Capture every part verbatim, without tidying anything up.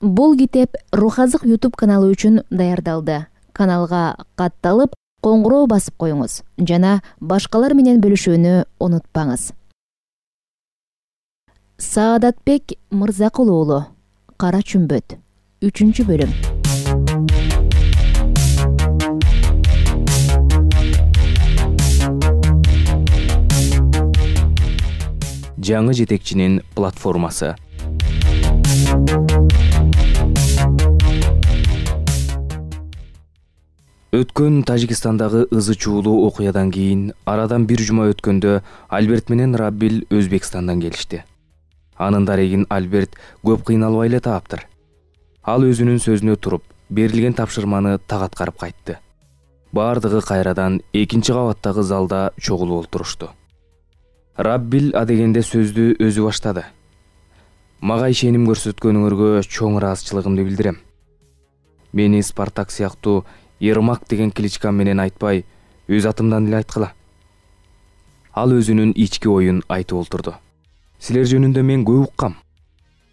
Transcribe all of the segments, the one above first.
Бул китеп Рух Азык YouTube каналы үчүн даярдалды. Каналга катталып, коңгуроо басып коюңуз жана башкалар менен бөлүшүүнү унутпаңыз. Саадатбек Мырзакул уулу, Кара чүмбөт, үчүнчү бөлүм. Жаңы жетекчинин платформасы. Өткөн Тажикстандагы ызы чуулуу окуядан кийин арадан бир жума өткөндө Альберт менен Раббил Өзбекстандан келишти. Анын дарегин Альберт көп кыйналбай эле таптыр. Ал өзүнүн сөзүнө туруп, берилген тапшырманы так аткарып кайтты. Бардыгы кайрадан экинчи кабаттагы залда чогулуп олтурушту. Раббил адегенде сөздү өзү баштады. Мага ишеним көрсөткөнүңөргө чоң ыраазычылыгымды билдирем. Мени Спартак сыяктуу Ермак деген кличкам менен айтпай, өз атымдан эле айткыла. Ал өзүнүн ички оюн айтып олтурду. Силер жөнүндө мен көп уккам.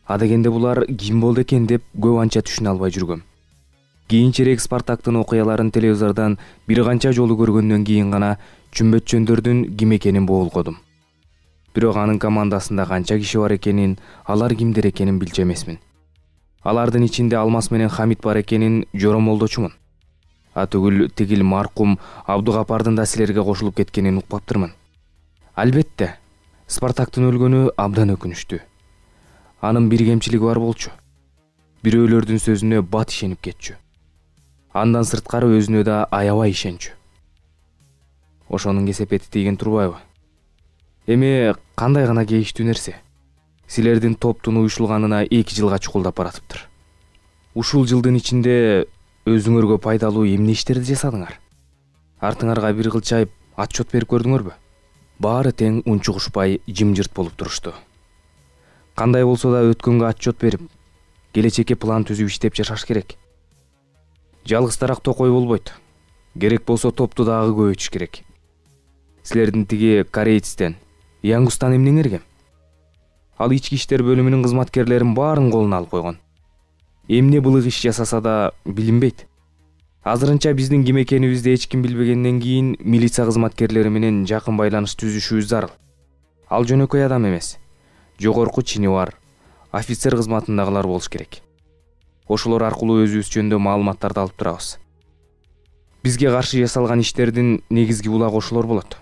Адегенде булар ким болду экен деп көп анча түшүнө албай жүргөм. Кийинчерээк Спартактын окуяларын телевизордон бир канча жолу көргөндөн кийин гана чүмбөтчөндөрдүн ким экенин боолгодум. Бирок анын командасында канча киши бар экенин, алар кимдер экенин билчү эмесмин. Алардын ичинде Алмаз менен Хамит бар экенин жоромолдочумун. А түгүл тигил маркум Абдугапардын да силерге кошулуп кеткенин укпаптырмын. Албетте, Спартактын өлгөнү абдан өкүнүчтүү. Анын бир кемчилиги бар болчу. Бирөөлөрдүн сөзүнө бат ишенип кетчү. Андан сырткары өзүнө да аябай ишенчү. Ошонун кесепети тийген турбайбы? Эми кандай гана кейиштүү нерсе. Силердин топтун уюшулганына эки жылга чукулдап баратыптыр. Ушул жылдын ичинде өзүңөргө пайдалуу эмне иштерди жасадыңар? Артыңарга бир кылчайып отчет берип көрдүңөрбү? Баары тең унчугушпай жымжырт болуп турушту. Кандай болсо да өткөнгө отчет берип, келечекке план түзүп иштеп жашаш керек. Жалгыздараак токой болбойт. Керек болсо топту дагы көбөйтүш керек. Силердин тиги корейцтен, Янгустан эмнеңерге? Ал ички иштер бөлүмүнүн кызматкерлерин баарын колуна алып койгон. Эмне былык иш жасаса да билинбейт. Азырынча биздин ким экенибизди эч ким билбегенден кийин милиция кызматкерлери менен жакын байланыш түзүшүбүз зарыл. Ал жөнөкөй адам эмес. Жогорку чини бар, офицер кызматындагылар болуш керек. Ошолор аркылуу өзүбүз жөнүндө маалыматтарды алып турабыз. Бизге каршы жасалган иштердин негизги булагы ошолор болот.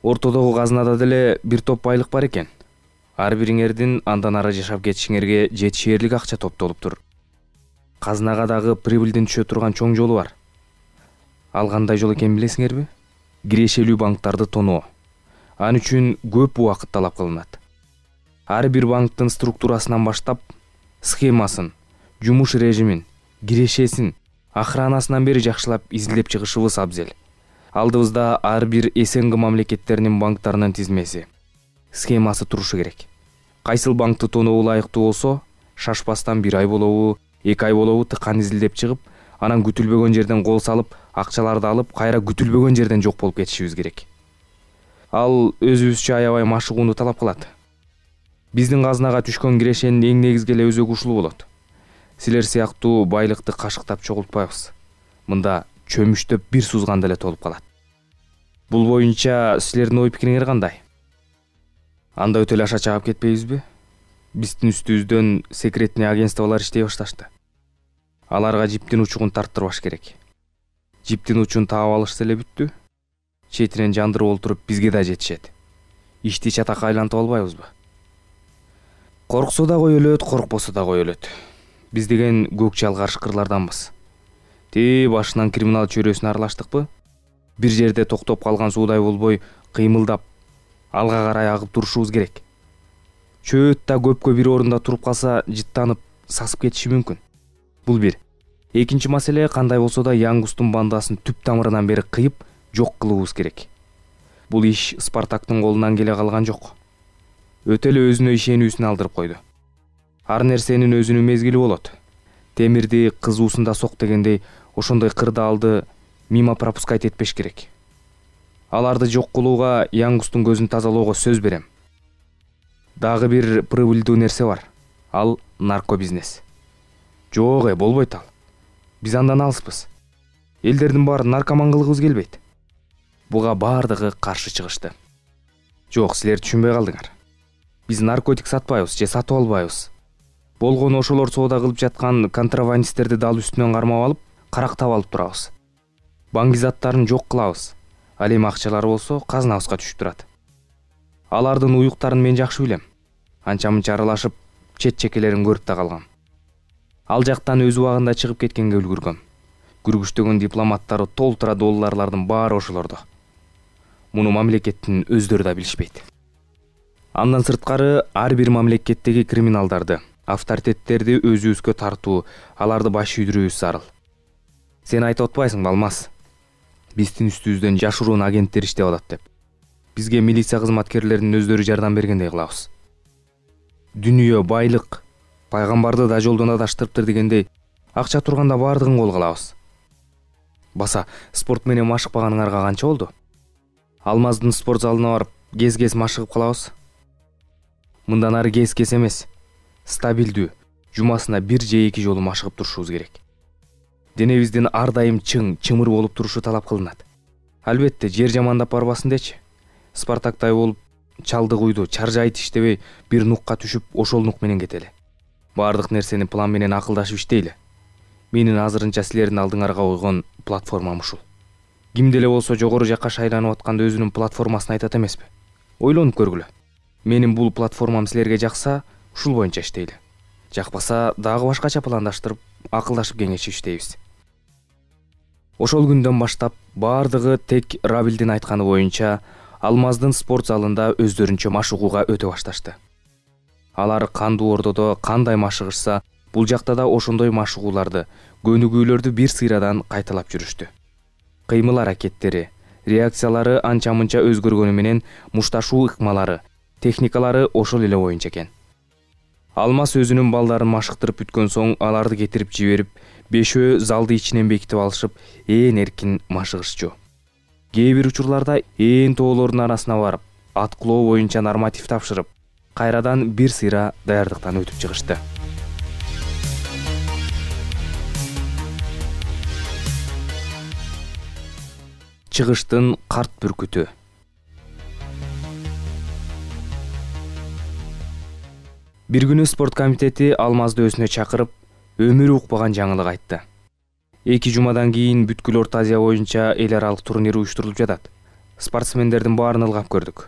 Ортодогу казнада деле бир топ байлык бар экен. Ар бириңердин андан ары жашап кетишиңерге жетишээрлик акча топтолуптур. Казнага дагы прибылдин түшө турган чоң жолу бар. Ал кандай жол экенин билесиңерби? Кирешелүү банктарды тоноо. Ан үчүн көп убакыт талап кылынат. Ар бир банктын структурасынан баштап, схемасын, жумуш режимин, кирешесин, охранасынан бери жакшылап изилдеп чыгышыбыз абзел. Алдыбызда ар бир СНГ мамлекеттеринин банктарынын тизмеси, схемасы турушу керек. Кайсыл банкты тоноо ылайыктуу болсо, шашпастан бир ай болобу, эки ай болобу тыкан изилдеп чыгып, анан күтүлбөгөн жерден кол салып, акчаларды алып, кайра күтүлбөгөн жерден жок болуп кетишибиз керек. Ал өзүбүзчө аябай машыгууну талап кылат. Биздин казнага түшкөн кирешенин эң негизги эле өзөгү ушул болот. Силер сыяктуу байлыкты кашыктап чогултпайбыз. Мында чөмүштөп бир сузганда эле толуп калат. Бул боюнча силердин ой пикириңер кандай? Анда өтө эле аша чыгып кетпейбизби? Биздин үстүбүздөн секретный агентстволор иштей башташты. Аларга жиптин учугун тарттырбаш керек. Жиптин учун таап алышса эле бүттү. Четинен жандырып олтуруп бизге да жетишет. Ишти чатакка айлантып албайбызбы? Корксо да кой өлөт, коркпосо да кой өлөт. Биз деген көк чалгар шкырларданбыз. Ти башынан криминал чөйрөсүнө аралаштыкпы? Бир жерде токтоп калган суудай болбой, кыймылдап, алга карай агып турушубуз керек. Чөт да көпкө бир орунда туруп калса, жыттанып, сасып кетиши мүмкүн. Бул бир. Экинчи маселе, кандай болсо да Янгустун бандасын түп тамырынан бери кыйып, жок кылуубуз керек. Бул иш Спартактын колунан келе калган жок. Өтө эле өзүнө ишенүүсүн алдырып койду. Ар нерсенин өзүнүн мезгили болот. Темирди кызуусунда сок дегендей, ошондой кырдаалды мимо пропускать этпеш керек. Аларды жок кылууга, Янгустун көзүн тазалоого сөз берем. Дагы бир прибыльдүү нерсе бар. Ал наркобизнес. Жок э, болбойт ал. Биз андан алыспыз. Элдердин баарын наркоман кылгыбыз келбейт. Буга баардыгы каршы чыгышты. Жок, силер түшүнбөй калдыңар. Биз наркотик сатпайбыз же сатып албайбыз. Болгону ошолор соода кылып жаткан контрабандисттерди дал үстүнөн кармап алып, карактап алып турабыз. Банк заттарын жок кылабыз. Ал эми акчалар болсо казнабызга түшүп турат. Алардын уюктарын мен жакшы билем. Анча-мынча аралашып, чет чекелерин көрүп да калгам. Ал жактан өз убагында чыгып кеткенге үлгүргөм. Күргүчтөгөн дипломаттары толтура долларлардын баары ошолордо. Муну мамлекеттин өздөрү да билишпейт. Андан сырткары ар бир мамлекеттеги криминалдарды, авторитеттерди өзүбүзгө тартуу, аларды баш үйдүрүүбүз зарыл. Сен айтып атпайсыңбы, Алмаз? Биздин үстүбүздөн жашыруун агенттер иштеп атат деп. Бизге милиция кызматкерлеринин өздөрү жардам бергендей кылабыз. Дүнүйө, байлык, пайгамбарды да жолдон адаштырыптыр дегендей, акча турганда баардыгын колго алабыз. Баса, спорт менен машыкпаганыңарга канча болду? Алмаздын спорт залына барып, кез-кез машыгып калабыз. Мындан ары кез-кез эмес, стабилдүү, жумасына бир же эки жолу машыгып турушубуз керек. Денебиздин ар дайым чың, чымыр болуп турушу талап кылынат. Албетте, жер жамандап барбасын дечи. Спартактай болуп, чалдык уйду, чаржайт иштебей, бир нукка түшүп, ошол нук менен кетели. Баардык нерсени план менен акылдашып иштейли. Менин азырынча силердин алдыңарга койгон платформам ушул. Кимде эле болсо жогору жакка шайланып атканда өзүнүн платформасын айтат эмеспи? Ойлонуп көргүлө. Менин бул платформам силерге жакса, ушул боюнча иштейли. Жакпаса, дагы башкача пландаштырып, акылдашып кеңешип иштейбиз. Ошол күндөн баштап баардыгы тек Рабилдин айтканы боюнча Алмаздын спорт залында өздөрүнчө машыгууга өтө башташты. Алар кандуу ордодо кандай машыгышса, бул жакта да ошондой машыгууларды, көнүгүүлөрдү бир сыйрадан кайталап жүрүштү. Кыймыл аракеттери, реакциялары анча-мынча өзгөргөнү менен мушташуу ыкмалары, техникалары ошол эле боюнча экен. Алмаз өзүнүн балдарын машыктырып бүткөн соң аларды кетирип жиберип, бешөө залды ичинен бекитип алышып, ээн эркин машыгышчу. Кээ бир учурларда ээн тоолордун арасына барып, аткылоо боюнча норматив тапшырып, кайрадан бир сыйра даярдыктан өтүп чыгышты. Чыгыштын карт бүркүтү. Бир күнү спорт комитети Алмазды өзүнө чакырып, өмүрү укпаган жаңылык айтты. Эки жумадан кийин бүткүл Орто Азия боюнча эл аралык турнир уюштурулуп жатат. Спортсмендердин баарын ылгап көрдүк.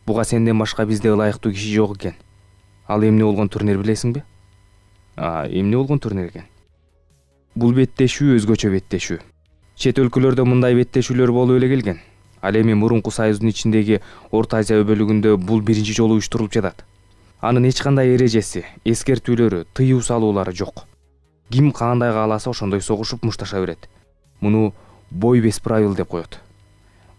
Буга сенден башка бизде ылайыктуу киши жок экен. Ал эмне болгон турнир билесиңби? А, эмне болгон турнир экен? Бул беттешүү өзгөчө беттешүү. Чет өлкөлөрдө мындай беттешүүлөр болуп эле келген. Ал эми мурунку союздун ичиндеги Орто Азия бөлүгүндө бул биринчи жолу уюштурулуп жатат. Анын эч кандай эрежеси, эскертүүлөрү, тыюу салуулары жок. Ким кандай кааласа ошондой согушуп мушташа берет. Муну бой без правил деп коет.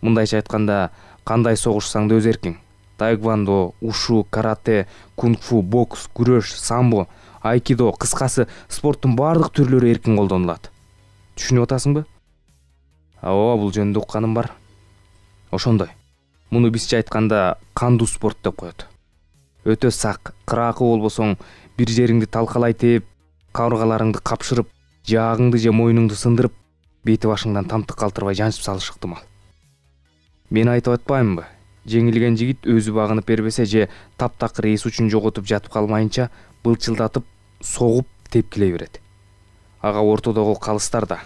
Мындайча айтканда, кандай согушсаң да өз эркиң. Таэквондо, ушу, карате, кунг-фу, бокс, күрөш, самбо, айкидо, кыскасы спорттун баардык түрлөрү эркин колдонулат. Түшүнүп атасыңбы? Ооба, бул жөнүндө укканым бар. Ошондой. Муну бизче айтканда кандуу спорт деп коет. Өтө сак, кыраакы болбосоң, бир жериңди талкалай тээп, кабыргаларыңды капшырып, жаагыңды же мойнуңду сындырып, бети башыңдан тамтык калтырбай жанчып салыш ыктымал. Мен айтып атпаймынбы? Жеңилген жигит өзү багынып бербесе же таптакыр эс учун жоготуп жатып калмайынча былчылдатып, согуп, тепкилей берет. Ага ортодогу калыстар да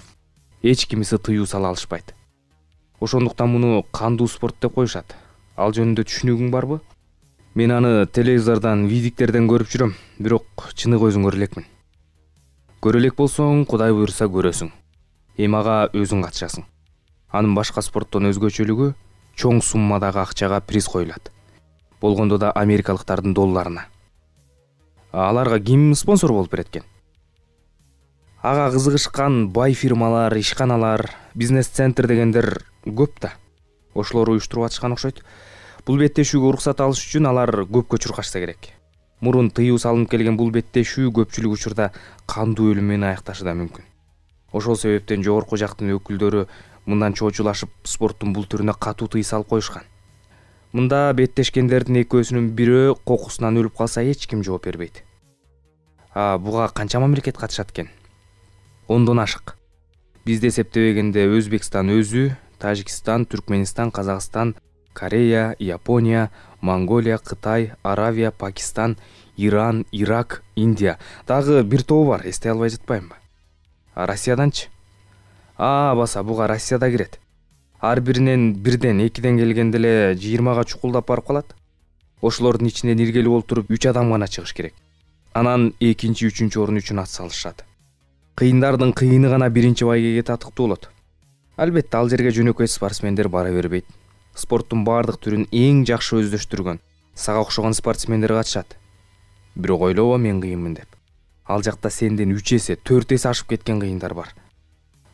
эч кимиси тыюу сала алышпайт. Ошондуктан муну кандуу спорт деп коюшат. Ал жөнүндө түшүнүгүң барбы? Мен аны телевизордон, видиктерден көрүп жүрөм, бирок чыныгы өзүң көрө элекмин. Көрө элек болсоң, Кудай буйруса көрөсүң. Эми ага өзүң катышасың. Анын башка спорттон өзгөчөлүгү чоң суммадагы акчага приз коюлат. Болгондо да америкалыктардын долларына. Аларга ким спонсор болуп берет экен? Ага кызыгышкан бай фирмалар, ишканалар, бизнес-центр дегендер көп да. Ошолор уюштуруп атышкан окшойт. Бул беттешүүгө уруксат алыш үчүн алар көпкө чуркашса керек. Мурун тыюу салынып келген бул беттешүү көпчүлүк учурда кандуу өлүм менен аякташы да мүмкүн. Ошол себептен жогорку жактын өкүлдөрү мындан чоочулашып спорттун бул түрүнө катуу тыюу салып коюшкан. Мында беттешкендердин экөөсүнүн бирөө кокусунан өлүп калса эч ким жооп бербейт. буга канча мамлекет катышат экен? Ондон ашык. Бизди эсептебегенде Өзбекстан өзү, Тажикстан, Түркменистан, Казакстан, Корея, Япония, Монголия, Кытай, Аравия, Пакистан, Иран, Ирак, Индия. Дагы бир тобу бар, эстей албай жатпаймынбы? А Россияданчы? А, баса буга Россия да кирет. Ар биринен бирден, экиден келгенде эле жыйырмага чукулдап барып калат. Ошолордун ичинен иргелип олтуруп үч адам гана чыгыш керек. Анан экинчи, үчүнчү орун үчүн ат салышат. Кыйындардын кыйыны гана биринчи байгеге татыктуу болот. Албетте ал жерге жөнөкөй спортсмендер бара бербейт. Спорттун баардык түрүн эң жакшы өздөштүргөн, сага окшогон спортсмендер катышат. Бирок ойлобо мен кыйынмын деп. Ал жакта сенден үч эсе, төрт эсе ашып кеткен кыйындар бар.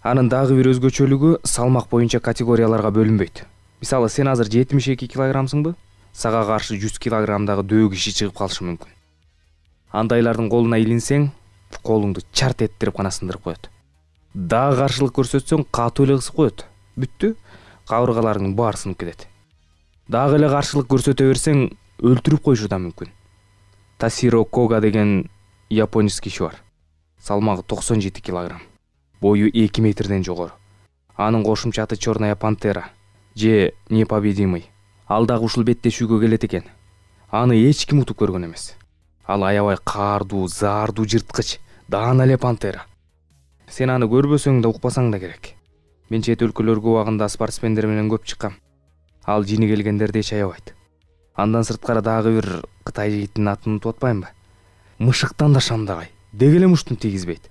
Анын дагы бир өзгөчөлүгү салмак боюнча категорияларга бөлүнбөйт. Мисалы, сен азыр жетимиш эки килограммсыңбы? Сага каршы жүз килограммдагы дөө киши чыгып калышы мүмкүн. Андайлардын колуна илинсең, колуңду чарт эттирип гана сындырып коет. Дагы каршылык көрсөтсөң, катуу эле кысып коет. Бүттү, кабыргаларыңдын баары сынып кетет. Дагы эле каршылык көрсөтө берсең, өлтүрүп коюшу да мүмкүн. Тасиро Кога деген японец киши бар. Салмагы токсон жети килограмм. Бою эки метрден жогору. Анын кошумча аты Черная пантера же непобедимый. Ал дагы ушул беттешүүгө келет экен. Аны эч ким утуп көргөн эмес. Ал аябай каардуу, заардуу жырткыч, даана эле пантера. Сен аны көрбөсөң да, укпасаң да керек. Мен чет өлкөлөргө убагында спортсмендер менен көп чыккам. Ал жини келгендерди эч аябайт. Андан сырткары дагы бир Кытай жигитинин атын унутуп атпаймынбы? Мышыктан да шамдагай, деги эле муштун тийгизбейт.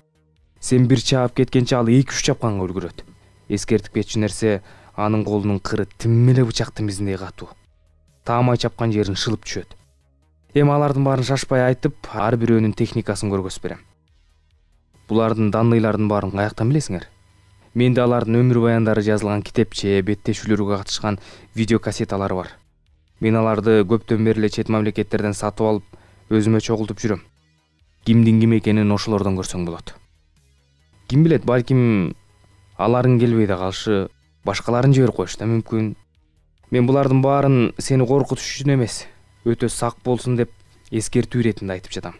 Сен бир чаап кеткенче ал эки үч чапканга үлгүрөт. Эскертип кетчү нерсе, анын колунун кыры тим эле бычактын мизиндей катуу. Таамай чапкан жерин шылып түшөт. Эми алардын баарын шашпай айтып, ар бирөөнүн техникасын көргөзүп берем. Булардын данныйлардын баарын каяктан билесиңер? Менде алардын өмүр баяндары жазылган китепче, беттешүүлөргө катышкан видео кассеталары бар. Мен аларды көптөн бери эле чет мамлекеттерден сатып алып, өзүмө чогултуп жүрөм. Кимдин ким экенин ошолордон көрсөң болот. Ким билет, балким аларың келбей да калышы, башкаларын жиберип коюшу да мүмкүн. Мен булардын баарын сени коркутуш үчүн эмес, өтө сак болсун деп эскертүү иретинде айтып жатам.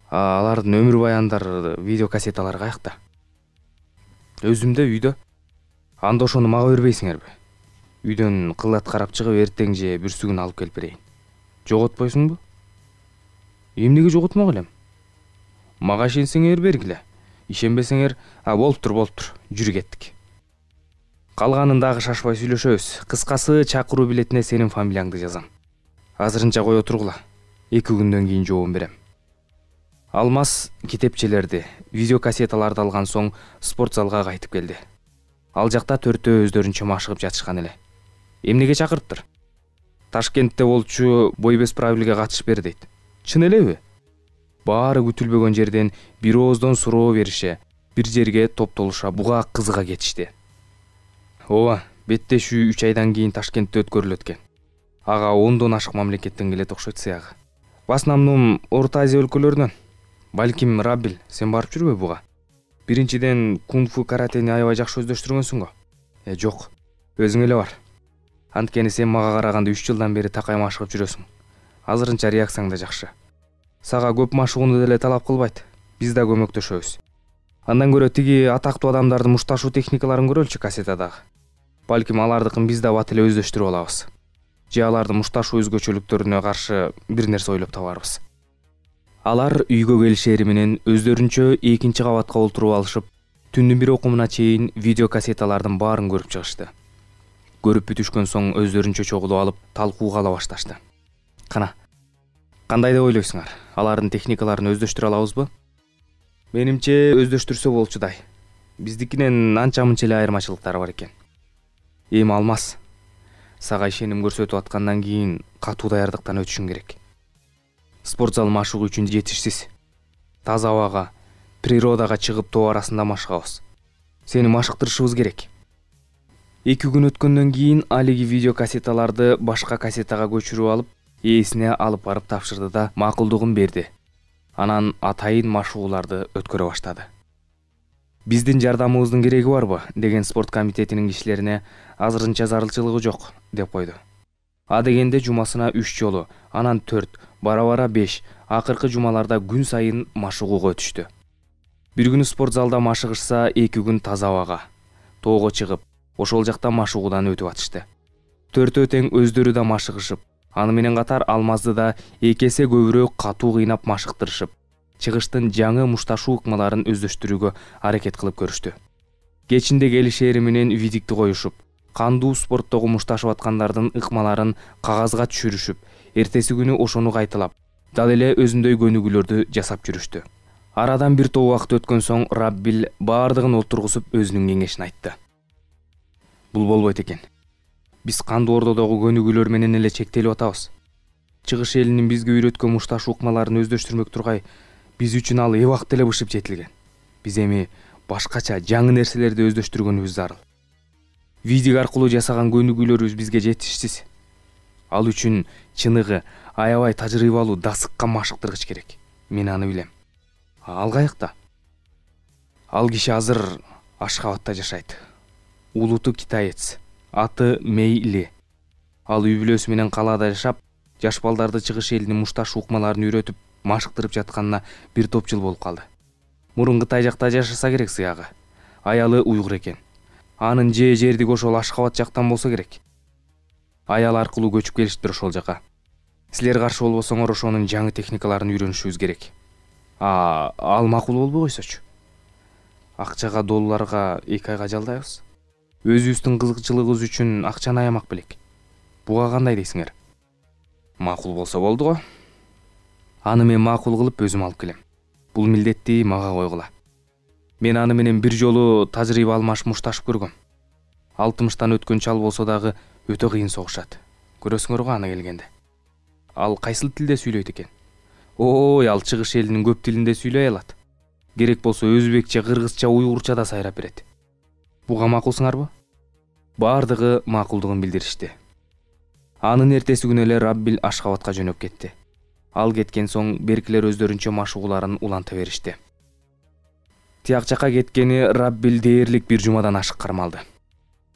Алардын өмүр баяндары, видео кассеталары каякта? Өзүмдө, үйдө. Анда ошону мага бербейсиңерби? Үйдөн кылат карап чыгып, эртең же бүрсүгүн алып келип берейин. Жоготпойсуңбу? Эмнеге жоготмок элем? Мага ишенсеңер бергиле. Ишенбесеңер, а болуптур, болуптур. Жүрү кеттик. Калганын дагы шашпай сүйлөшөбүз. Кыскасы, чакыруу билетине сенин фамилияңды жазам. Азырынча кое тургула. эки күндөн кийин жооп берем. Алмаз китепчелерди, видео кассеталарды алган соң спорт залга кайтып келди. Ал жакта төртөө өздөрүнчө машыгып жатышкан эле. Эмнеге чакырыптыр? Ташкентте болчу бой без правилге катышып бер дейт. Чын элеби? Баары күтүлбөгөн жерден бир ооздон суроо берише, бир жерге топтолуша буга кызыга кетишти. Ооба, беттешүү үч айдан кийин Ташкентте өткөрүлөт экен. Ага ондон ашык мамлекеттен келет окшойт сыягы. В основном Орто Азия өлкөлөрүнөн. Балким, Раббил, сен барып жүрбөй буга? Биринчиден кунг-фу каратени аябай жакшы өздөштүргөнсүң го. Э, жок, өзүң эле бар. Анткени сен мага караганда үч жылдан бери такай машыгып жүрөсүң. Азырынча реакцияң да жакшы. Сага көп машыгууну деле талап кылбайт. Биз да көмөктөшөбүз. Андан көрө тиги атактуу адамдардын мушташуу техникаларын көрөлчү кассетадагы. Балким алардыкын биз да бат эле өздөштүрүп алабыз. Же алардын мушташуу өзгөчөлүктөрүнө каршы бир нерсе ойлоп табарбыз. Алар үйгө келишери менен өздөрүнчө экинчи кабатка олтуруп алышып, түндүн бир окумуна чейин видео кассеталардын баарын көрүп чыгышты. Көрүп бүтүшкөн соң өздөрүнчө чогулуп алып, талкууга ала башташты. Кана, кандай деп ойлойсуңар? Алардын техникаларын өздөштүрө алабызбы? Менимче өздөштүрсө болчудай. Биздикинен анча-мынча эле айырмачылыктары бар экен. Эми Алмаз, сага ишеним көрсөтүп аткандан кийин катуу даярдыктан өтүшүң керек. Спорт зал машыгуу үчүн жетишсиз. Таза абага, природага чыгып тоо арасында машыгабыз. Сени машыктырышыбыз керек. эки күн өткөндөн кийин алиги видео кассеталарды башка кассетага көчүрүп алып, ээсине алып барып тапшырды да макулдугун берди. Анан атайын машыгууларды өткөрө баштады. Биздин жардамыбыздын кереги барбы деген спорт комитетинин кишилерине азырынча зарылчылыгы жок деп койду. А дегенде жумасына үч жолу, анан төрт, бара-бара беш, акыркы жумаларда күн сайын машыгууга өтүштү. Бир күнү спорт залда машыгышса, эки күн таза абага, тоого чыгып, ошол жакта машыгуудан өтүп атышты. Төртөө тең өздөрү да машыгышып, аны менен катар Алмазды да эки эсе көбүрөөк катуу кыйнап машыктырышып, чыгыштын жаңы мушташуу ыкмаларын өздөштүрүүгө аракет кылып көрүштү. Кечинде келишери менен видикти коюшуп, кандуу спорттогу мушташып аткандардын ыкмаларын кагазга түшүрүшүп, эртеси күнү ошону кайталап, дал эле өзүндөй көнүгүүлөрдү жасап жүрүштү. Арадан бир топ убакыт өткөн соң Раббил баардыгын отургузуп өзүнүн кеңешин айтты. Бул болбойт экен. Биз кандуу ордодогу көнүгүүлөр менен эле чектелип атабыз. Чыгыш элинин бизге үйрөткөн мушташуу ыкмаларын өздөштүрмөк тургай, биз үчүн ал эбак деле бышып жетилген. Биз эми башкача жаңы нерселерди өздөштүргөнүбүз зарыл. Видик аркылуу жасаган көнүгүүлөрүбүз бизге жетишсиз. Ал үчүн чыныгы, аябай тажрыйбалуу, дасыккан машыктыргыч керек. Мен аны билем. Ал каякта? Ал киши азыр Ашхабадта жашайт. Улуту китаец, аты Мейли. Ал үй бүлөсү менен калаада жашап, жаш балдарды чыгыш элинин мушташуу ыкмаларын үйрөтүп, машыктырып жатканына бир топ жыл болуп калды. Мурун Кытай жакта жашаса керек сыягы. Аялы уйгур экен. Анын же жердиги ошол Ашхабад жактан болсо керек. Аял аркылуу көчүп келиштир ошол жака. Силер каршы болбосоңор ошонун жаңы техникаларын үйрөнүшүбүз керек. А, ал макул болбой койсочу. Акчага долларга эки айга жалдайбыз. Өзүбүздүн кызыкчылыгыбыз үчүн акчаны аямак белек. Буга кандай дейсиңер? Макул болсо болду го. Аны мен макул кылып өзүм алып келем. Бул милдетти мага койгула. Мен аны менен бир жолу тажрыйба алмаш мушташып көргөм. алтымыштан өткөн чал болсо дагы өтө кыйын согушат. Көрөсүңөр го аны келгенде. Ал кайсыл тилде сүйлөйт экен? Ой, ал чыгыш элинин көп тилинде сүйлөй алат. Керек болсо өзбекче, кыргызча, уйгурча да сайрап берет. Буга макулсуңарбы? Баардыгы макулдугун билдиришти. Анын эртеси күнү эле Раббил Ашхабадка жөнөп кетти. Ал кеткен соң беркилер өздөрүнчө машыгууларын уланта беришти. Тияк жака кеткени Раббил дээрлик бир жумадан ашык кармалды.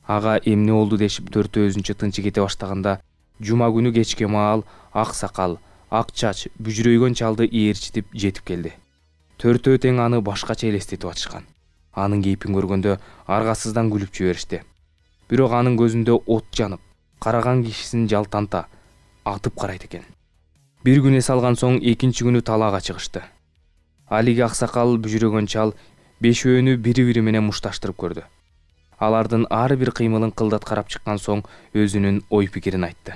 Ага эмне болду дешип төртөө өзүнчө тынчы кете баштаганда, жума күнү кечке маал ак сакал, ак чач, бүжүрөйгөн чалды ээрчитип жетип келди. Төртөө тең аны башкача элестетип атышкан. Анын кейпин көргөндө аргасыздан күлүп жиберишти. Бирок анын көзүндө от жанып, караган кишисин жалтанта атып карайт экен. Бир күн эс алган соң экинчи күнү талаага чыгышты. Алиги аксакал, бүжүрөгөн чал бешөөнү бири-бири менен мушташтырып көрдү. Алардын ар бир кыймылын кылдат карап чыккан соң өзүнүн ой пикирин айтты.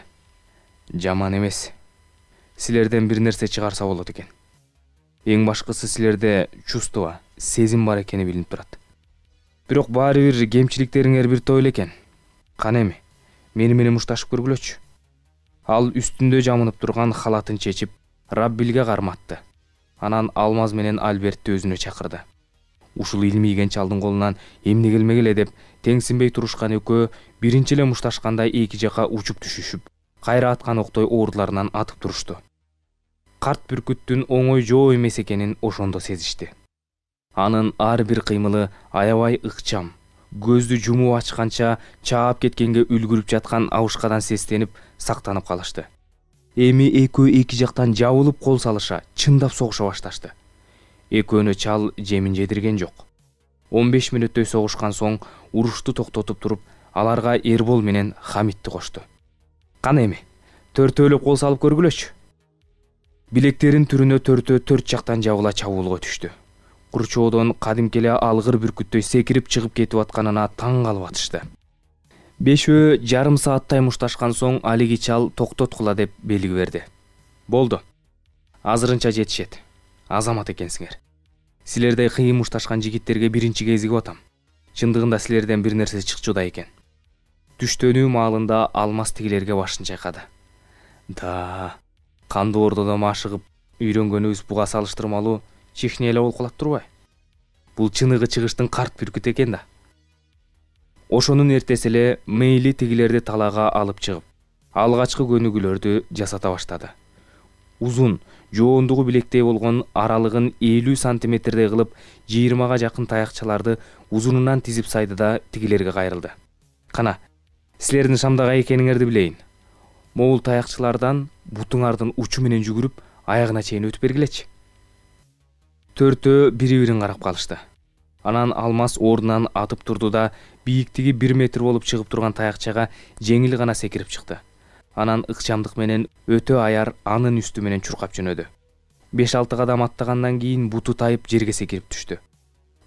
Жаман эмес. Силерден бир нерсе чыгарса болот экен. Эң башкысы силерде чувство, сезим бар экени билинип турат. Бирок баары бир кемчиликтериңер бир топ эле экен. Кана эми, мени менен мушташып көргүлөчү. Ал үстүндө жамынып турган халатын чечип, Раббилге карматты. Анан Алмаз менен Альбертти өзүнө чакырды. Ушул илмийген чалдын колунан эмне келмек эле деп теңсинбей турушкан экөө биринчи эле мушташканда эки жака учуп түшүшүп, кайра аткан октой ордуларынан атып турушту. Карт бүркүттүн оңой жоо эмес экенин ошондо сезишти. Анын ар бир кыймылы аябай ыкчам, көздү жумуп ачканча чаап кеткенге үлгүрүп жаткан абышкадан сестенип, сактанып калышты. Эми экөө эки жактан жабылып кол салыша, чындап согуша башташты. Экөөнү чал жемин жедирген жок. он беш мүнөттөй согушкан соң урушту токтотуп туруп, аларга Эрбол менен Хамитти кошту. Кана эми, төртөөлөп кол салып көргүлөчү. Билектерин түрүнө төртөө төрт жактан жабыла чабуулга түштү. Курчоодон кадимки эле алгыр бүркүттөй секирип чыгып кетип атканына таң калып атышты. Бешөө жарым сааттай мушташкан соң алиги чал токтоткула деп белги берди. Болду. Азырынча жетишет. Азамат экенсиңер. Силердей кыйын мушташкан жигиттерге биринчи кезигип атам. Чындыгында силерден бир нерсе чыкчуда экен. Түштөнүү маалында Алмаз тигилерге башын чайкады. Да, кандуу ордодо машыгып үйрөнгөнүбүз буга салыштырмалуу чихне эле болуп калат турбай? Бул чыныгы чыгыштын карт бүркүт экен да. Ошонун эртеси эле Мейли тигилерди талаага алып чыгып, алгачкы көнүгүүлөрдү жасата баштады. Узун, жоондугу билектей болгон аралыгын элүү сантиметрдей кылып, жыйырмага жакын таякчаларды узунунан тизип сайды да тигилерге кайрылды. Кана, силердин Шамдагы экениңерди билейин. Могул таякчылардан бутуңардын учу менен жүгүрүп, аягына чейин өтүп бергилечи. Төртөө бири бирин карап калышты. Анан Алмаз ордунан атып турду да бийиктиги бир метр болуп чыгып турган таякчага жеңил гана секирип чыкты. Анан ыкчамдык менен өтө аяр анын үстү менен чуркап жөнөдү. беш алты кадам аттагандан кийин буту тайып жерге секирип түштү.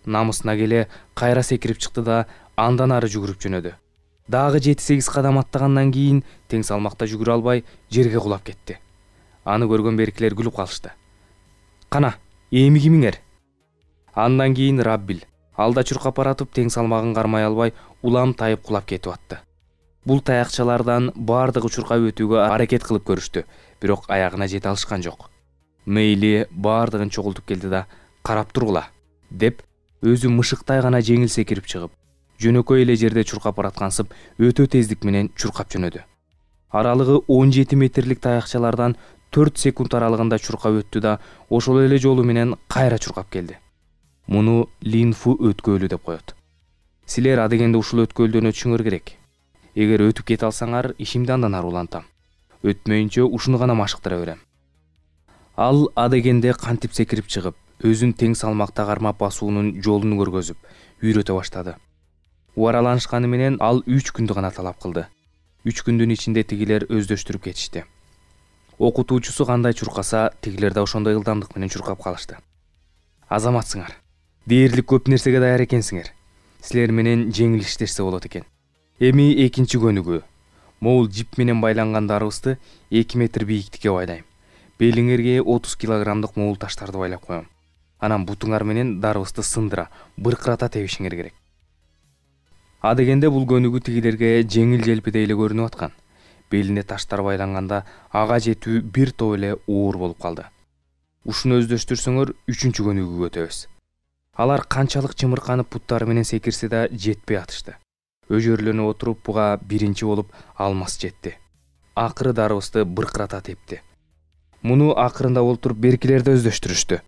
Намысына келе кайра секирип чыкты да андан ары жүгүрүп жөнөдү. Дагы жети сегиз кадам аттагандан кийин тең салмакта жүгүрө албай жерге кулап кетти. Аны көргөн беркилер күлүп калышты. Кана, эми кимиңер? Андан кийин Раббил алда чуркап баратып тең салмагын кармай албай улам тайып кулап кетип атты. Бул таякчалардан баардыгы чуркап өтүүгө аракет кылып көрүштү, бирок аягына жете алышкан жок. Мейли баардыгын чогултуп келди да карап тургула деп өзү мышыктай гана жеңил секирип чыгып, жөнөкөй эле жерде чуркап бараткансып өтө тездик менен чуркап жөнөдү. Аралыгы он жети метрлик таякчалардан төрт секунд аралыгында чуркап өттү да ошол эле жолу менен кайра чуркап келди. Муну Линфу өткөлү деп коет. Силер адегенде ушул өткөлдөн өтүшүңөр керек. Эгер өтүп кете алсаңар, ишимди андан ары улантам. Өтмөйүнчө ушуну гана машыктыра берем. Ал адегенде кантип секирип чыгып, өзүн тең салмакта кармап басуунун жолун көргөзүп, үйрөтө баштады. Убараланышканы менен ал үч күндү гана талап кылды. үч күндүн ичинде тигилер өздөштүрүп кетишти. Окутуучусу кандай чуркаса, тигилер да ошондой ылдамдык менен чуркап калышты. Азаматсыңар. Дээрлик көп нерсеге даяр экенсиңер. Силер менен жеңил иштешсе болот экен. Эми экинчи көнүгүү. Могул жип менен байланган дарыбызды эки метр бийиктикке байлайм. Белиңерге отуз килограммдык могул таштарды байлап коем. Анан бутуңар менен дарыбызды сындыра, быркырата тебишиңер керек. Адегенде бул көнүгүү тигилерге жеңил желпидей эле көрүнүп аткан. Белине таштар байланганда ага жетүү бир топ эле оор болуп калды. Ушуну өздөштүрсөңөр үчүнчү көнүгүүгө өтөбүз. Алар канчалык чымырканып буттары менен секирсе да жетпей атышты. Өжөрлөнүп отуруп буга биринчи болуп Алмаз жетти. Акыры дарыбызды быркырата тепти. Муну акырында олтуруп беркилерди өздөштүрүштү.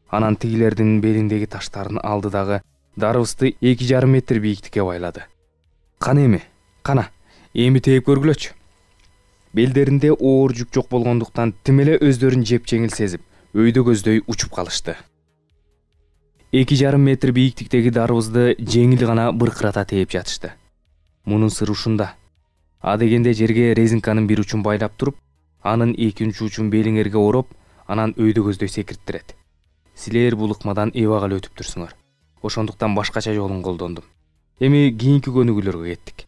Анан тигилердин белиндеги таштарын алды дагы дарыбызды эки жарым метр бийиктикке байлады. Кана эми, кана, эми тээп көргүлөчү. Белдеринде оор жүк жок болгондуктан тим эле өздөрүн жеп жеңил сезип, өйдө көздөй учуп калышты. эки жарым метр бийиктиктеги дарыбызды жеңил гана быркырата тээп жатышты. Мунун сыры ушунда. Адегенде жерге резинканын бир учун байлап туруп, анын экинчи учун белиңерге ороп, анан өйдө көздөй секирттирет. Силер бул ыкмадан эбак эле өтүп турсуңар. Ошондуктан башкача жолун колдондум. Эми кийинки көнүгүүлөргө кеттик.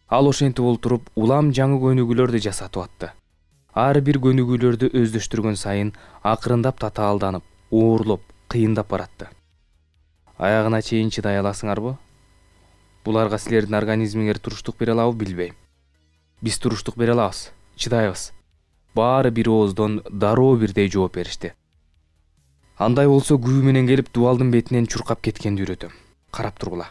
Ал ошентип олтуруп улам жаңы көнүгүүлөрдү жасатып атты. Ар бир көнүгүүлөрдү өздөштүргөн сайын акырындап татаалданып, оорлоп, кыйындап баратты. Аягына чейин чыдай аласыңарбы? Буларга силердин организмиңер туруштук бере алабы билбейм. Биз туруштук бере алабыз, чыдайбыз. Баары бир ооздон дароо бирдей жооп беришти. Андай болсо күбө менен келип дубалдын бетинен чуркап кеткенди үйрөтөм. Карап тургула.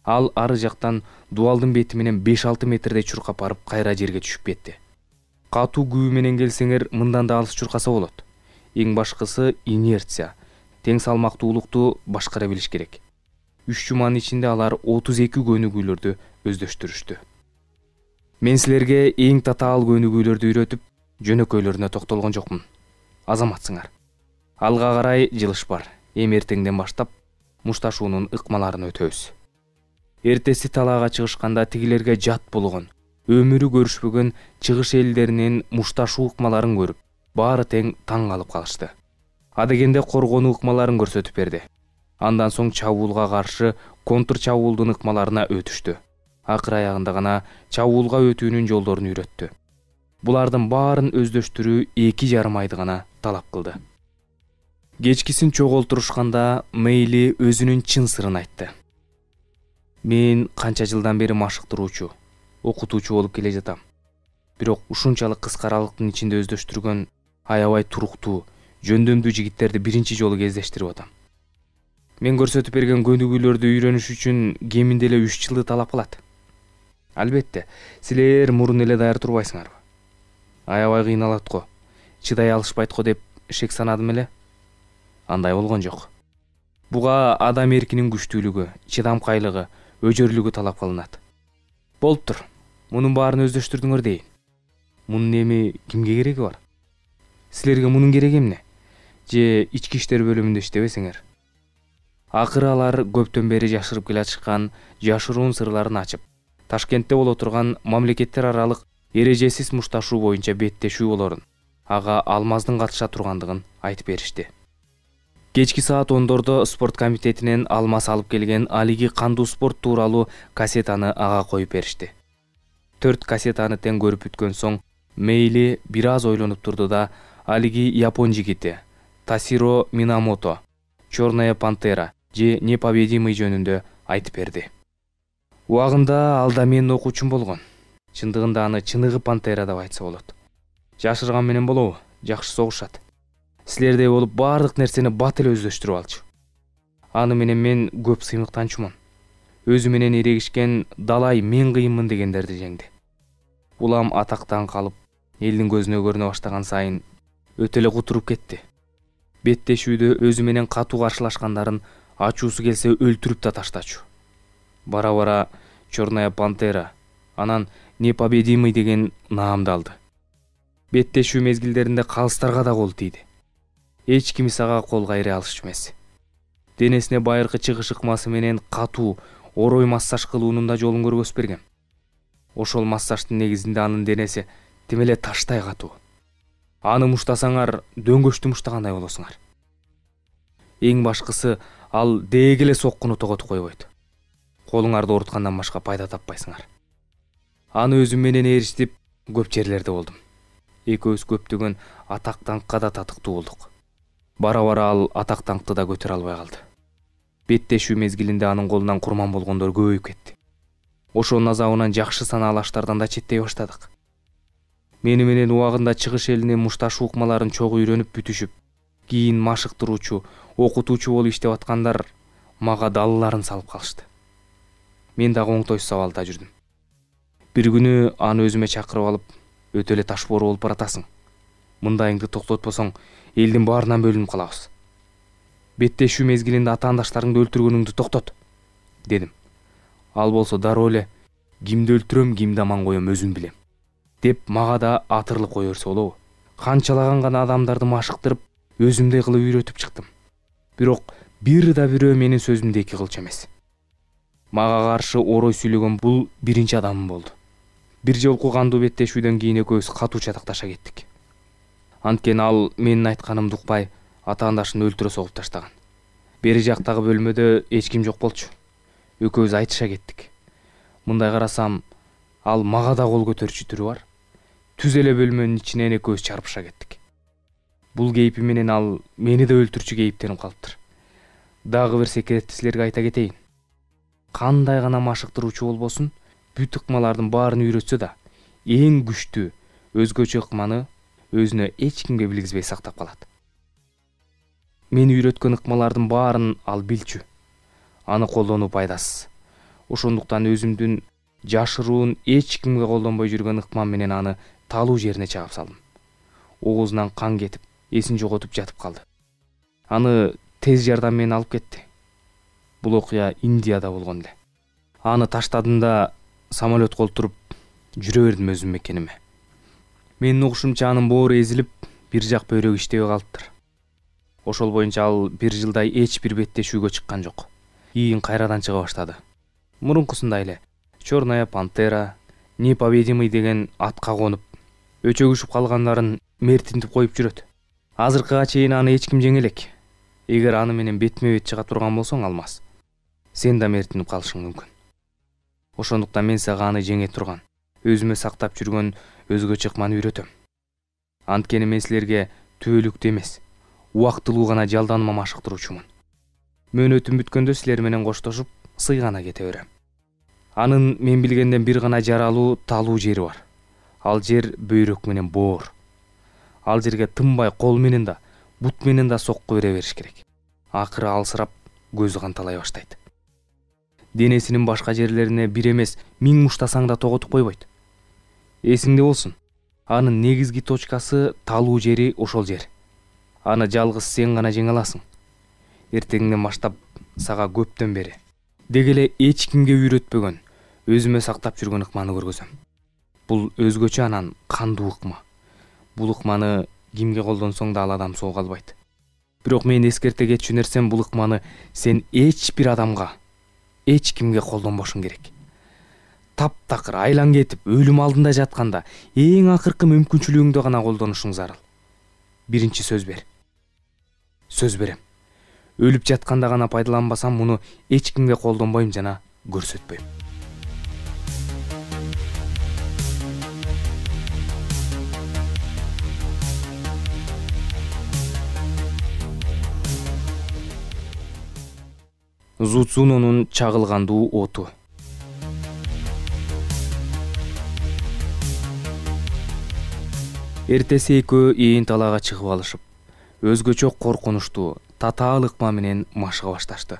Ал ары жактан дубалдын бети менен беш алты метрдей чуркап барып кайра жерге түшүп кетти. Катуу күбө менен келсеңер мындан да алыс чуркаса болот. Эң башкысы инерция. Тең салмактуулукту башкара билиш керек. үч жуманын ичинде алар отуз эки көнүгүүлөрдү өздөштүрүштү. Мен силерге эң татаал көнүгүүлөрдү үйрөтүп, жөнөкөйлөрүнө токтолгон жокмун. Азаматсыңар. Алга карай жылыш бар. Эми эртеңден баштап мушташуунун ыкмаларын өтөбүз. Эртеси талаага чыгышканда тигилерге жат болгон, өмүрү көрүшпөгөн чыгыш элдеринин мушташуу ыкмаларын көрүп, баары тең таң калып калышты. Адегенде коргонуу ыкмаларын көрсөтүп берди. Андан соң чабуулга каршы контр чабуулдун ыкмаларына өтүштү. Акыр аягында гана чабуулга өтүүнүн жолдорун үйрөттү. Булардын баарын өздөштүрүү эки жарым айды гана талап кылды. Кечкисин чогултурушканда Мейли өзүнүн чын сырын айтты. Мен канча жылдан бери машыктыруучу, окутуучу болуп келе жатам. Бирок ушунчалык кыска аралыктын ичинде өздөштүргөн аябай туруктуу, жөндөмдүү жигиттерди биринчи жолу кездештирип атам. Мен көрсөтүп берген көнүгүүлөрдү үйрөнүш үчүн кеминде эле үч жылды талап кылат. Албетте, силер мурун эле даяр турбайсыңарбы? Аябай кыйналат го, чыдай алышпайт го деп шек санадым эле. Андай болгон жок. Буга адам эркинин күчтүүлүгү, чыдамкайлыгы, өжөрлүгү талап кылынат. Болуптур. Мунун баарын өздөштүрдүңөр дейин. Мунун эми кимге кереги бар? Силерге мунун кереги эмне? Же ички иштер бөлүмүндө иштебесиңер? Акыры алар көптөн бери жашырып келатышкан жашыруун сырларын ачып, Ташкентте боло турган мамлекеттер аралык эрежесиз мушташуу боюнча беттешүү болорун, ага Алмаздын катыша тургандыгын айтып беришти. Кечки саат ондордо спорт комитетинен Алмаз алып келген алиги кандуу спорт тууралуу кассетаны ага коюп беришти. Төрт кассетаны тең көрүп бүткөн соң Мейли бир аз ойлонуп турду да алиги япон жигити Тасиро Минамото, Черная пантера же Непобедимый жөнүндө айтып берди. Убагында ал да менин окуучум болгон. Чындыгында аны чыныгы пантера деп айтса болот. Жашырган менен болобу? Жакшы согушат. Силердей болуп баардык нерсени бат эле өздөштүрүп алчу. Аны менен мен көп сыймыктанчумун. Өзү менен эрегишкен далай мен кыйынмын дегендерди жеңди. Улам атактан калып, элдин көзүнө көрүнө баштаган сайын өтө эле кутуруп кетти. Беттешүүдө өзү менен катуу каршылашкандарын ачуусу келсе өлтүрүп да таштачу. Бара-бара Черная пантера, анан Непобедимый деген наамды алды. Беттешүү мезгилдеринде калыстарга да кол тийди. Эч ким ага кол кайры алышчу эмес. Денесине байыркы чыгыш ыкмасы менен катуу орой массаж кылуунун да жолун көргөзүп берген. Ошол массаждын негизинде анын денеси тим эле таштай катуу. Аны муштасаңар дөңгөчтү муштагандай болосуңар. Эң башкысы, ал дээге эле соккуну тоготуп койбойт. Колуңарды ооруткандан башка пайда таппайсыңар. Аны өзүм менен ээрчитип көп жерлерде болдум. Экөөбүз көптөгөн атак даңкка да татыктуу болдук. Бара-бара ал атак даңкты да көтөрө албай калды. Беттешүү мезгилинде анын колунан курман болгондор көбөйүп кетти. Ошонун азабынан жакшы санаалаштардан да четтей баштадык. Мени менен убагында чыгыш элинин мушташуу ыкмаларын чогуу үйрөнүп бүтүшүп, кийин машыктыруучу, окутуучу болуп иштеп аткандар мага далыларын салып калышты. Мен дагы оңтойсуз абалда жүрдүм. Бир күнү аны өзүмө чакырып алып, өтө эле ташбоор болуп баратасың. Мындайыңды токтотпосоң, элдин баарынан бөлүнүп калабыз. Беттешүү мезгилинде атаандаштарыңды өлтүргөнүңдү токтот, дедим. Ал болсо дароо эле кимди өлтүрөм, кимди аман коем өзүм билем, деп мага да атырылып кое берсе болобу. Канчалаган гана адамдарды машыктырып, өзүмдөй кылып үйрөтүп чыктым. Бирок бир да бирөө менин сөзүмдү эки кылчу эмес. Мага каршы орой сүйлөгөн бул биринчи адамым болду. Бир жолку кандуу беттешүүдөн кийин экөөбүз катуу чатакташа кеттик. Анткени ал менин айтканымды укпай, атаандашын өлтүрө согуп таштаган. Бери жактагы бөлмөдө эч ким жок болчу. Экөөбүз айтыша кеттик. Мындай карасам, ал мага да кол көтөрчү түрү бар. Түз эле бөлмөнүн ичинен экөөбүз чарпыша кеттик. Бул кейпи менен ал мени да өлтүрчү кейиптенип калыптыр. Дагы бир секретти силерге айта кетейин. Кандай гана машыктыруучу болбосун, бүт ыкмалардын баарын үйрөтсө да, эң күчтүү өзгөчө ыкманы өзүнө эч кимге билгизбей сактап калат. Мен үйрөткөн ыкмалардын баарын ал билчү. Аны колдонуу пайдасыз. Ошондуктан өзүмдүн жашыруун эч кимге колдонбой жүргөн ыкмам менен аны талуу жерине чаап салдым. Оозунан кан кетип, эсин жоготуп жатып калды. Аны тез жардам менен алып кетти. Бул окуя Индияда болгон эле. Аны таштадым да самолетко олтуруп жүрө бердим өзүм мекениме. Менин угушумча анын боору эзилип, бир жак бөйрөгү иштебей калыптыр. Ошол боюнча ал бир жылдай эч бир беттешүүгө чыккан жок. Ийин кайрадан чыга баштады. Мурункусундай эле Черная пантера, Непобедимый деген атка конуп, өчөгүшүп калгандарын мертинтип коюп жүрөт. Азыркыга чейин аны эч ким жеңе элек. Эгер аны менен бетме бет чыга турган болсоң, Алмаз, сен да мертинип калышың мүмкүн. Ошондуктан мен сага аны жеңе турган, өзүмө сактап жүргөн өзгөчө ыкманы үйрөтөм. Анткени мен силерге түбөлүктүү эмес, убактылуу гана жалданыма машыктыруучумун. Мөөнөтүм бүткөндө силер менен коштошуп, сыйгана кете берем. Анын мен билгенден бир гана жаралуу, талуу жери бар. Ал жер бөйрөк менен боор. Ал жерге тынбай кол менен да, бут менен да сокку бере бериш керек. Акыры алсырап, көзү канталай баштайт. Денесинин башка жерлерине бир эмес, миң муштасаң да тоготуп койбойт. Эсиңде болсун, анын негизги точкасы, талуу жери ошол жер. Аны жалгыз сен гана жеңе аласың. Эртеңден баштап сага көптөн бери деги эле эч кимге үйрөтпөгөн, өзүмө сактап жүргөн ыкманы көргөзөм. Бул өзгөчө анан кандуу ыкма. Бул ыкманы кимге колдонсоң да ал адам соо калбайт. Бирок мен эскерте кетчү нерсем бул ыкманы сен эч бир адамга, эч кимге колдонбошуң керек. Таптакыр айлан кетип өлүм алдында жатканда эң акыркы мүмкүнчүлүгүңдү гана колдонушуң зарыл. Биринчи сөз бер. Сөз берем. Өлүп жатканда гана пайдаланбасам, муну эч кимге колдонбойм жана көрсөтпөйм. Зудзунонун чагылгандуу оту. Эртеси экөө ээн талаага чыгып алышып, өзгөчө коркунучтуу, татаал ыкма менен машыга башташты.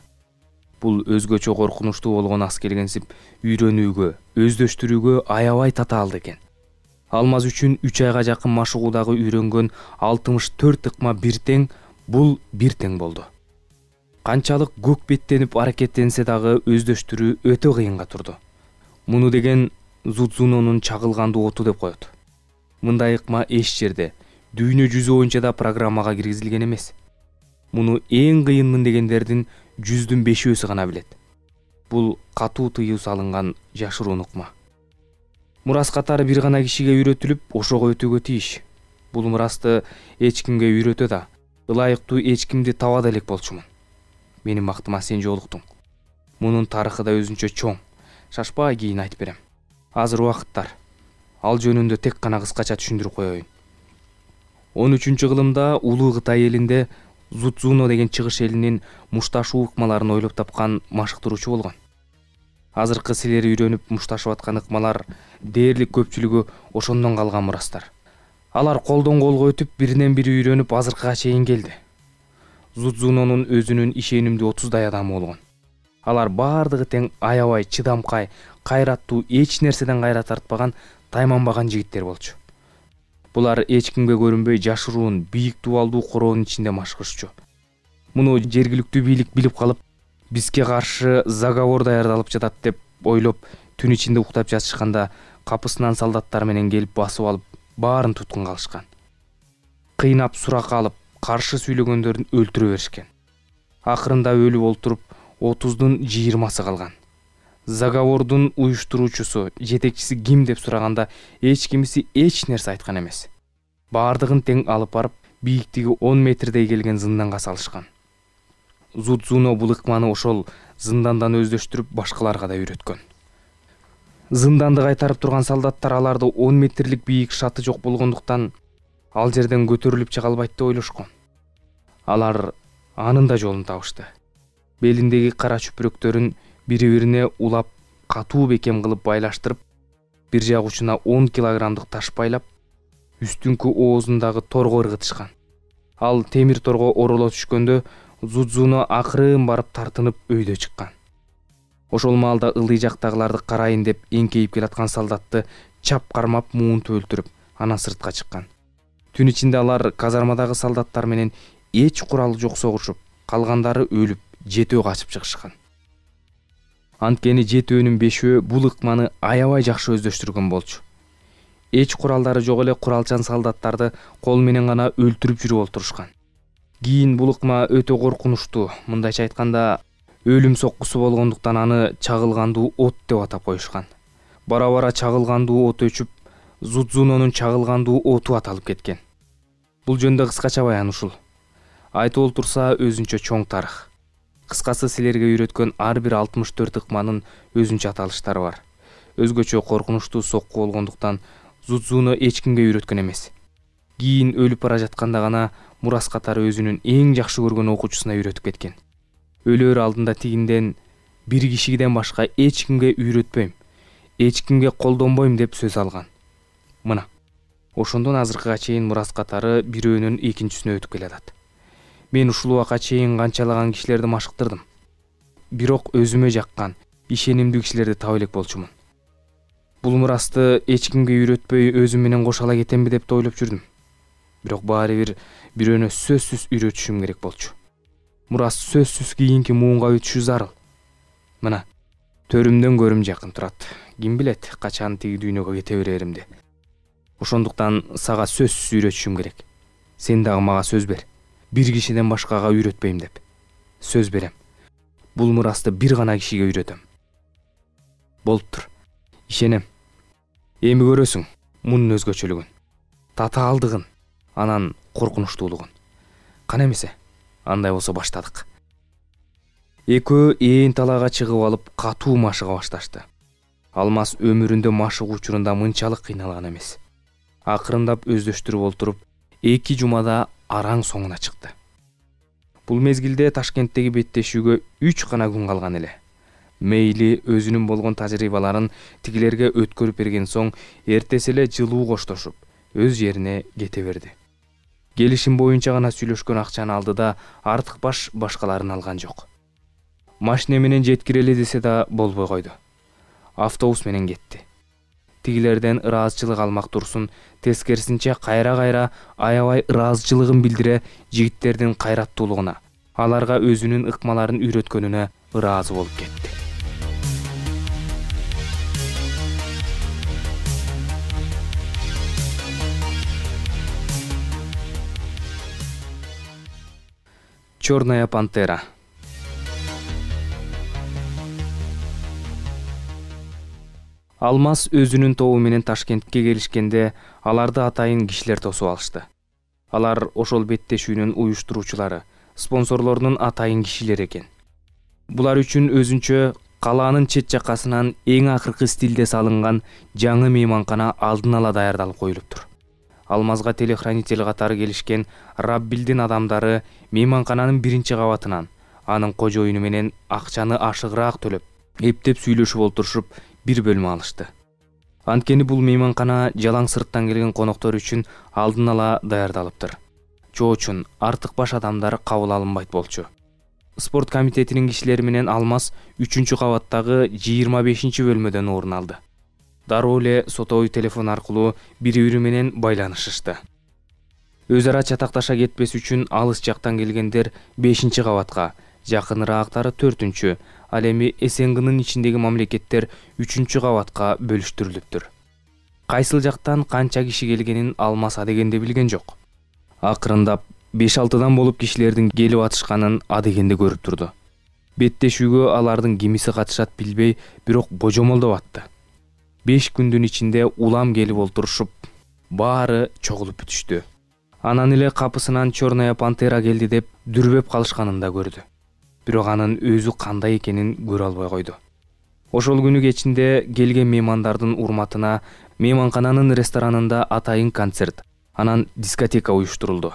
Бул өзгөчө коркунучтуу болгон ас келгенсип үйрөнүүгө, өздөштүрүүгө аябай татаалды экен. Алмаз үчүн үч айга жакын машыгуудагы үйрөнгөн алтымыш төрт ыкма бир тең, бул бир тең болду. Канчалык көк беттенип аракеттенсе дагы өздөштүрүү өтө кыйынга турду. Муну деген Зудзунонун чагылгандуу оту деп коет. Мындай ыкма эч жерде, дүйнө жүзү боюнча да программага киргизилген эмес. Муну эң кыйынмын дегендердин жүздүн бешөөсү гана билет. Бул катуу тыюу салынган жашыруун ыкма. Мурас катары бир гана кишиге үйрөтүлүп, ошого өтүүгө тийиш. Бул мурасты эч кимге үйрөтө да, ылайыктуу эч кимди таба да элек болчумун. Менин бактыма сен жолуктуң. Мунун тарыхы да өзүнчө чоң. Шашпай кийин айтып берем. Азыр убакыттар. Ал жөнүндө тек гана кыскача түшүндүрүп коеюн. он үчүнчү кылымда улуу Кытай элинде Зудзуно деген чыгыш элинин мушташуу ыкмаларын ойлоп тапкан машыктыруучу болгон. Азыркы силер үйрөнүп мушташып аткан ыкмалар дээрлик көпчүлүгү ошондон калган мурастар. Алар колдон колго өтүп, биринен бири үйрөнүп азыркыга чейин келди. Зудзунонун өзүнүн ишенимдүү отуздай адамы болгон. Алар бардыгы тең аябай чыдамкай, кайраттуу, эч нерседен кайра тартпаган, тайманбаган жигиттер болчу. Булар эч кимге көрүнбөй жашыруун, бийик дубалдуу короонун ичинде машыгышчу. Муну жергиликтүү бийлик билип калып, бизге каршы заговор даярдалып жатат деп ойлоп, түн ичинде уктап жатышканда капысынан солдаттар менен келип басып алып, баарын туткунга алышкан. Кыйнап суракка алып, каршы сүйлөгөндөрүн өлтүрө беришкен. Акырында өлүп олтуруп, отуздун жыйырмасы калган. Заговордун уюштуруучусу, жетекчиси ким деп сураганда эч кимиси эч нерсе айткан эмес. Баардыгын тең алып барып, бийиктиги он метрдей келген зынданга салышкан. Зудзуно бул ыкманы ошол зындандан өздөштүрүп башкаларга да үйрөткөн. Зынданды кайтарып турган солдаттар аларды он метрлик бийик шаты жок болгондуктан ал жерден көтөрүлүп чыга албайт деп ойлошкон. Алар анын да жолун табышты. Белиндеги кара чүпүрөктөрүн бири-бирине улап, катуу бекем кылып байлаштырып, бир жак учуна он килограммдык таш байлап, үстүңкү оозундагы торго ыргытышкан. Ал темир торго ороло түшкөндө Зудзуно акырын барып тартынып өйдө чыккан. Ошол маалда ылдый жактагыларды карайын деп эңкейип келаткан солдатты чап кармап муунтуп өлтүрүп, анан сыртка чыккан. Түн ичинде алар казармадагы солдаттар менен эч куралы жок согушуп, калгандары өлүп, жетөө качып чыгышкан. Анткени жетөөнүн бешөө бул ыкманы аябай жакшы өздөштүргөн болчу. Эч куралдары жок эле куралчан солдаттарды кол менен гана өлтүрүп жүрүп олтурушкан. Кийин бул ыкма өтө коркунучтуу, мындайча айтканда, өлүм соккусу болгондуктан аны чагылгандуу от деп атап коюшкан. Бара-бара чагылгандуу от өчүп, Зудзунонун чагылгандуу оту аталып кеткен. Бул жөнүндө кыскача баян ушул. Айтып олтурса өзүнчө чоң тарых. Кыскасы силерге үйрөткөн ар бир алтымыш төрт ыкманын өзүнчө аталыштары бар. Өзгөчө коркунучтуу сокку болгондуктан Зудзуно эч кимге үйрөткөн эмес. Кийин өлүп бара жатканда гана мурас катары өзүнүн эң жакшы көргөн окуучусуна үйрөтүп кеткен. Өлөр алдында тигинден бир кишиден башка эч кимге үйрөтпөйм, эч кимге колдонбойм деп сөз алган. Мына, ошондон азыркыга чейин мурас катары бирөөнүн экинчисине өтүп келатат. Мен ушул убакка чейин канчалаган кишилерди машыктырдым. Бирок өзүмө жаккан, ишенимдүү кишилерди таба элек болчумун. Бул мурасты эч кимге үйрөтпөй өзүм менен кошо ала кетемби деп да ойлоп жүрдүм. Бирок баары бир бирөөнө сөзсүз үйрөтүшүм керек болчу. Мурас сөзсүз кийинки муунга өтүшү зарыл. Мына, төрүмдөн көрүм жакын турат. Ким билет, качан тиги дүйнөгө кете береримди. Ошондуктан сага сөзсүз үйрөтүшүм керек. Сен дагы мага сөз бер. Бир кишиден башкага үйрөтпөйм деп. Сөз берем. Бул мурасты бир гана кишиге үйрөтөм. Болуптур. Ишенем. Эми көрөсүң мунун өзгөчөлүгүн, татаалдыгын, анан коркунучтуулугун. Кана эмесе, андай болсо баштадык. Экөө ээн талаага чыгып алып катуу машыга башташты. Алмаз өмүрүндө машык учурунда мынчалык кыйналган эмес. Акырындап өздөштүрүп олтуруп, эки жумада араң соңуна чыкты. Бул мезгилде Ташкенттеги беттешүүгө үч гана күн калган эле. Мейли өзүнүн болгон тажрыйбаларын тигилерге өткөрүп берген соң, эртеси эле жылуу коштошуп, өз жерине кете берди. Келишим боюнча гана сүйлөшкөн акчаны алды да, артык баш башкаларын алган жок. Машине менен жеткирели десе да болбой койду. Автобус менен кетти. Тигилерден ыраазычылык алмак турсун, тескерисинче кайра-кайра аябай ыраазычылыгын билдире жигиттердин кайраттуулугуна, аларга өзүнүн ыкмаларын үйрөткөнүнө ыраазы болуп кетти. Черная пантера. Алмаз өзүнүн тобу менен Ташкентке келишкенде, аларды атайын кишилер тосуп алышты. Алар ошол беттешүүнүн уюштуруучулары, спонсорлорунун атайын кишилери экен. Булар үчүн өзүнчө калаанын чет жаккасынан эң акыркы стилде салынган жаңы мейманкана алдын ала даярдалып коюлуптур. Алмазга телохранитель катары келишкен Раббилдин адамдары мейманкананын биринчи кабатынан анын кожоюну менен акчаны ашыгыраак төлөп, эптеп сүйлөшүп олтурушуп, бир бөлмө алышты. Анткени бул мейманкана жалаң сырттан келген коноктор үчүн алдын ала даярдалыптыр. Чоочун артык баш адамдар кабыл алынбайт болчу. Спорт комитетинин кишилери менен Алмаз үчүнчү кабаттагы жыйырма бешинчи бөлмөдөн орун алды. Дароо эле сотовый телефон аркылуу бири-бири менен байланышышты. Өз ара чатакташа кетпес үчүн алыс жактан келгендер бешинчи кабатка, жакыныраактары төртүнчү, ал эми СНГнын ичиндеги мамлекеттер үчүнчү кабатка бөлүштүрүлүптүр. Кайсыл жактан канча киши келгенин Алмаз адегенде билген жок. Акырындап беш алтыдан болуп кишилердин келип атышканын адегенде көрүп турду. Беттешүүгө алардын кимиси катышат билбей, бирок божомолдоп атты. Беш күндүн ичинде улам келип олтурушуп, баары чогулуп бүтүштү. Анан эле капысынан Черная пантера келди деп дүрбөп калышканын да көрдү. Бирок анын өзү кандай экенин көрө албай койду. Ошол күнү кечинде келген меймандардын урматына мейманкананын ресторанында атайын концерт, анан дискотека уюштурулду.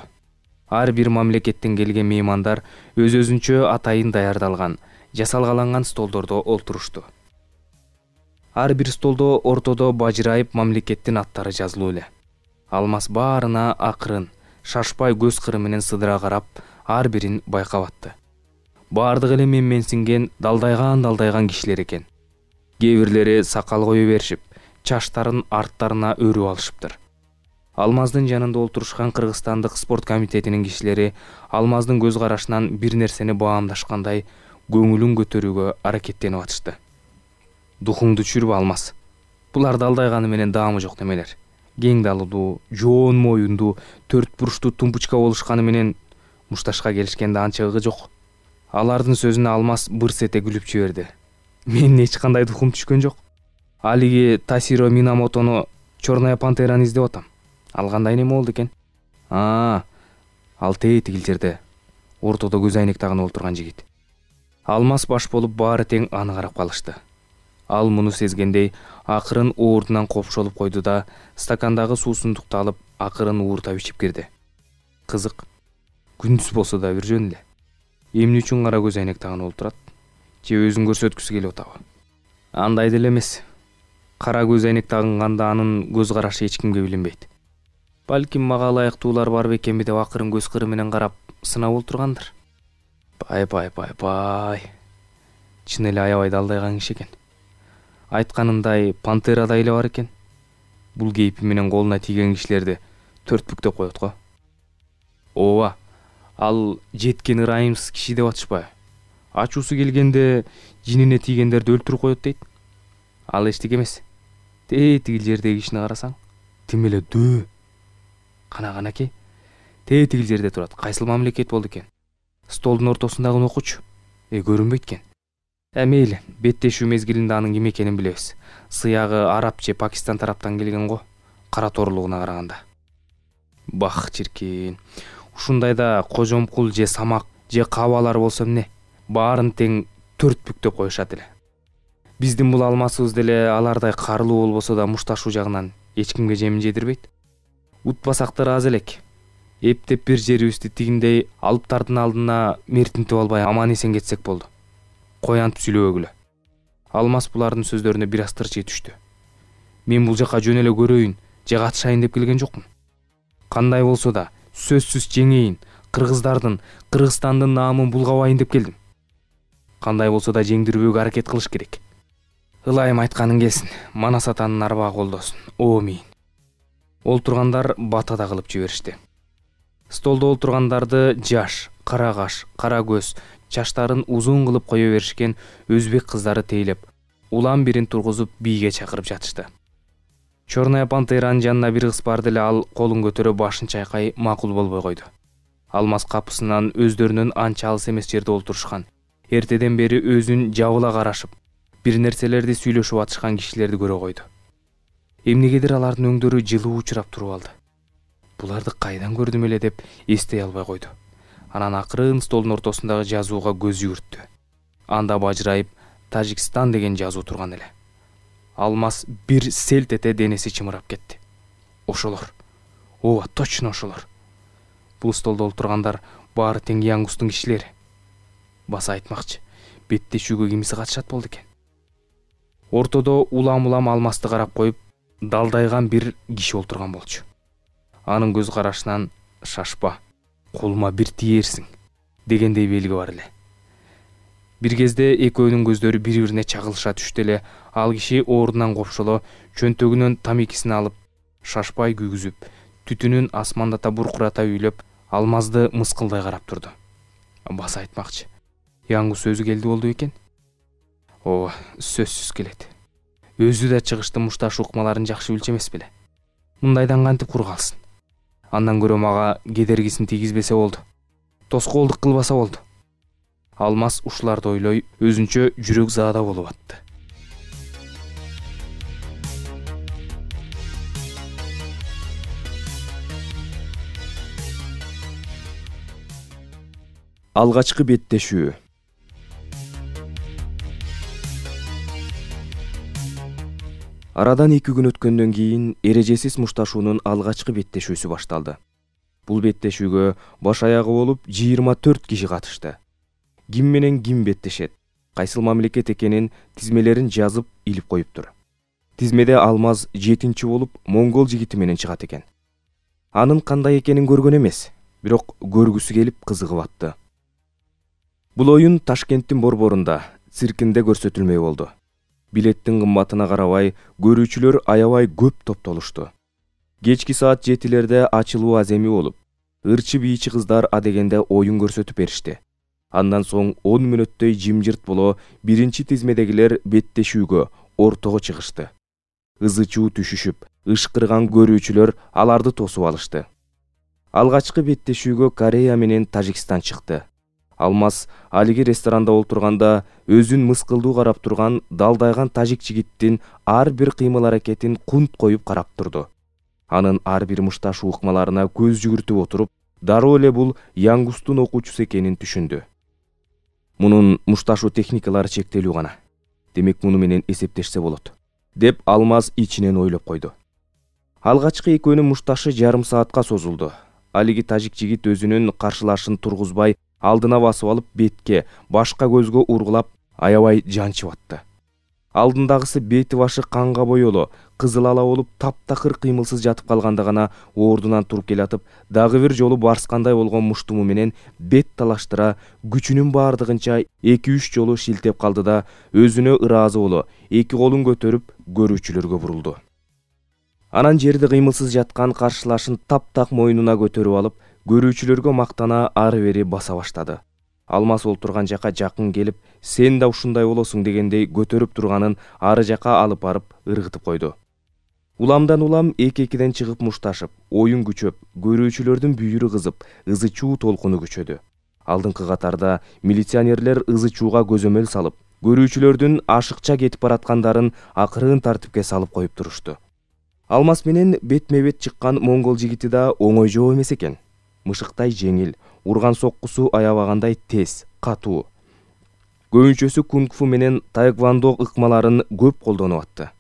Ар бир мамлекеттен келген меймандар өз-өзүнчө атайын даярдалган, жасалгаланган столдордо олтурушту. Ар бир столдо ортодо бажырайып мамлекеттин аттары жазылуу эле. Алмаз баарына акырын, шашпай көз кыры менен сыдыра карап, ар бирин байкап атты. Баардыгы эле менменсинген, далдайган-далдайган кишилер экен. Кээ бирлери сакал кое беришип, чаштарын арттарына өрүп алышыптыр. Алмаздын жанында олтурушкан Кыргызстандык спорт комитетинин кишилери Алмаздын көз карашынан бир нерсени баамдашкандай көңүлүн көтөрүүгө аракеттенип атышты. Духуңду түшүрбө, Алмаз. Булар далдайганы менен даамы жок немелер. Кең далдуу, жоон моюндуу, төрт буруштуу тумбучка болушканы менен мушташка келишкенде анча ығы жок. Алардын сөзүнө Алмаз бырс эте күлүп жиберди. Менин эч кандай духум түшкөн жок. Алиги Тасиро Минамотону Черная пантераны издеп атам. Ал кандай неме болду экен? Аа, ал тээ тигил жерде, ортодо көз айнек тагынып олтурган жигит. Алмаз баш болуп баары тең аны карап калышты. Ал муну сезгендей акырын оордунан копшолуп койду да, стакандагы суусундукту алып акырын ууртап ичип кирди. Кызык, күндүз болсо да бир жөн эле. Эмне үчүн кара көз айнек тагынып олтурат? Же өзүн көрсөткүсү келип атабы? Андай деле эмес. Кара көз айнек тагынганда анын көз карашы эч кимге билинбейт. Балким мага ылайыктуулар бар бекенби деп акырын көз кыры менен карап сынап олтургандыр. Бай бай бай бай. Чын эле аябай далдайган киши экен. Айтканындай пантерада эле бар экен. Бул кейпи менен колуна тийген кишилерди төртбүктөп коет го. Ооба, ал жеткен ырайымсыз киши деп атышпайбы? Ачуусу келгенде жинине тийгендерди өлтүрүп коет дейт. Ал эчтеке эмес. Тээ тигил жердеги кишини карасаң, тим эле дөө. Кана канаке, тээ тигил жерде турат. Кайсыл мамлекет болду экен? Столдун ортосундагы окуучу. Э көрүнбөйт экен. Э мейли, беттешүү мезгилинде анын ким экенин билебиз. Сыягы араб же Пакистан тараптан келген го, кара торлугуна караганда. Бах чиркин. Ушундайда кожомкул же самак же кабалар болсо эмне? Баарын тең төрт бүктөп коюшат эле. Биздин бул алмасыбыз деле алардай карлуу болбосо да мушташуу жагынан эч кимге жемин жедирбейт. Утпасак да ыраазы элек. Эптеп бир жерибизди тигиндей алыптардын алдына мертинтип албай аман эсен кетсек болду. Кой антип сүйлөбөгүлө. Алмас булардын сөздөрүнө бир аз тырчый түштү. Мен бул жака жөн эле көрөйүн же катышайын деп келген жокмун. Кандай болсо да сөзсүз жеңейин, кыргыздардын, Кыргызстандын наамын булгабайын деп келдим. Кандай болсо да жеңдирбөөгө аракет кылыш керек. Ылайым айтканың келсин, Манас атанын арбагы колдосун. Омин. Олтургандар батада кылып жиберишти. Столдо олтургандарды жаш, кара каш, кара көз, чаштарын узун кылып кое беришкен өзбек кыздары тейлеп, улам бирин тургузуп бийге чакырып жатышты. Чорная пантеранын жанына бир кыз барды эле, ал колун көтөрө башын чайкай макул болбой койду. Алмас капысынан өздөрүнүн анча алыс эмес жерде олтурушкан, эртеден бери өзүн жабыла карашып, бир нерселерди сүйлөшүп атышкан кишилерди көрө койду. Эмнегедир алардын өңдөрү жылуу учурап туруп алды. Буларды кайдан көрдүм эле деп эстей албай койду. Анан акырын столдун ортосундагы жазууга көз жүгүрттү. Анда бажырайып Тажикстан деген жазуу турган эле. Алмас бир селт эте денеси чымырап кетти. Ошолор. Ооба, точно ошолор. Бул столдо олтургандар баары тең Янгустун кишилери. Баса айтмакчы, беттешүүгө кимиси катышат болду экен. Ортодо улам-улам Алмасты карап коюп, далдайган бир киши олтурган болчу. Анын көз карашынан шашпа, колума бир тиерсиң дегендей белги бар эле. Бир кезде экөөнүн көздөрү бири-бирине чагылыша түштү эле. Ал киши ордунан копшоло чөнтөгүнөн тамекисин алып, шашпай күйгүзүп, түтүнүн асмандата буркурата үйлөп, Алмазды мыскылдай карап турду. Баса айтмакчы, Янгус өзү келди болду экен. Ооба, сөзсүз келет. Өзү да чыгыштын мушташ укмаларын жакшы билчү эмес беле. Мындайдан кантип кур калсын. Андан көрө мага кедергисин тийгизбесе болду. Тоскоолдук кылбаса болду. Алмас ушуларды ойлой, өзүнчө жүрөк заада болуп атты. Алгачкы беттешүү. Арадан эки күн өткөндөн кийин эрежесиз мушташуунун алгачкы беттешүүсү башталды. Бул беттешүүгө баш аягы болуп жыйырма төрт киши катышты. Ким менен ким беттешет, кайсыл мамлекет экенин тизмелерин жазып илип коюптур. Тизмеде Алмаз жетинчи болуп монгол жигити менен чыгат экен. Анын кандай экенин көргөн эмес, бирок көргүсү келип кызыгып атты. Бул оюн Ташкенттин борборунда, циркинде көрсөтүлмөй болду. Билеттин кымбатына карабай, көрүүчүлөр аябай көп топтолушту. Кечки саат жетилерде ачылуу аземи болуп, ырчы бийчи кыздар адегенде оюн көрсөтүп беришти. Андан соң он мүнөттөй жимжырт боло биринчи тизмедегилер беттешүүгө, ортого чыгышты. Ызы-чуу түшүшүп, ышкырган көрүүчүлөр аларды тосуп алышты. Алгачкы беттешүүгө Корея менен Тажикстан чыкты. Алмаз алиги ресторанда олтурганда өзүн мыскылдуу карап турган далдайган тажик жигиттин ар бир кыймыл-аракетин кунт коюп карап турду. Анын ар бир мушташ укмаларына көз жүгүртүп отуруп, дароо эле бул Янгустун окуучусу экенин түшүндү. Мунун мушташуу техникалары чектелүү гана. Демек муну менен эсептешсе болот, деп Алмаз ичинен ойлоп койду. Алгачкы экөөнүн мушташы жарым саатка созулду. Алиги тажик жигит өзүнүн каршылашын тургузбай, алдына басып алып бетке, башка көзгө ургулап, аябай жанчып атты. Алдындагысы бети башы канга боело, кызыл ала болуп таптакыр кыймылсыз жатып калганда гана ордунан туруп келатып, дагы бир жолу барскандай болгон муштуму менен бет талаштыра, күчүнүн баардыгынча эки үч жолу шилтеп калды да, өзүнө ыраазы боло, эки колун көтөрүп көрүүчүлөргө бурулду. Анан жерде кыймылсыз жаткан каршылашын таптак мойнуна көтөрүп алып, көрүүчүлөргө мактана ары бери баса баштады. Алмаз олтурган жака жакын келип, сен да ушундай болосуң дегендей көтөрүп турганын ары жака алып барып ыргытып койду. Уламдан улам эки-экиден чыгып мушташып, оюн күчөп, көрүүчүлөрдүн бүйүрү кызып, ызы чуу толкуну күчөдү. Алдыңкы катарда милиционерлер ызы чууга көзөмөл салып, көрүүчүлөрдүн ашыкча кетип бараткандарын акырын тартипке салып коюп турушту. Алмаз менен бетме-бет чыккан моңгол жигити да оңой жоо эмес экен. Мышыктай жеңил, урган соккусу аябагандай тез, катуу. Көбүнчөсү кунг-фу менен таэквондо ыкмаларын көп колдонуп атты.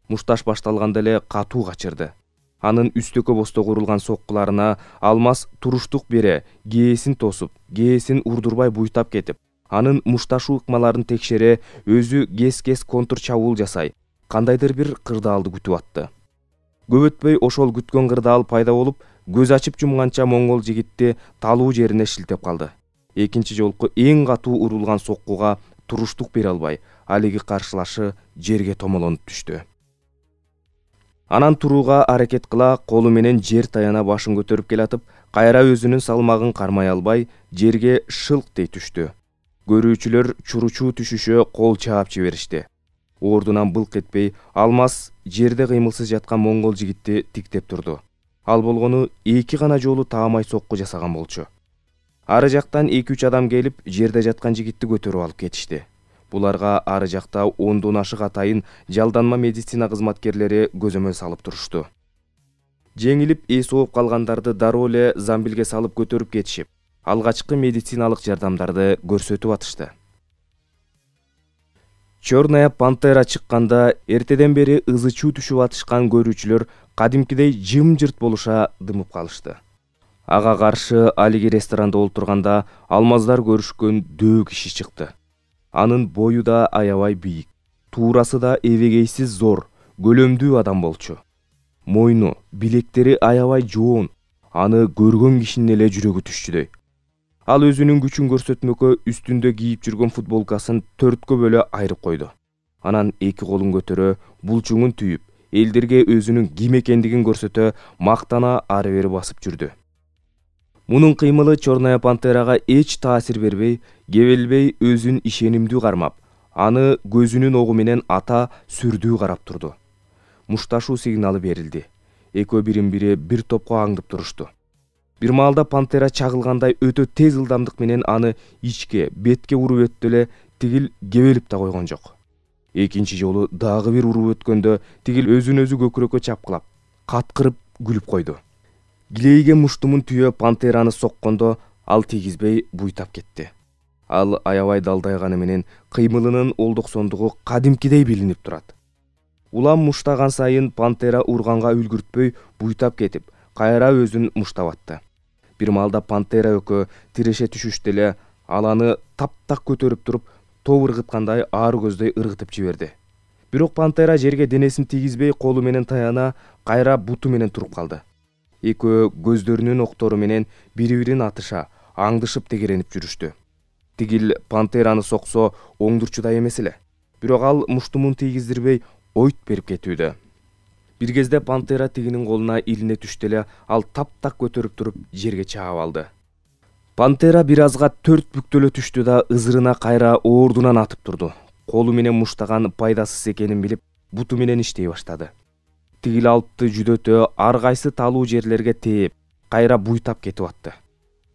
Мушташ башталганда эле катуу качырды. Анын үстөкө бостого урулган соккуларына Алмаз туруштук бере, кээсин тосуп, кээсин урдурбай буйтап кетип, анын мушташуу ыкмаларын текшере, өзү кес-кес контр чабуул жасай, кандайдыр бир кырдаалды күтүп атты. Көп өтпөй ошол күткөн кырдаал пайда болуп, көз ачып жумганча моңгол жигитти талуу жерине шилтеп калды. Экинчи жолку эң катуу урулган соккуга туруштук бере албай, алиги каршылашы жерге томолонуп түштү. Анан турууга аракет кыла, колу менен жер таяна башын көтөрүп келатып, кайра өзүнүн салмагын кармай албай, жерге шылк дей түштү. Көрүүчүлөр чуручуу түшүшө кол чаап жиберишти. Ордунан былк этпей, Алмаз жерде кыймылсыз жаткан моңгол жигитти тиктеп турду. Ал болгону эки гана жолу таамай сокку жасаган болчу. Ары жактан эки-үч адам келип, жерде жаткан жигитти көтөрүп алып кетишти. Буларга ары жакта ондон ашык атайын жалданма медицина кызматкерлери көзөмөл салып турушту. Жеңилип эс ооп калгандарды дароо эле замбилге салып көтөрүп кетишип, алгачкы медициналык жардамдарды көрсөтүп атышты. Чёрная пантера чыкканда эртеден бери ызы чуу түшүп атышкан көрүүчүлөр кадимкидей жым-жырт болуша дымып калышты. Ага каршы алиги ресторанда олтурганда Алмаздар көрүшкөн дөө киши чыкты. Анын бою да аябай бийик, туурасы да эбегейсиз зор, көлөмдүү адам болчу. Мойну, билектери аябай жоон, аны көргөн кишинин эле жүрөгү түшчүдөй. Ал өзүнүн күчүн көрсөтмөккө үстүндө кийип жүргөн футболкасын төрткө бөлө айрып койду. Анан эки колун көтөрө, булчуңун түйүп, элдерге өзүнүн ким экендигин көрсөтө, мактана ары бери басып жүрдү. Мунун кыймылы Чёрная пантерага эч таасир бербей, кебелбей өзүн ишенимдүү кармап, аны көзүнүн огу менен ата сүрдүү карап турду. Мушташуу сигналы берилди. Экөө бирин-бири бир топко аңдып турушту. Бир маалда пантера чагылгандай өтө тез ылдамдык менен аны ичке, бетке уруп өттү эле, тигил кебелип да койгон жок. Экинчи жолу дагы бир уруп өткөндө тигил өзүн өзү көкүрөккө чапкылап, каткырып күлүп койду. Гилейге муштумун түйө пантераны соккондо ал тийгизбей буйтап кетти. Ал аябай далдайганы менен кыймылынын олдоксондугу кадимкидей билинип турат. Улам муштаган сайын пантера урганга үлгүртпөй буйтап кетип, кайра өзүн муштап атты. Бир маалда пантера өкө тиреше түшүштү эле, ал аны таптак көтөрүп туруп, топ ыргыткандай аар көздөй ыргытып жиберди. Бирок пантера жерге денесин тийгизбей колу менен таяна, кайра буту менен туруп калды. Экөө көздөрүнүн октору менен бири-бирин атыша, аңдышып тегеренип жүрүштү. Тигил пантераны соксо оңдурчудай эмес эле. Бирок ал муштумун тийгиздирбей ойт берип кетүүдө. Бир кезде пантера тигинин колуна илине түштү эле, ал таптак көтөрүп туруп жерге чаап алды. Пантера бир азга төрт бүктөлө түштү да ызырына кайра ордунан атып турду. Колу менен муштаган пайдасыз экенин билип, буту менен иштей баштады. Тигил алыпты жүдөтө, ар кайсы талуу жерлерге тээп, кайра буйтап кетип атты.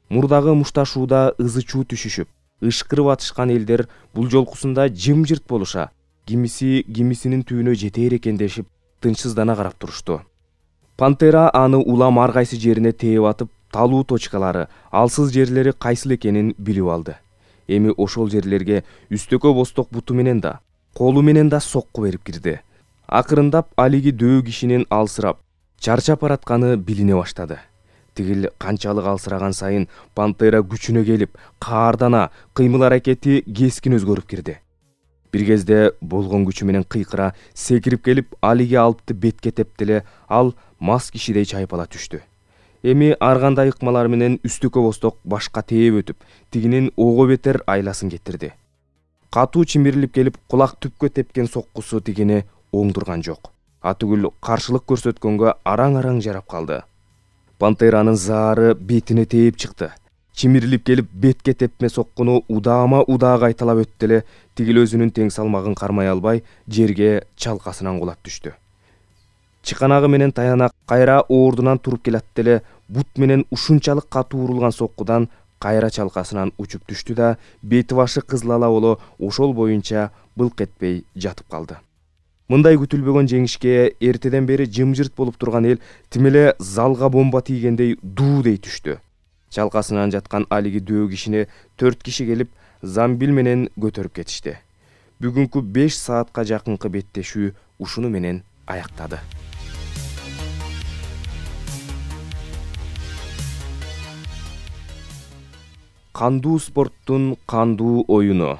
Мурдагы мушташууда ызы чуу түшүшүп, ышкырып атышкан элдер бул жолкусунда жым-жырт болуша, кимиси кимисинин түбүнө жетээр экендешип, тынчсыздана карап турушту. Пантера аны улам ар кайсы жерине тээп атып, талуу точкалары, алсыз жерлери кайсыл экенин билип алды. Эми ошол жерлерге үстөкө босток буту менен да, колу менен да сокку берип кирди. Акырындап алиги дөө кишинин алсырап, чарчап баратканы билине баштады. Тигил канчалык алсыраган сайын пантера күчүнө келип, каардана, кыймыл аракети кескин өзгөрүп кирди. Бир кезде болгон күчү менен кыйкыра секирип келип, алиги алыпты бетке тепти эле, ал мас кишидей чайпала түштү. Эми ар кандай ыкмалар менен үстөкө босток башка тээп өтүп, тигинин ого бетер айласын кетирди. Катуу чимирилип келип, кулак түпкө тепкен соккусу тигини оңдурган жок. Атүгүл каршылык көрсөткөнгө араң-араң жарап калды. Пантеранын заары бетине тээп чыкты. Чимирилип келип, бетке тепме соккуну удаама удаа кайталап өттү эле, тигил өзүнүн тең салмагын кармай албай, жерге чалкасынан кулап түштү. чыканагы менен таянак кайра ордунан туруп келат деле бут менен ушунчалык катуу урулган соккудан кайра чалкасынан учуп түштү да бети башы кызыл ала боло ошол боюнча былк этпей жатып калды. Мындай күтүлбөгөн жеңишке эртеден бери жымжырт болуп турган эл тим эле залга бомба тийгендей дуу дей түштү. Чалкасынан жаткан алиги дөө кишини төрт киши келип замбил менен көтөрүп кетишти. Бүгүнкү беш саатка жакынкы беттешүү ушуну менен аяктады. Кандуу спорттун кандуу оюну.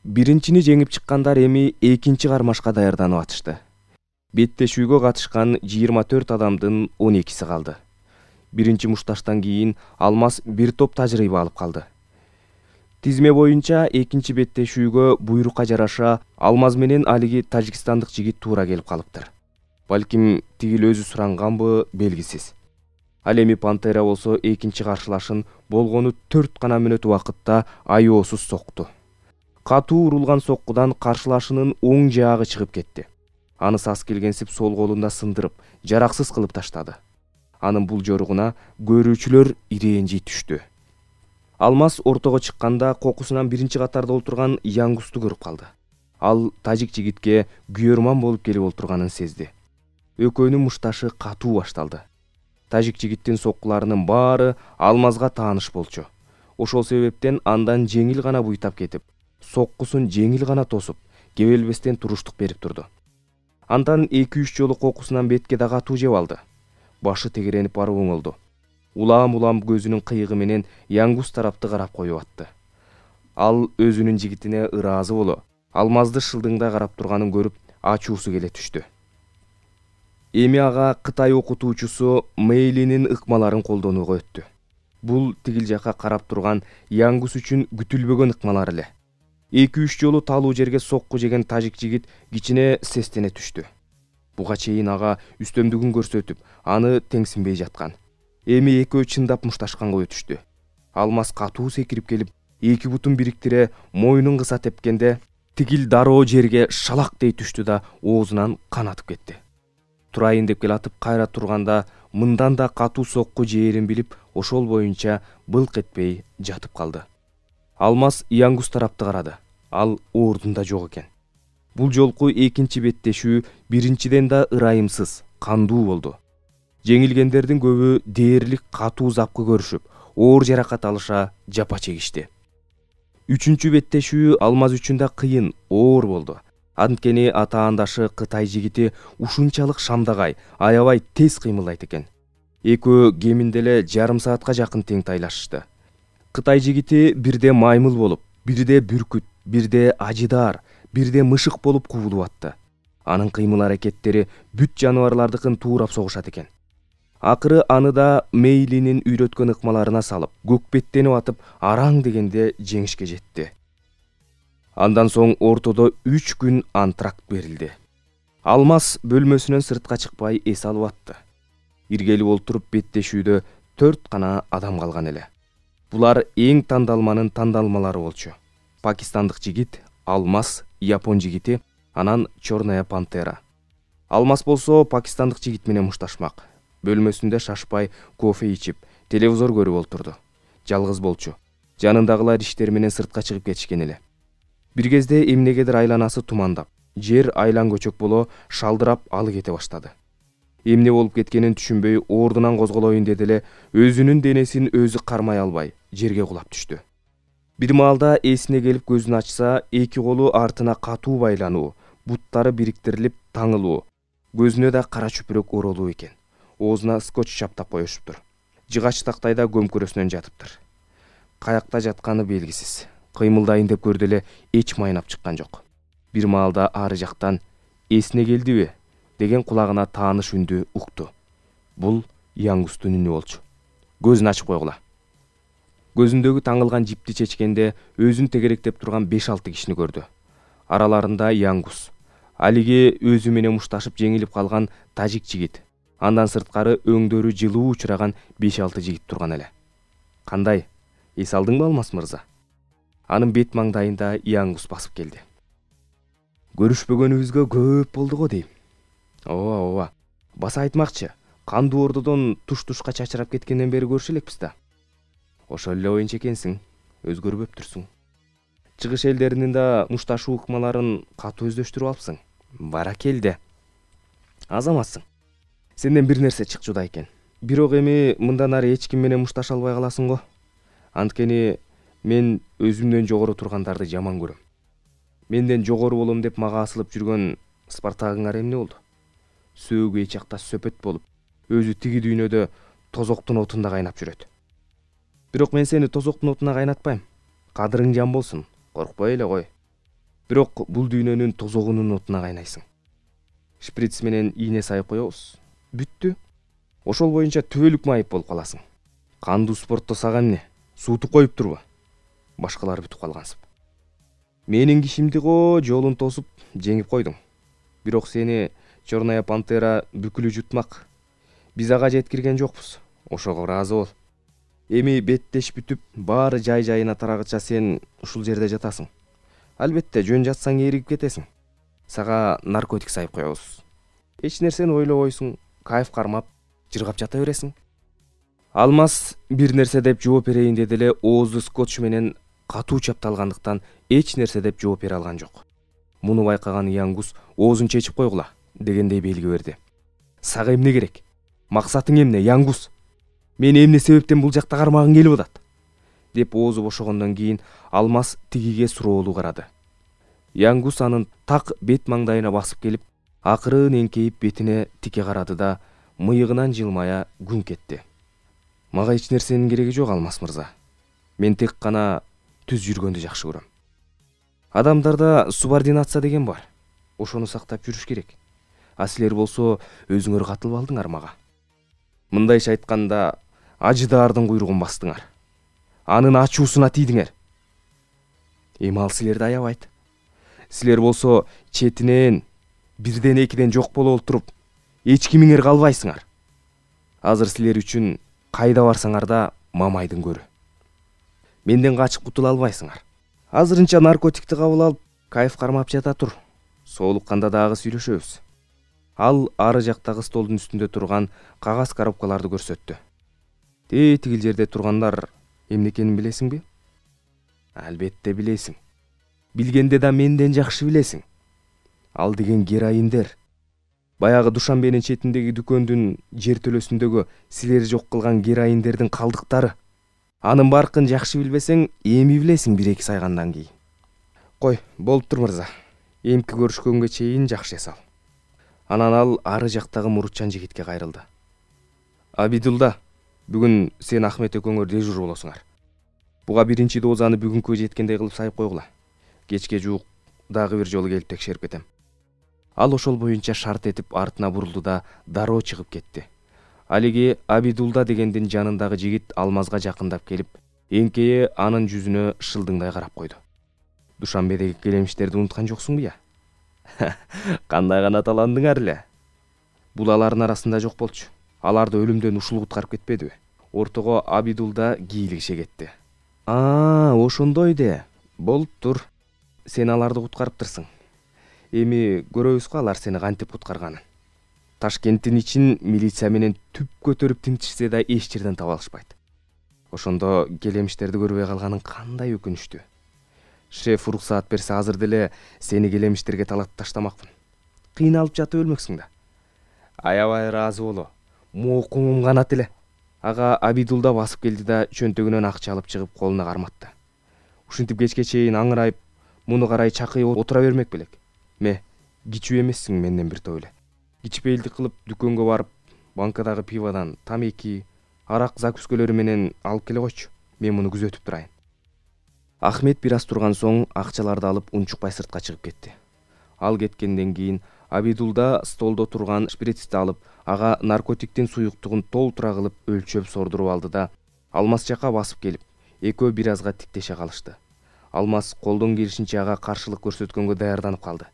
Биринчини жеңип чыккандар эми экинчи кармашка даярданып атышты. Беттешүүгө катышкан жыйырма төрт адамдын он экиси калды. Биринчи мушташтан кийин Алмаз бир топ тажрыйба алып калды. Тизме боюнча экинчи беттешүүгө буйрукка жараша Алмаз менен алиги тажикстандык жигит туура келип калыптыр. Балким тигил өзү суранганбы белгисиз. Ал эми Пантера болсо экинчи каршылашын болгону төрт гана мүнөт убакытта аеосуз сокту. Катуу урулган соккудан каршылашынын оң жаагы чыгып кетти. Аны сас келгенсип сол колунда сындырып, жараксыз кылып таштады. Анын бул жоругуна көрүүчүлөр ирээни түштү. Алмаз ортого чыкканда кокусунан биринчи катарда отурган Янгусту көрүп калды. Ал тажик жигитке күйөрман болуп келип отурганын сезди. Экөөнүн мушташы катуу башталды. Тажик жигиттин соккуларынын баары Алмазга тааныш болчу. Ошол себептен андан жеңил гана буйтап кетип, соккусун жеңил гана тосуп, кебелбестен туруштук берип турду. Андан эки үч жолу кокусунан бетке да катуу жеп алды. Башы тегеренип барып оңолду. Улам-улам көзүнүн кыйыгы менен Янгус тарапты карап коюп атты. Ал өзүнүн жигитине ыраазы боло, Алмазды шылдыңда карап турганын көрүп, ачуусу келе түштү. Эми ага Кытай окутуучусу Мэйлинин ыкмаларын колдонууга өттү. Бул тигил жака карап турган Янгус үчүн күтүлбөгөн ыкмалар эле. эки үч жолу талуу жерге сокку жеген тажик жигит кичине сестене түштү. Буга чейин ага үстөмдүгүн көрсөтүп, аны теңсинбей жаткан. Эми экөө чындап мушташканга өтүштү. Алмаз катуу секирип келип, эки бутун бириктире мойнун кыса тепкенде, тигил дароо жерге шалак дей түштү да оозунан кан атып кетти. Турайын деп келатып кайра турганда, мындан да катуу сокку жээрин билип, ошол боюнча былк этпей жатып калды. Алмаз Янгус тарапты карады. Ал ордунда жок экен. Бул жолку экинчи беттешүү биринчиден да ырайымсыз, кандуу болду. Жеңилгендердин көбү дээрлик катуу запкы көрүшүп, оор жаракат алыша жапа чегишти. Үчүнчү беттешүү Алмаз үчүн да кыйын, оор болду. Анткени атаандашы Кытай жигити ушунчалык шамдагай, аябай тез кыймылдайт экен. Экөө кеминде эле жарым саатка жакын тең тайлашышты. Кытай жигити бирде маймыл болуп, бирде бүркүт, бирде ажыдар, бирде мышык болуп кубулуп атты. Анын кыймыл аракеттери бүт жаныбарлардыкын туурап согушат экен. Акыры аны да Мэйлинин үйрөткөн ыкмаларына салып, көкпеттенип атып, араң дегенде жеңишке жетти. Андан соң ортодо үч күн антракт берилди. Алмаз бөлмөсүнөн сыртка чыкпай эс алып атты. Иргелип олтуруп беттешүүдө төрт гана адам калган эле. Булар эң тандалманын тандалмалары болчу. Пакистандык жигит, Алмаз, Япон жигити, анан Чорная пантера. Алмаз болсо пакистандык жигит менен мушташмак. Бөлмөсүндө шашпай кофе ичип, телевизор көрүп олтурду. Жалгыз болчу. Жанындагылар иштери менен сыртка чыгып кетишкен эле. Бир кезде эмнегедир айланасы тумандап, жер айлан көчөк боло шалдырап алы кете баштады. Эмне болуп кеткенин түшүнбөй ордунан козголоюн деди эле, өзүнүн денесин өзү кармай албай жерге кулап түштү. Бир маалда эсине келип көзүн ачса, эки колу артына катуу байлануу, буттары бириктирилип таңылуу, көзүнө да кара чүпүрөк оролуу экен. Оозуна скотч чаптап коюшуптур. Жыгач тактайда көмкөрөсүнөн жатыптыр. Каякта жатканы белгисиз. Кыймылдайын деп көрдү эле, эч майнап чыккан жок. Бир маалда ары жактан эсине келдиби деген кулагына тааныш үндү укту. Бул Янгустун үнү болчу. Көзүн ачып койгула. Көзүндөгү таңылган жипти чечкенде өзүн тегеректеп турган беш алты кишини көрдү. Араларында Янгус, алиги өзү менен мушташып жеңилип калган тажик жигит, андан сырткары өңдөрү жылуу учураган беш алты жигит турган эле. Кандай? Эс алдыңбы, Алмаз мырза? анын бет маңдайында Янгус басып келди. Көрүшпөгөнүбүзгө көп болду го дейм. Ооба, ооба. Баса айтмакчы, кандуу ордодон туш-тушка чачырап кеткенден бери көрүшө элекпиз да. Ошол эле оюнчу экенсиң, өзгөрбөптүрсүң. Чыгыш элдеринин да мушташуу ыкмаларын катуу өздөштүрүп алыпсың. Баракелде. Азаматсың. Сенден бир нерсе чыкчуда экен. Бирок эми мындан ары эч ким менен мушташа албай каласың го. Анткени мен өзүмдөн жогору тургандарды жаман көрөм. Менден жогору болом деп мага асылып жүргөн Спартагыңар эмне болду? Сөөгү эч жакта сөпөт болуп, өзү тиги дүйнөдө тозоктун отунда кайнап жүрөт. Бирок мен сени тозоктун отуна кайнатпайм. Кадырың жан болсун, коркпой эле кой. Бирок бул дүйнөнүн тозогунун отуна кайнайсың. Шприц менен ийне сайып коебуз. Бүттү. Ошол боюнча түбөлүк майып болуп каласың. Кандуу спортто сага эмне? Суутуп коюп турбу? Башкалар бүтүп калгансып. Менин кишимди го жолун тосуп жеңип койдуң. Бирок сени Черная пантера бүкүлү жутмак. Биз ага жеткирген жокпуз. Ошого ыраазы бол. Эми беттеш бүтүп, баары жай-жайына тарагыча сен ушул жерде жатасың. Албетте, жөн жатсаң эригип кетесиң. Сага наркотик сайып коебуз. Эч нерсени ойлобойсуң, кайф кармап, жыргап жата бересиң. Алмаз бир нерсе деп жооп берейин деди эле оозу скотч менен катуу чапталгандыктан эч нерсе деп жооп бере алган жок. Муну байкаган Янгус оозун чечип койгула дегендей белги берди. Сага эмне керек? Максатың эмне, Янгус? Мени эмне себептен бул жакта кармагың келип атат? Деп оозу бошогондон кийин Алмаз тигиге суроолуу карады. Янгус анын так бет маңдайына басып келип, акырын эңкейип бетине тике карады да, мыйыгынан жылмая күн кетти. Мага эч нерсенин кереги жок, Алмаз мырза. Мен тек гана түз жүргөндү жакшы көрөм. Адамдарда субординация деген бар. Ошону сактап жүрүш керек. А силер болсо өзүңөр катылып алдыңар мага. Мындайча айтканда, ажыдаардын куйругун бастыңар. Анын ачуусуна тийдиңер. Эми ал силерди аябайт. Силер болсо четинен бирден экиден жок боло олтуруп, эч кимиңер калбайсыңар. Азыр силер үчүн кайда барсаңар да Мамайдын көрү. Менден качып кутула албайсыңар. Азырынча наркотикти кабыл алып, кайф кармап жата тур. Соолукканда дагы сүйлөшөбүз. Ал ары жактагы столдун үстүндө турган кагаз коробкаларды көрсөттү. Те тигил жерде тургандар эмне экенин билесиңби? Албетте билесиң. Билгенде да менден жакшы билесиң. Ал деген героиндер. Баягы Душанбенин четиндеги дүкөндүн жертөлөсүндөгү силер жок кылган героиндердин калдыктары. Анын баркын жакшы билбесең, эми билесиң бир эки сайгандан кийин. Кой, болуптур мырза. Эмки көрүшкөнгө чейин жакшы эс ал. Анан ал ары жактагы мурутчан жигитке кайрылды. Абидулда, бүгүн сен Ахмет экөөңөр дежур болосуңар. Буга биринчи дозаны бүгүнкү жеткендей кылып сайып койгула. Кечке жуук дагы бир жолу келип текшерип кетем. Ал ошол боюнча шарт этип артына бурулду да дароо чыгып кетти. Алиги Абидулда дегендин жанындагы жигит Алмазга жакындап келип, эңкейе анын жүзүнө шылдыңдай карап койду. Душанбедеги келемиштерди унуткан жоксуңбу я? Кандай гана таландыңар эле. Бул алардын арасында жок болчу. Аларды өлүмдөн ушул куткарып кетпедиби? Ортого Абидулда кийлигише кетти. А, ошондой де. Болуптур. Сен аларды куткарыптырсың. Эми көрөбүз го алар сени кантип куткарганын. Ташкенттин ичин милиция менен түп көтөрүп тинтишсе да эч жерден таба алышпайт. Ошондо келемиштерди көрбөй калганың кандай өкүнүчтүү. Шеф уруксаат берсе азыр деле сени келемиштерге талатып таштамакмын. Кыйналып жатып өлмөксүң да. Аябай ыраазы боло. Моокуңум канат эле. Ага Абидулда басып келди да чөнтөгүнөн акча алып чыгып колуна карматты. Ушинтип кечке чейин аңырайып, муну карай чакыйып отура бермек белек. Ме, кичүү эмессиң менден бир топ эле. Кичпейилдик кылып дүкөнгө барып, банкадагы пиводан тамеки, арак закускөлөрү менен алып келе койчу. Мен муну күзөтүп турайын. Ахмет бир аз турган соң акчаларды алып унчукпай сыртка чыгып кетти. Ал кеткенден кийин Абидулда столдо турган шприцти алып, ага наркотиктин суюктугун толтура кылып өлчөп сордуруп алды да Алмаз жака басып келип, экөө бир азга тиктеше калышты. Алмаз колдон келишинче ага каршылык көрсөткөнгө даярданып калды.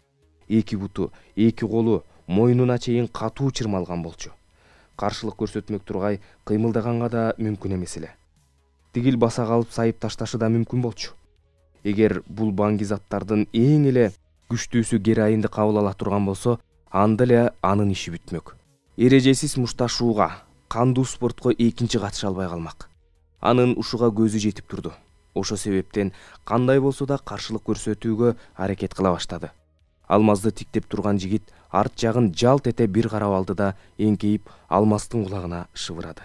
Эки буту, эки колу мойнуна чейин катуу чырмалган болчу. Каршылык көрсөтмөк тургай кыймылдаганга да мүмкүн эмес эле. Тигил баса калып сайып ташташы да мүмкүн болчу. Эгер бул баңгизаттардын эң эле күчтүүсү героинди кабыл ала турган болсо, анда эле анын иши бүтмөк. Эрежесиз мушташууга, кандуу спортко экинчи катыша албай калмак. Анын ушуга көзү жетип турду. Ошо себептен кандай болсо да каршылык көрсөтүүгө аракет кыла баштады. Алмазды тиктеп турган жигит арт жагын жалт эте бир карап алды да эңкейип Алмаздын кулагына шыбырады.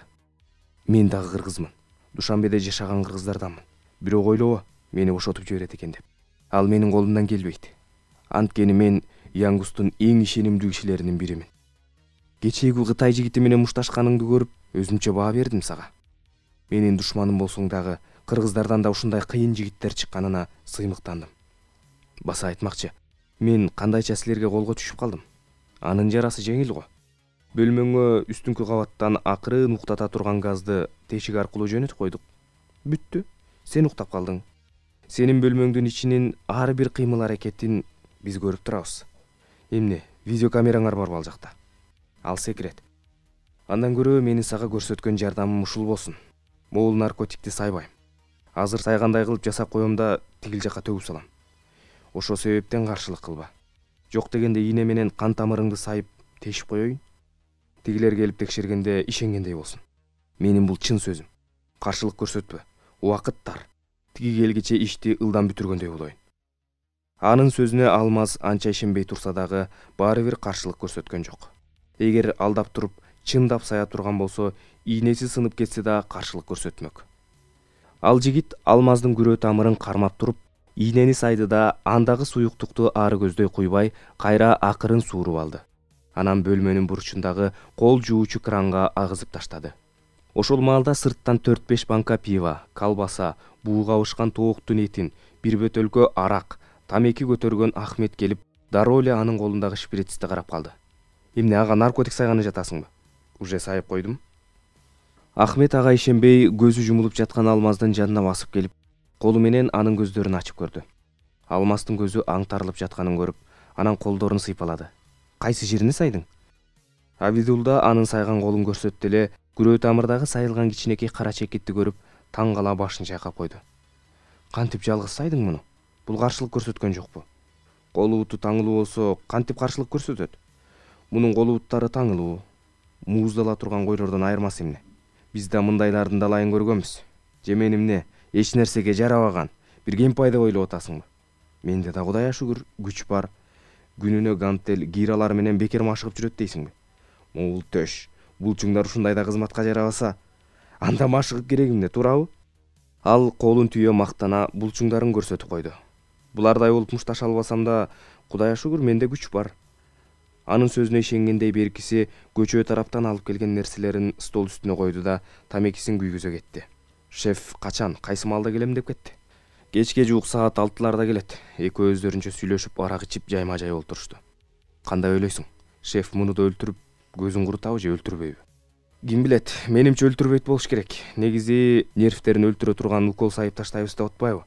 Мен дагы кыргызмын. Душанбеде жашаган кыргыздарданмын. Бирок ойлобо, мени бошотуп жиберет экен деп. Ал менин колумдан келбейт. Анткени мен Янгустун эң ишенимдүү кишилеринин биримин. Кечээги Кытай жигити менен мушташканыңды көрүп, өзүмчө баа бердим сага. Менин душманым болсоң дагы, кыргыздардан да ушундай кыйын жигиттер чыкканына сыймыктандым. Баса айтмакчы, мен кандайча силерге колго түшүп калдым. Анын жарасы жеңил го. Бөлмөңө үстүңкү кабаттан акырын уктата турган газды тешик аркылуу жөнөтүп койдук. Бүттү. Сен уктап калдың. Сенин бөлмөңдүн ичинин ар бир кыймыл аракетин биз көрүп турабыз. Эмне, видеокамераңар барбы ал жакта? Ал секрет. Андан көрө менин сага көрсөткөн жардамым ушул болсун. Могул наркотикти сайбайм. Азыр сайгандай кылып жасап коем да тигил жакка төгүп салам. Ошо себептен каршылык кылба. Жок дегенде ийне менен кан тамырыңды сайып тешип коеюн. Тигилер келип текшергенде ишенгендей болсун. Менин бул чын сөзүм. Каршылык көрсөтпө. Убакыт тар. Тиги келгиче ишти ылдам бүтүргөндөй болоюн. Анын сөзүнө Алмаз анча ишенбей турса дагы баары бир каршылык көрсөткөн жок. Эгер алдап туруп, чындап сая турган болсо, ийнеси сынып кетсе да каршылык көрсөтмөк. Ал жигит Алмаздын күрөө тамырын кармап туруп, ийнени сайды да андагы суюктукту ары көздөй куйбай, кайра акырын сууруп алды. Анан бөлмөнүн бурчундагы кол жуучу кранга агызып таштады. Ошол маалда сырттан төрт беш банка пиво, колбаса, буу кабышкан тооктун этин, бир бөтөлкө арак, тамеки көтөргөн Ахмет келип, дароо эле анын колундагы шприцти карап калды. Эмне, ага наркотик сайганы жатасыңбы? Уже сайып койдум. Ахмет ага ишенбей көзү жумулуп жаткан Алмаздын жанына басып келип, колу менен анын көздөрүн ачып көрдү. Алмаздын көзү аңтарылып жатканын көрүп, анан колдорун сыйпалады. Кайсы жерине сайдың? Абидулда анын сайган колун көрсөттү эле, күрөө тамырдагы сайылган кичинекей кара чекитти көрүп, таң кала башын чайкап койду. Кантип жалгыз сайдың муну? Бул каршылык көрсөткөн жокпу? Колубуту таңылуу болсо, кантип каршылык көрсөтөт? Мунун колубуттары таңылуу, мууздала турган койлордон айырмасы эмне? Биз да мындайлардын далайын көргөнбүз. Же мен эмне, эч нерсеге жарабаган, бир кемпай деп ойлоп атасыңбы? Менде да Кудайга шүгүр, күч бар. Күнүнө гантел гиралар менен бекер машыгып жүрөт дейсиңби? Могул төш, булчуңдар ушундайда кызматка жарабаса, анда машыгып кереги эмне, туурабы? Ал колун түйө мактана булчуңдарын көрсөтүп койду. Булардай болуп мушташа албасам да, Кудайга шүгүр, менде күч бар. Анын сөзүнө ишенгендей беркиси көчө тараптан алып келген нерселерин стол үстүнө койду да тамекисин күйгүзө кетти. Шеф качан, кайсы маалда келем деп кетти. Кечке жуук саат алтыларда келет. Экөө өздөрүнчө сүйлөшүп, арак ичип жайма жай олтурушту. Кандай ойлойсуң? Шеф муну да өлтүрүп, көзүн курутабы же өлтүрбөйбү? Ким билет, менимче өлтүрбөйт болуш керек. Негизи нервтерин өлтүрө турган укол сайып таштайбыз деп атпайбы?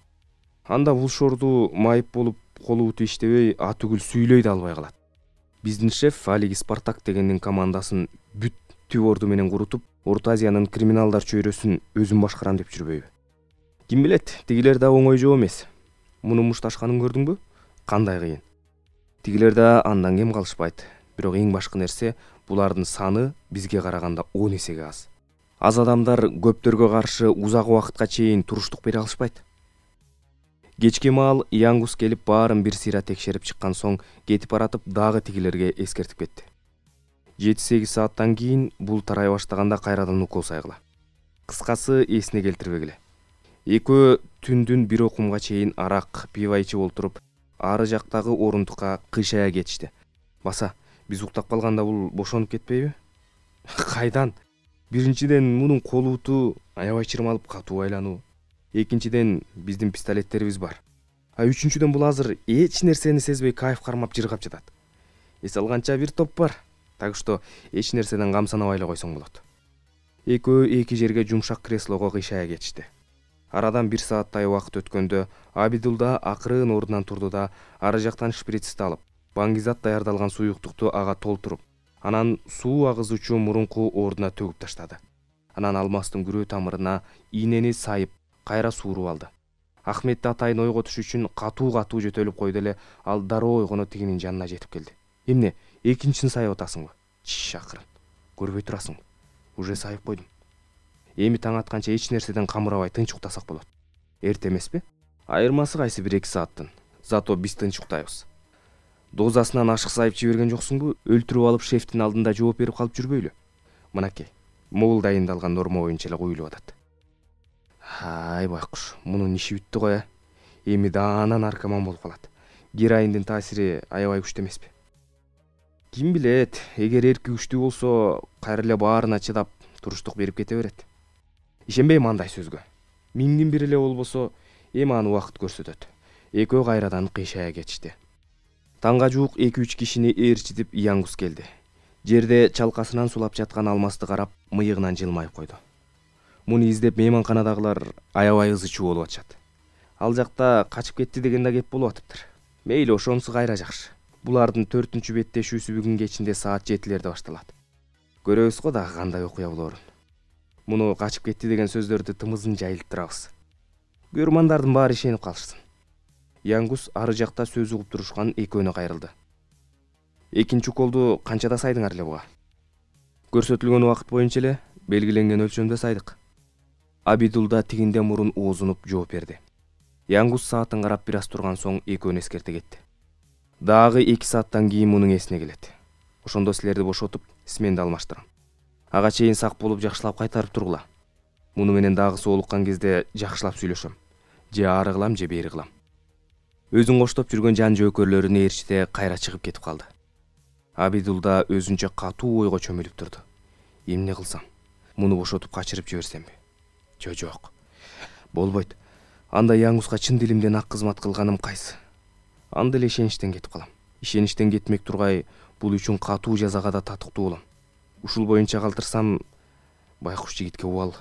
Анда бул шорду майып болуп, колубуту иштебей, атүгүл сүйлөй да албай калат. Биздин шеф алиги Спартак дегендин командасын бүт түп орду менен курутуп, Орто Азиянын криминалдар чөйрөсүн өзүм башкарам деп жүрбөйбү? Ким билет, тигилер да оңой жоо эмес. Муну мушташканын көрдүңбү? Кандай кыйын. Тигилер да андан кем калышпайт. Бирок эң башкы нерсе, булардын саны бизге караганда он эсеге аз. Аз адамдар көптөргө каршы узак убакытка чейин туруштук бере алышпайт. Кечки маал Янгус келип баарын бир сыйра текшерип чыккан соң кетип баратып дагы тигилерге эскертип кетти. жети сегиз сааттан кийин бул тарай баштаганда кайрадан укол сайгыла. Кыскасы эсине келтирбегиле. Экөө түндүн бир окумга чейин арак, пиво ичип олтуруп, ары жактагы орундукка кыйшая кетишти. Баса, биз уктап калганда бул бошонуп кетпейби? Кайдан? Биринчиден мунун колубуту аябай чырмалып катуу айлануу. Экинчиден биздин пистолеттерибиз бар. А үчүнчүдөн бул азыр эч нерсени сезбей кайф кармап жыргап жатат. Эс алганча бир топ бар. Так что эч нерседен камсанабай эле койсоң болот. Экөө эки жерге жумшак креслого кыйшая кетишти. Арадан бир сааттай убакыт өткөндө Абидулда акырын ордунан турду да ары жактан шприцти алып, баңгизат даярдалган суюктукту ага толтуруп, анан суу агызуучу мурунку ордуна төгүп таштады. Анан Алмаздын күрөө тамырына ийнени сайып, кайра сууруп алды. Ахметти атайын ойготуш үчүн катуу катуу жөтөлүп койду эле ал дароо ойгоно тигинин жанына жетип келди. Эмне, экинчисин сайып атасыңбы? Чиш акырын. Көрбөй турасыңбы? Уже сайып койдум. Эми таң атканча эч нерседен камырабай тынч уктасак болот. Эрте эмеспи? Айырмасы кайсы бир эки сааттын. Зато биз тынч уктайбыз. Дозасынан ашык сайып жиберген жоксуңбу? Өлтүрүп алып шефтин алдында жооп берип калып жүрбөйлү. Мынакей, могул дайындалган норма боюнча эле куюлуп атат. Ай байкуш, мунун иши бүттү го. Эми даана наркоман болуп калат. Героиндин таасири аябай күчтүү эмеспи? Ким билет, эгер эрки күчтүү болсо, кайра эле баарына чыдап туруштук берип кете берет. Ишенбейм андай сөзгө. Миңдин бири эле болбосо, эми аны убакыт көрсөтөт. Экөө кайрадан кыйшая кетишти. Таңга жуук эки үч кишини ээрчитип Янгус келди. Жерде чалкасынан сулап жаткан алмасты карап, мыйыгынан жылмайып койду. Муну издеп мейманканадагылар аябай ызы чуу болуп атышат. Ал жакта качып кетти деген да кеп болуп атыптыр. Мейли, ошонусу кайра жакшы. Булардын төртүнчү беттешүүсү бүгүн кечинде саат жетилерде башталат. Көрөбүз го дагы кандай окуя болоорун. Муну качып кетти деген сөздөрдү тымызын жайылып турабыз. Көрмандардын баары ишенип калышсын. Янгус ары жакта сөз угуп турушкан экөөнө кайрылды. Экинчи уколду канчада сайдыңар эле буга? Көрсөтүлгөн убакыт боюнча эле белгиленген өлчөмдө сайдык. Абидулда тигинде мурун оозунуп жооп берди. Янгус саатын карап бир аз турган соң экөөнү эскерте кетти. Дагы эки сааттан кийин мунун эсине келет. Ошондо силерди бошотуп, сменди алмаштырам. Ага чейин сак болуп жакшылап кайтарып тургула. Муну менен дагы соолуккан кезде жакшылап сүйлөшөм. Же ары кылам, же бери кылам. Өзүн коштоп жүргөн жан жөөкөрлөрүн ээрчите кайра чыгып кетип калды. Абидулда өзүнчө катуу ойго чөмүлүп турду. Эмне кылсам? Муну бошотуп качырып жиберсемби? Жо жок. Болбойт. Анда Янгуска чын дилимден ак кызмат кылганым кайсы? Анда эле ишеничтен кетип калам. Ишеничтен кетмек тургай, бул үчүн катуу жазага да татыктуу болом. Ушул боюнча калтырсам, байкуш жигитке убал.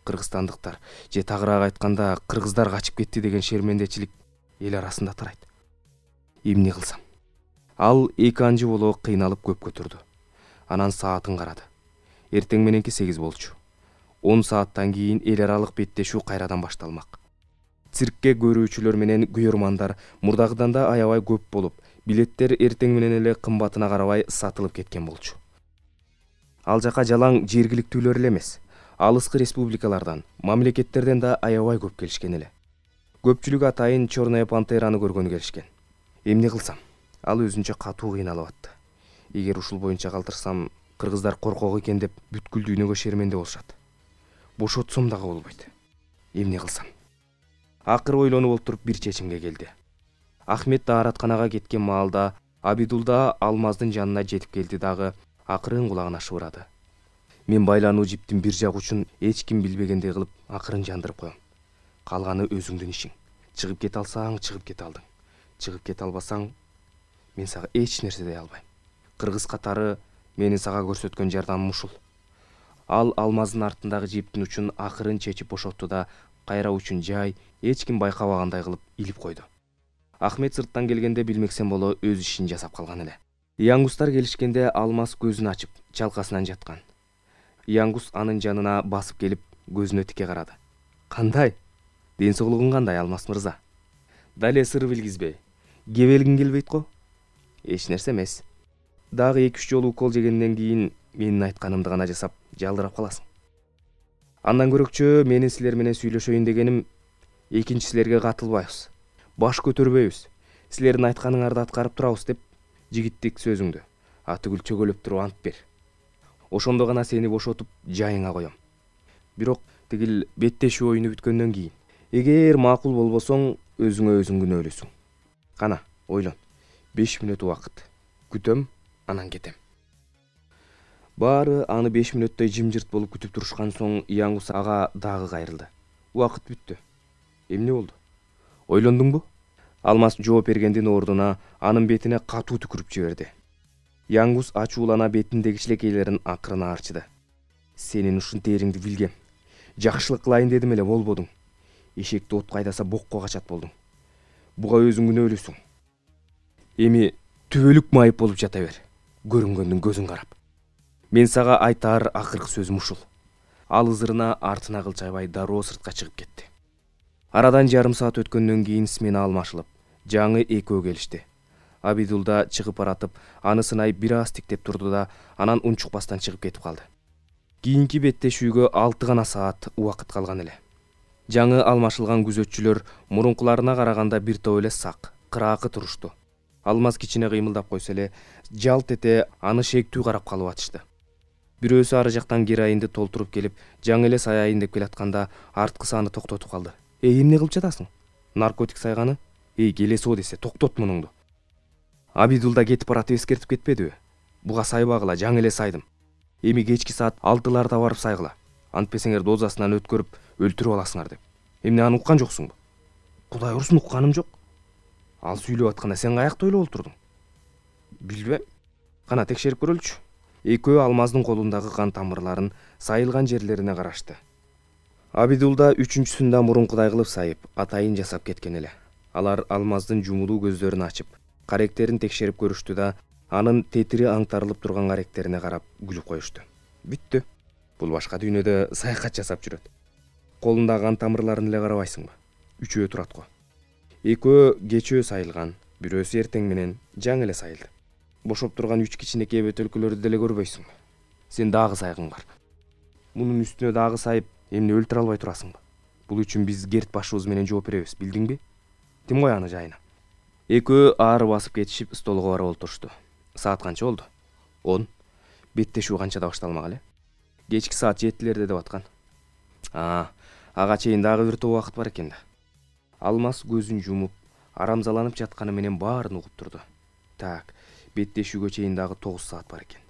Кыргызстандыктар, же тагыраак айтканда, кыргыздар качып кетти деген шермендечилик эл арасында тарайт. Эмне кылсам? Ал эки анжы боло кыйналып көпкө турду. Анан саатын карады. Эртең мененки сегиз болчу. он сааттан кийин эл аралык беттешүү кайрадан башталмак. Циркке көрүүчүлөр менен күйөрмандар мурдагыдан да аябай көп болуп, билеттер эртең менен эле кымбатына карабай сатылып кеткен болчу. Ал жака жалаң жергиликтүүлөр эле эмес, алыскы республикалардан, мамлекеттерден да аябай көп келишкен эле. Көпчүлүк атайын Черная пантераны көргөнү келишкен. Эмне кылсам? Ал өзүнчө катуу кыйналып атты. Эгер ушул боюнча калтырсам, кыргыздар коркок экен деп бүткүл дүйнөгө шерменде болушат. Бошотсом дагы болбойт. Эмне кылсам? Акыры ойлонуп олтуруп бир чечимге келди. Ахмет дааратканага кеткен маалда Абидулда Алмаздын жанына жетип келди дагы акырын кулагына шыбырады. Мен байлануу жиптин бир жак учун эч ким билбегендей кылып акырын жандырып коем. Калганы өзүңдүн ишиң. Чыгып кете алсаң, чыгып кете алдың. Чыгып кете албасаң, мен сага эч нерсе дей албайм. Кыргыз катары менин сага көрсөткөн жардамым ушул. Ал Алмаздын артындагы жиптин учун акырын чечип бошотту да, кайра учун жай, эч ким байкабагандай кылып илип койду. Ахмет сырттан келгенде билмексен боло өз ишин жасап калган эле. Янгустар келишкенде Алмаз көзүн ачып, чалкасынан жаткан. Янгус анын жанына басып келип, көзүнө тике карады. Кандай? Ден соолугуң кандай, Алмаз мырза? Дале сыр билгизбей. Кебелгиң келбейт го? Эч нерсе эмес. Дагы эки үч жолу укол жегенден кийин менин айтканымды гана жасап, жалдырап каласың. Андан көрөкчө менин силер менен сүйлөшөйүн дегеним, экинчи силерге катылбайбыз. Баш көтөрбөйбүз. Силердин айтканыңарды аткарып турабыз деп жигиттик сөзүңдү атүгүл чөгөлөп туруп ант бер. Ошондо гана сени бошотуп жайыңа коем. Бирок тигил беттешүү оюну бүткөндөн кийин, эгер макул болбосоң, өзүңө өзүң күнөөлүүсүң. Кана, ойлон. беш мүнөт убакыт. Күтөм, анан кетем. Баары аны беш мүнөттөй жымжырт болуп күтүп турушкан соң Янгус ага дагы кайрылды. Убакыт бүттү. Эмне болду? Ойлондуңбу? Алмаз жооп бергендин ордуна анын бетине катуу түкүрүп жиберди. Янгус ачуулана бетиндеги кичилекейлерин акырына арчыды. Сенин ушунтериңди билгем. Жакшылык кылайын дедим эле, болбодуң. Эшекти от кайдаса бокко качат болдуң. Буга өзүң күнөөлүүсүң. Эми түбөлүк майып болуп жата бер. Көрүнгөндүн көзүн карап. Мен сага айтаар акыркы сөзүм ушул. Ал ызырына артына кылчайбай дароо сыртка чыгып кетти. Арадан жарым саат өткөндөн кийин смена алмашылып, жаңы экөө келишти. Абидулда чыгып баратып, аны сынай бир аз тиктеп турду да, анан унчукпастан чыгып кетип калды. Кийинки беттешүүгө алты гана саат убакыт калган эле. Жаңы алмашылган күзөтчүлөр мурункуларына караганда бир топ эле сак, кыраакы турушту. Алмаз кичине кыймылдап койсо эле, жалт эте аны шектүү карап калып атышты. Бирөөсү ары жактан героинди толтуруп келип, жаңы эле саяйын деп келатканда, арткысы аны токтотуп калды. Эй, эмне кылып жатасың? Наркотик сайганы? Эй, келесо десе, токтот мунуңду. Абидулда кетип баратып эскертип кетпедиби? Буга сайбагыла, жаңы эле сайдым. Эми кечки саат алтыларда барып сайгыла. Антпесеңер дозасынан өткөрүп өлтүрүп аласыңар деп. Эмне, аны уккан жоксуңбу? Кудай урсун, укканым жок. Ал сүйлөп атканда сен каякта ойлоп олтурдуң? Билбейм. Кана текшерип көрөлүчү. Экөө Алмаздын колундагы кан тамырларын сайылган жерлерине карашты. Абидулда үчүнчүсүндө мурункудай кылып сайып, атайын жасап кеткен эле. Алар Алмаздын жумулуу көздөрүн ачып, каректерин текшерип көрүштү да, анын тетири аңтарылып турган каректерине карап күлүп коюшту. Бүттү. Бул башка дүйнөдө саякат жасап жүрөт. Колундагы кан тамырларын эле карабайсыңбы? Үчөө турат го. Экөө кечөө сайылган, бирөөсү эртең менен жаңы эле сайылды. Бошоп турган үч кичинекей бөтөлкөлөрдү деле көрбөйсүңбү? Сен дагы сайгың бар. Мунун үстүнө дагы сайып, эмне өлтүрө албай турасыңбы? Бул үчүн биз Герт башыбыз менен жооп беребиз, билдиңби? Тим кой аны жайына. Экөө аары басып кетишип, столго барып олтурушту. Саат канча болду? он. Беттешүү канчада башталмак эле? Кечки саат жетилерде деп аткан. А, ага чейин дагы бир топ убакыт бар экен да. Алмаз көзүн жумуп, арамзаланып жатканы менен баарын угуп турду. Так, беттешүүгө чейин дагы тогуз саат бар экен.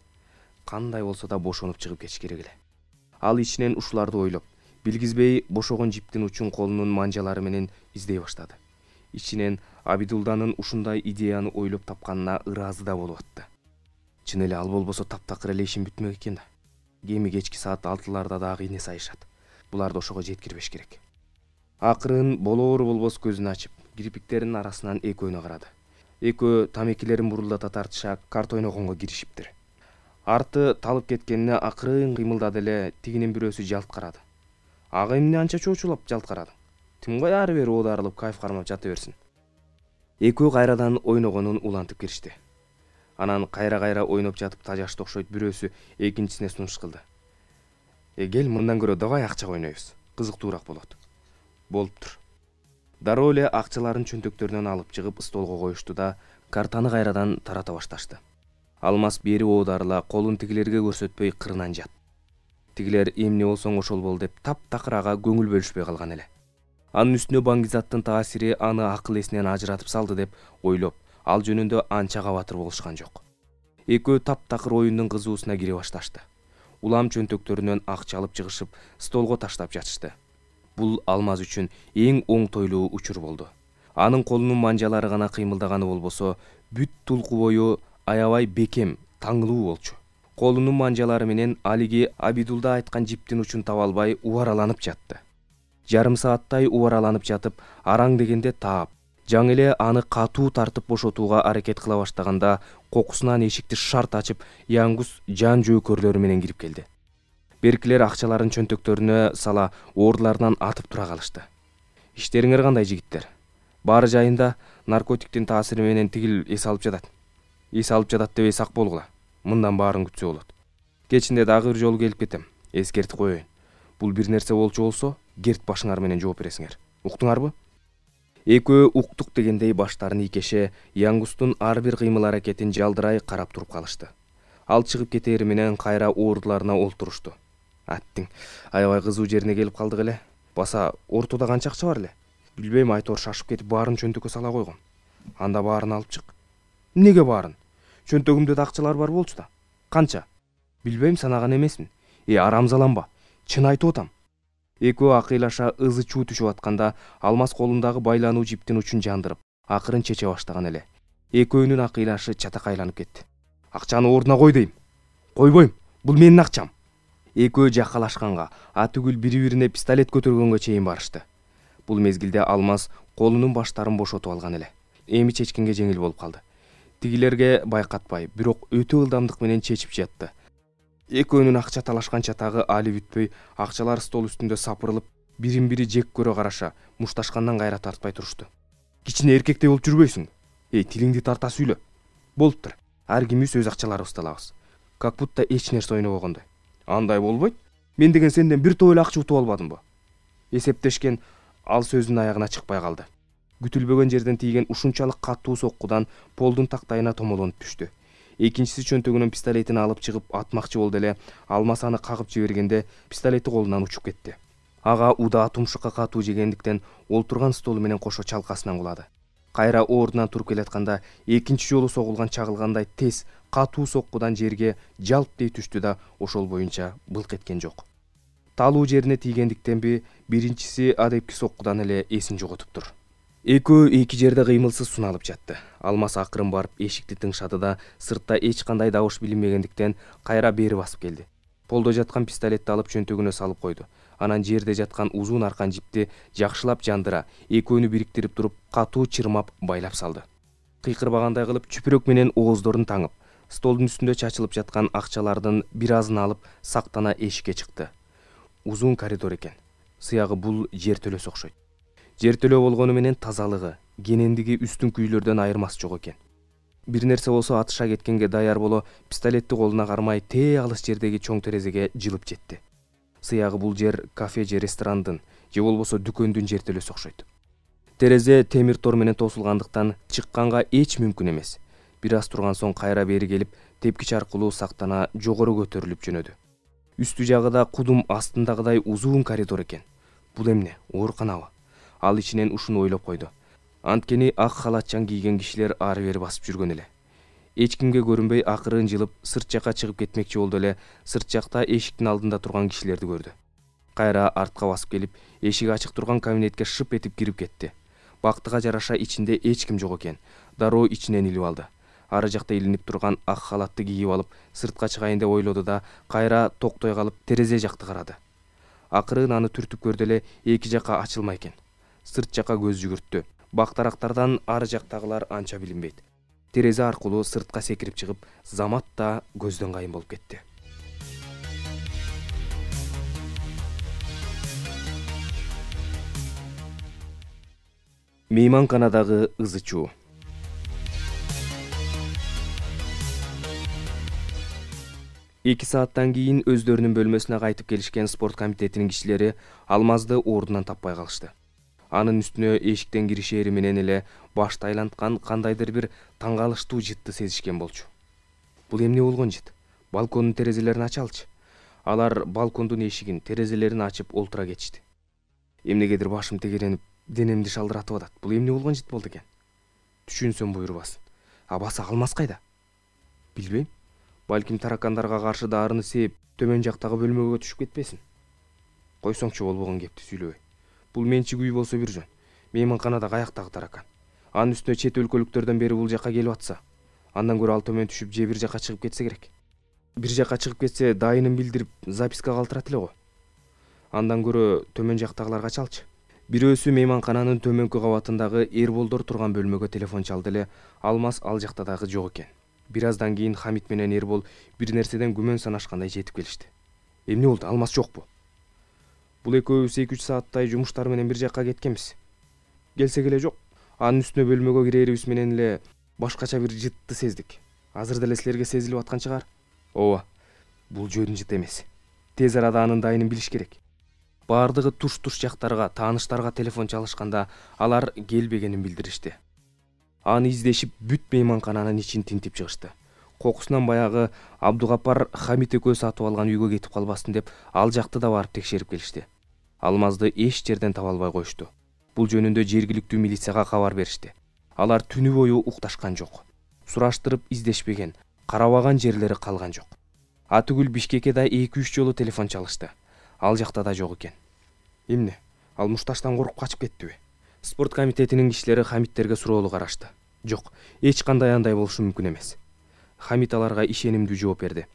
Кандай болсо да бошонуп чыгып кетиш керек эле. Ал ичинен ушуларды ойлоп, билгизбей бошогон жиптин учун колунун манжалары менен издей баштады. Ичинен Абидулданын ушундай идеяны ойлоп тапканына ыраазы да болуп атты. Чын эле ал болбосо таптакыр эле ишин бүтмөк экен да. Кеми кечки саат алтыларда дагы ине сайышат. Буларды ошого жеткирбеш керек. Акырын болоору болбос көзүн ачып, кирпиктеринин арасынан экөөнө карады. Экөө тамекилерин бурулдата тартыша карта ойногонго киришиптир. Арты талып кеткенине акырын кыймылдады эле, тигинин бирөөсү жалт карады. Ага эмне анча чоочулап жалт карады? Тим кой ары бери оодарылып кайф кармап жата берсин. Экөө кайрадан ойногонун улантып киришти. Анан кайра-кайра ойноп жатып тажашты окшойт бирөөсү экинчисине сунуш кылды. Э, кел, мындан көрө давай акчага ойнойбуз. Кызыктуураак болот. Болуптур. Дароо эле акчаларын чөнтөктөрүнөн алып чыгып столго коюшту да, картаны кайрадан тарата башташты. Алмаз бери оодарыла колун тигилерге көрсөтпөй кырынан жат. Тигилер эмне болсоң ошол бол деп таптакыр ага көңүл бөлүшпөй калган эле. Анын үстүнө баңгизаттын таасири аны акыл эсинен ажыратып салды деп ойлоп, ал жөнүндө анча кабатыр болушкан жок. Экөө таптакыр оюндун кызуусуна кире башташты. Улам чөнтөктөрүнөн акча алып чыгышып, столго таштап жатышты. Бул Алмаз үчүн эң оңтойлуу учур болду. Анын колунун манжалары гана кыймылдаганы болбосо, бүт тулку бою аябай бекем, таңылуу болчу. Колунун манжалары менен алиги Абидулда айткан жиптин учун таба албай убараланып жатты. Жарым сааттай убараланып жатып, араң дегенде таап, жаңы эле аны катуу тартып бошотууга аракет кыла баштаганда, кокусунан эшикти шарт ачып, Яңгус жан жөөкөрлөрү менен кирип келди. Беркилер акчаларын чөнтөктөрүнө сала ордуларынан атып тура калышты. Иштериңер кандай, жигиттер? Баары жайында, наркотиктин таасири менен тигил эс алып жатат. Эс алып жатат деп эс ак болгула. Мындан баарын күтсө болот. Кечинде дагы бир жолу келип кетем. Эскертип коеюн. Бул бир нерсе болчу болсо, Герт башыңар менен жооп бересиңер. Уктуңарбы? Экөө уктук дегендей баштарын ийкеше, Яңгустун ар бир кыймыл аракетин жалдырай карап туруп калышты. Ал чыгып кетери менен кайра ордуларына олтурушту. Аттиң, аябай кызуу жерине келип калдык эле. Баса ортодо канча акча бар эле? Билбейм, айтор шашып кетип баарын чөнтөккө сала койгом. Анда баарын алып чык. Эмнеге баарын? Чөнтөгүмдө да акчалар бар болчу да. Канча? Билбейм, санаган эмесмин. Э, арамзаланба. Чын айтып атам. Экөө акыйлаша ызы чуу түшүп атканда, Алмаз колундагы байлануу жиптин учун жандырып, акырын чече баштаган эле. Экөөнүн акыйлашы чатакайланып кетти. Акчаны ордуна кой дейм. Койбойм. Бул менин акчам. Экөө жакалашканга, атүгүл бири-бирине пистолет көтөргөнгө чейин барышты. Бул мезгилде Алмаз колунун баштарын бошотуп алган эле. Эми чечкенге жеңил болуп калды. Тигилерге байкатпай, бирок өтө ылдамдык менен чечип жатты. Экөөнүн акча талашкан чатагы али бүтпөй, акчалар стол үстүндө сапырылып, бирин бири жек көрө караша, мушташкандан кайра тартпай турушту. Кичине эркектей болуп жүрбөйсүңбү? Эй, тилиңди тарта сүйлө. Болуптур. Ар кимибиз өз акчаларыбызды алабыз. Как будто эч нерсе ойнобогондой. Андай болбойт. Мен деген сенден бир топ эле акча утуп албадымбы? Эсептешкен ал сөзүнүн аягына чыкпай калды. Күтүлбөгөн жерден тийген ушунчалык катуу соккудан полдун тактайына томолонуп түштү. Экинчиси чөнтөгүнөн пистолетин алып чыгып атмакчы болду эле, Алмаз аны кагып жибергенде пистолети колунан учуп кетти. Ага удаа тумшукка катуу жегендиктен олтурган столу менен кошо чалкасынан кулады. Кайра ордунан туруп келатканда экинчи жолу согулган чагылгандай тез катуу соккудан жерге жалп дей түштү да ошол боюнча былк эткен жок. Талуу жерине тийгендиктенби, биринчиси адепки соккудан эле эсин жоготуптур. Экөө эки жерде кыймылсыз суналып жатты. Алмаз акырын барып эшикти тыңшады да сыртта эч кандай добуш билинбегендиктен кайра бери басып келди. Полдо жаткан пистолетти алып чөнтөгүнө салып койду. Анан жерде жаткан узун аркан жипти жакшылап жандыра, экөөнү бириктирип туруп катуу чырмап байлап салды. Кыйкырбагандай кылып чүпүрөк менен ооздорун таңып, столдун үстүндө чачылып жаткан акчалардын бир азын алып сактана эшикке чыкты. Узун коридор экен. Сыягы бул жер төлөсү окшойт. Жер төлөө болгону менен тазалыгы, кенендиги үстүн күйлөрдөн айырмасы жок экен. Бир нерсе болсо атыша кеткенге даяр боло, пистолетти колуна кармай тээ алыс жердеги чоң терезеге жылып жетти. Сыягы бул жер кафе же ресторандын, же болбосо дүкөндүн жер төлөсү окшойт. Терезе темир тор менен тосулгандыктан чыкканга эч мүмкүн эмес. Бир аз турган соң кайра бери келип, тепкич аркылуу сактана жогору көтөрүлүп жөнөдү. Үстү жагыда кудум астындагыдай узун коридор экен. Бул эмне? Ооруканабы? Ал ичинен ушуну ойлоп койду. Анткени ак халатчан кийген кишилер ары бери басып жүргөн эле. Эч кимге көрүнбөй акырын жылып сырт жакка чыгып кетмекчи болду эле, сырт жакта эшиктин алдында турган кишилерди көрдү. Кайра артка басып келип, эшиги ачык турган кабинетке шып этип кирип кетти. Бактыга жараша ичинде эч ким жок экен. Дароо ичинен илип алды. Ары жакта илинип турган ак халатты кийип алып, сыртка чыгайын деп ойлоду да, кайра токтой калып терезе жакты карады. Акырын аны түртүп көрдү эле, эки жакка ачылмай экен. Сырт жакка көз жүгүрттү. Бактарактардан ары жактагылар анча билинбейт. Терезе аркылуу сыртка секирип чыгып, замат да көздөн кайын болуп кетти. Мейманканадагы ызы-чуу. эки сааттан кийин өздөрүнүн бөлмөсүнө кайтып келишкен спорт комитетинин кишилери Алмазды ордунан таппай калышты. Анын үстүнө эшиктен киришери менен эле башты айланткан кандайдыр бир таң калыштуу жытты сезишкен болчу. Бул эмне болгон жыт? Балкондун терезелерин ачалчы. Алар балкондун эшигин, терезелерин ачып олтура кетишти. Эмнегедир башым тегеренип, денемди шалдыратып атат. Бул эмне болгон жыт болду экен? Түшүнсөм буйрубасын. Абасы Алмаз кайда? Билбейм. Балким таракандарга каршы дарыны сээп, төмөн жактагы бөлмөгө түшүп кетпесин. Койсоңчу болбогон кепти сүйлөбөй. Бул менчик үй болсо бир жөн. Мейманканада каяктагы таракан. Анын үстүнө чет өлкөлүктөрдөн бери бул жакка келип атса, андан көрө ал төмөн түшүп же бир жакка чыгып кетсе керек. Бир жакка чыгып кетсе, дайынын билдирип, записка калтырат эле го. Андан көрө төмөн жактагыларга чалчы. Бирөөсү мейманкананын төмөнкү кабатындагы Эрболдор турган бөлмөгө телефон чалды эле, Алмаз ал жакта дагы жок экен. Бир аздан кийин Хамит менен Эрбол бир нерседен күмөн санашкандай жетип келишти. Эмне болду? Алмаз жокпу? Бул экөөбүз эки үч сааттай жумуштар менен бир жакка кеткенбиз. Келсек эле жок. Анын үстүнө бөлмөгө кирерибиз менен эле башкача бир жытты сездик. Азыр деле силерге сезилип аткан чыгар. Ооба. Бул жөн жыт эмес. Тез арада анын дайынын билиш керек. Баардыгы туш-туш жактарга, тааныштарга телефон чалышканда алар келбегенин билдиришти. Аны издешип бүт мейманкананын ичин тинтип чыгышты. Кокусунан баягы Абдугапар Хамит экөө сатып алган үйгө кетип калбасын деп ал жакты да барып текшерип келишти. Алмазды эч жерден таба албай коюшту. Бул жөнүндө жергиликтүү милицияга кабар беришти. Алар түнү бою укташкан жок. Сураштырып издешпеген, карабаган жерлери калган жок. Атүгүл Бишкекке да эки үч жолу телефон чалышты. Ал жакта да жок экен. Эмне? Ал мушташтан коркуп качып кеттиби? Спорт комитетинин кишилери Хамиттерге суроолу карашты. Жок, эч кандай андай болушу мүмкүн эмес. Хамит аларга ишенимдүү жооп берди.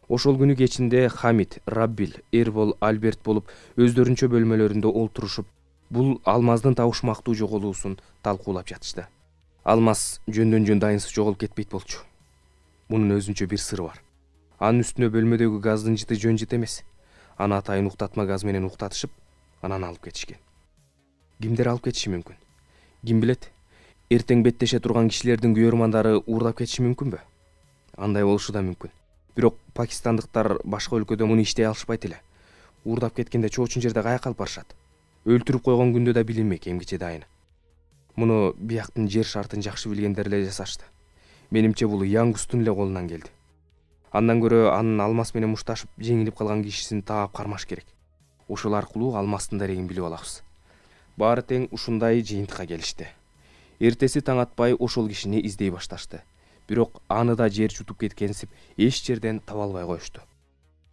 Ошол күнү кечинде Хамит, Раббил, Эрбол, Альберт болуп өздөрүнчө бөлмөлөрүндө олтурушуп, бул Алмаздын табышмактуу жоголуусун талкуулап жатышты. Алмаз жөндөн жөн дайынсыз жоголуп кетпейт болчу. Мунун өзүнчө бир сыры бар. Анын үстүнө бөлмөдөгү газдын жыты жөн жыт эмес. Аны атайын уктатма газ менен уктатышып, анан алып кетишкен. Кимдер алып кетиши мүмкүн? Ким билет? Эртең беттеше турган кишилердин күйөрмандары уурдап кетиши мүмкүнбү? Андай болушу да мүмкүн. Бирок пакистандыктар башка өлкөдө муну иштей алышпайт эле. Уурдап кеткенде чоочун жерде каяка алып барышат? Өлтүрүп койгон күндө да билинмек эмгиче дайыны. Муну бияктын жер шартын жакшы билгендер эле жасашты. Менимче бул Янгустун эле колунан келди. Андан көрө анын алмаз менен мушташып жеңилип калган кишисин таап кармаш керек. Ошол аркылуу алмастын дарегин билип алабыз. Баары тең ушундай жыйынтыкка келишти. Эртеси таң атпай ошол кишини издей башташты. Бирок аны да жер жутуп кеткенсип эч жерден таба албай коюшту.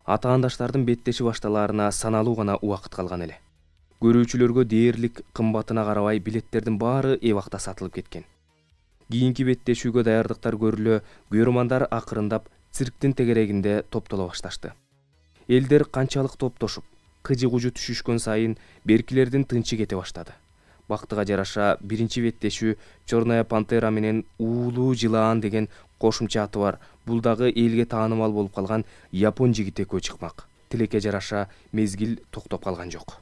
Атаандаштардын беттеши башталаарына саналуу гана убакыт калган эле. Көрүүчүлөргө дээрлик кымбатына карабай билеттердин баары эбакта сатылып кеткен. Кийинки беттешүүгө даярдыктар көрүлө, күйөрмандар акырындап цирктин тегерегинде топтоло башташты. Элдер канчалык топтошуп, кыжы-кужу түшүшкөн сайын беркилердин тынчы кете баштады. Бактыга жараша биринчи беттешүү Черная пантера менен уулуу жылаан деген кошумча аты бар, бул дагы элге таанымал болуп калган япон жигити экөө чыкмак. Тилекке жараша мезгил токтоп калган жок.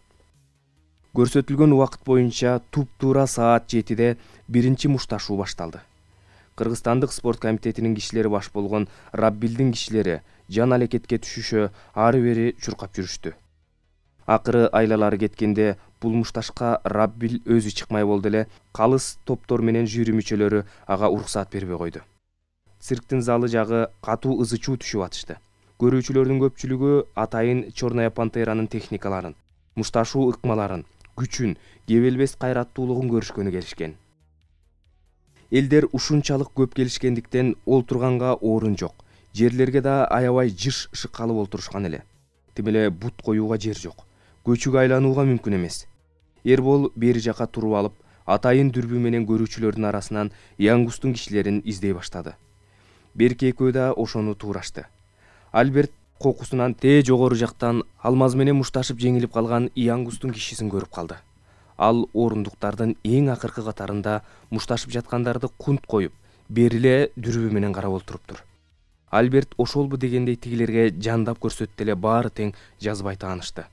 Көрсөтүлгөн убакыт боюнча туп-туура саат жетиде биринчи мушташуу башталды. Кыргызстандык спорт комитетинин кишилери баш болгон Раббилдин кишилери жан алекетке түшүшө ары-бери чуркап жүрүштү. Акыры айлалары кеткенде бул мушташка Раббил өзү чыкмай болду эле, калыс топтор менен жюри мүчөлөрү ага уруксаат бербей койду. Цирктин залы жагы катуу ызы чуу түшүп атышты. Көрүүчүлөрдүн көпчүлүгү атайын Черная пантеранын техникаларын, мушташуу ыкмаларын, күчүн, кебелбес кайраттуулугун көрүшкөнү келишкен. Элдер ушунчалык көп келишкендиктен олтурганга орун жок. Жерлерге да аябай жыш шыккалып олтурушкан эле. Тим эле бут коюуга жер жок. Көчүгө айланууга мүмкүн эмес. Эрбол бери жака туруп алып, атайын дүрбү менен көрүүчүлөрдүн арасынан Янгустун кишилерин издей баштады. Берки экөө да ошону туурашты. Альберт кокусунан тээ жогору жактан алмаз менен мушташып жеңилип калган Янгустун кишисин көрүп калды. Ал орундуктардын эң акыркы катарында мушташып жаткандарды кунт коюп, бериле дүрбү менен карап олтуруптур. Альберт ошолбу дегендей тигилерге жандап көрсөттү эле баары тең жазбай таанышты.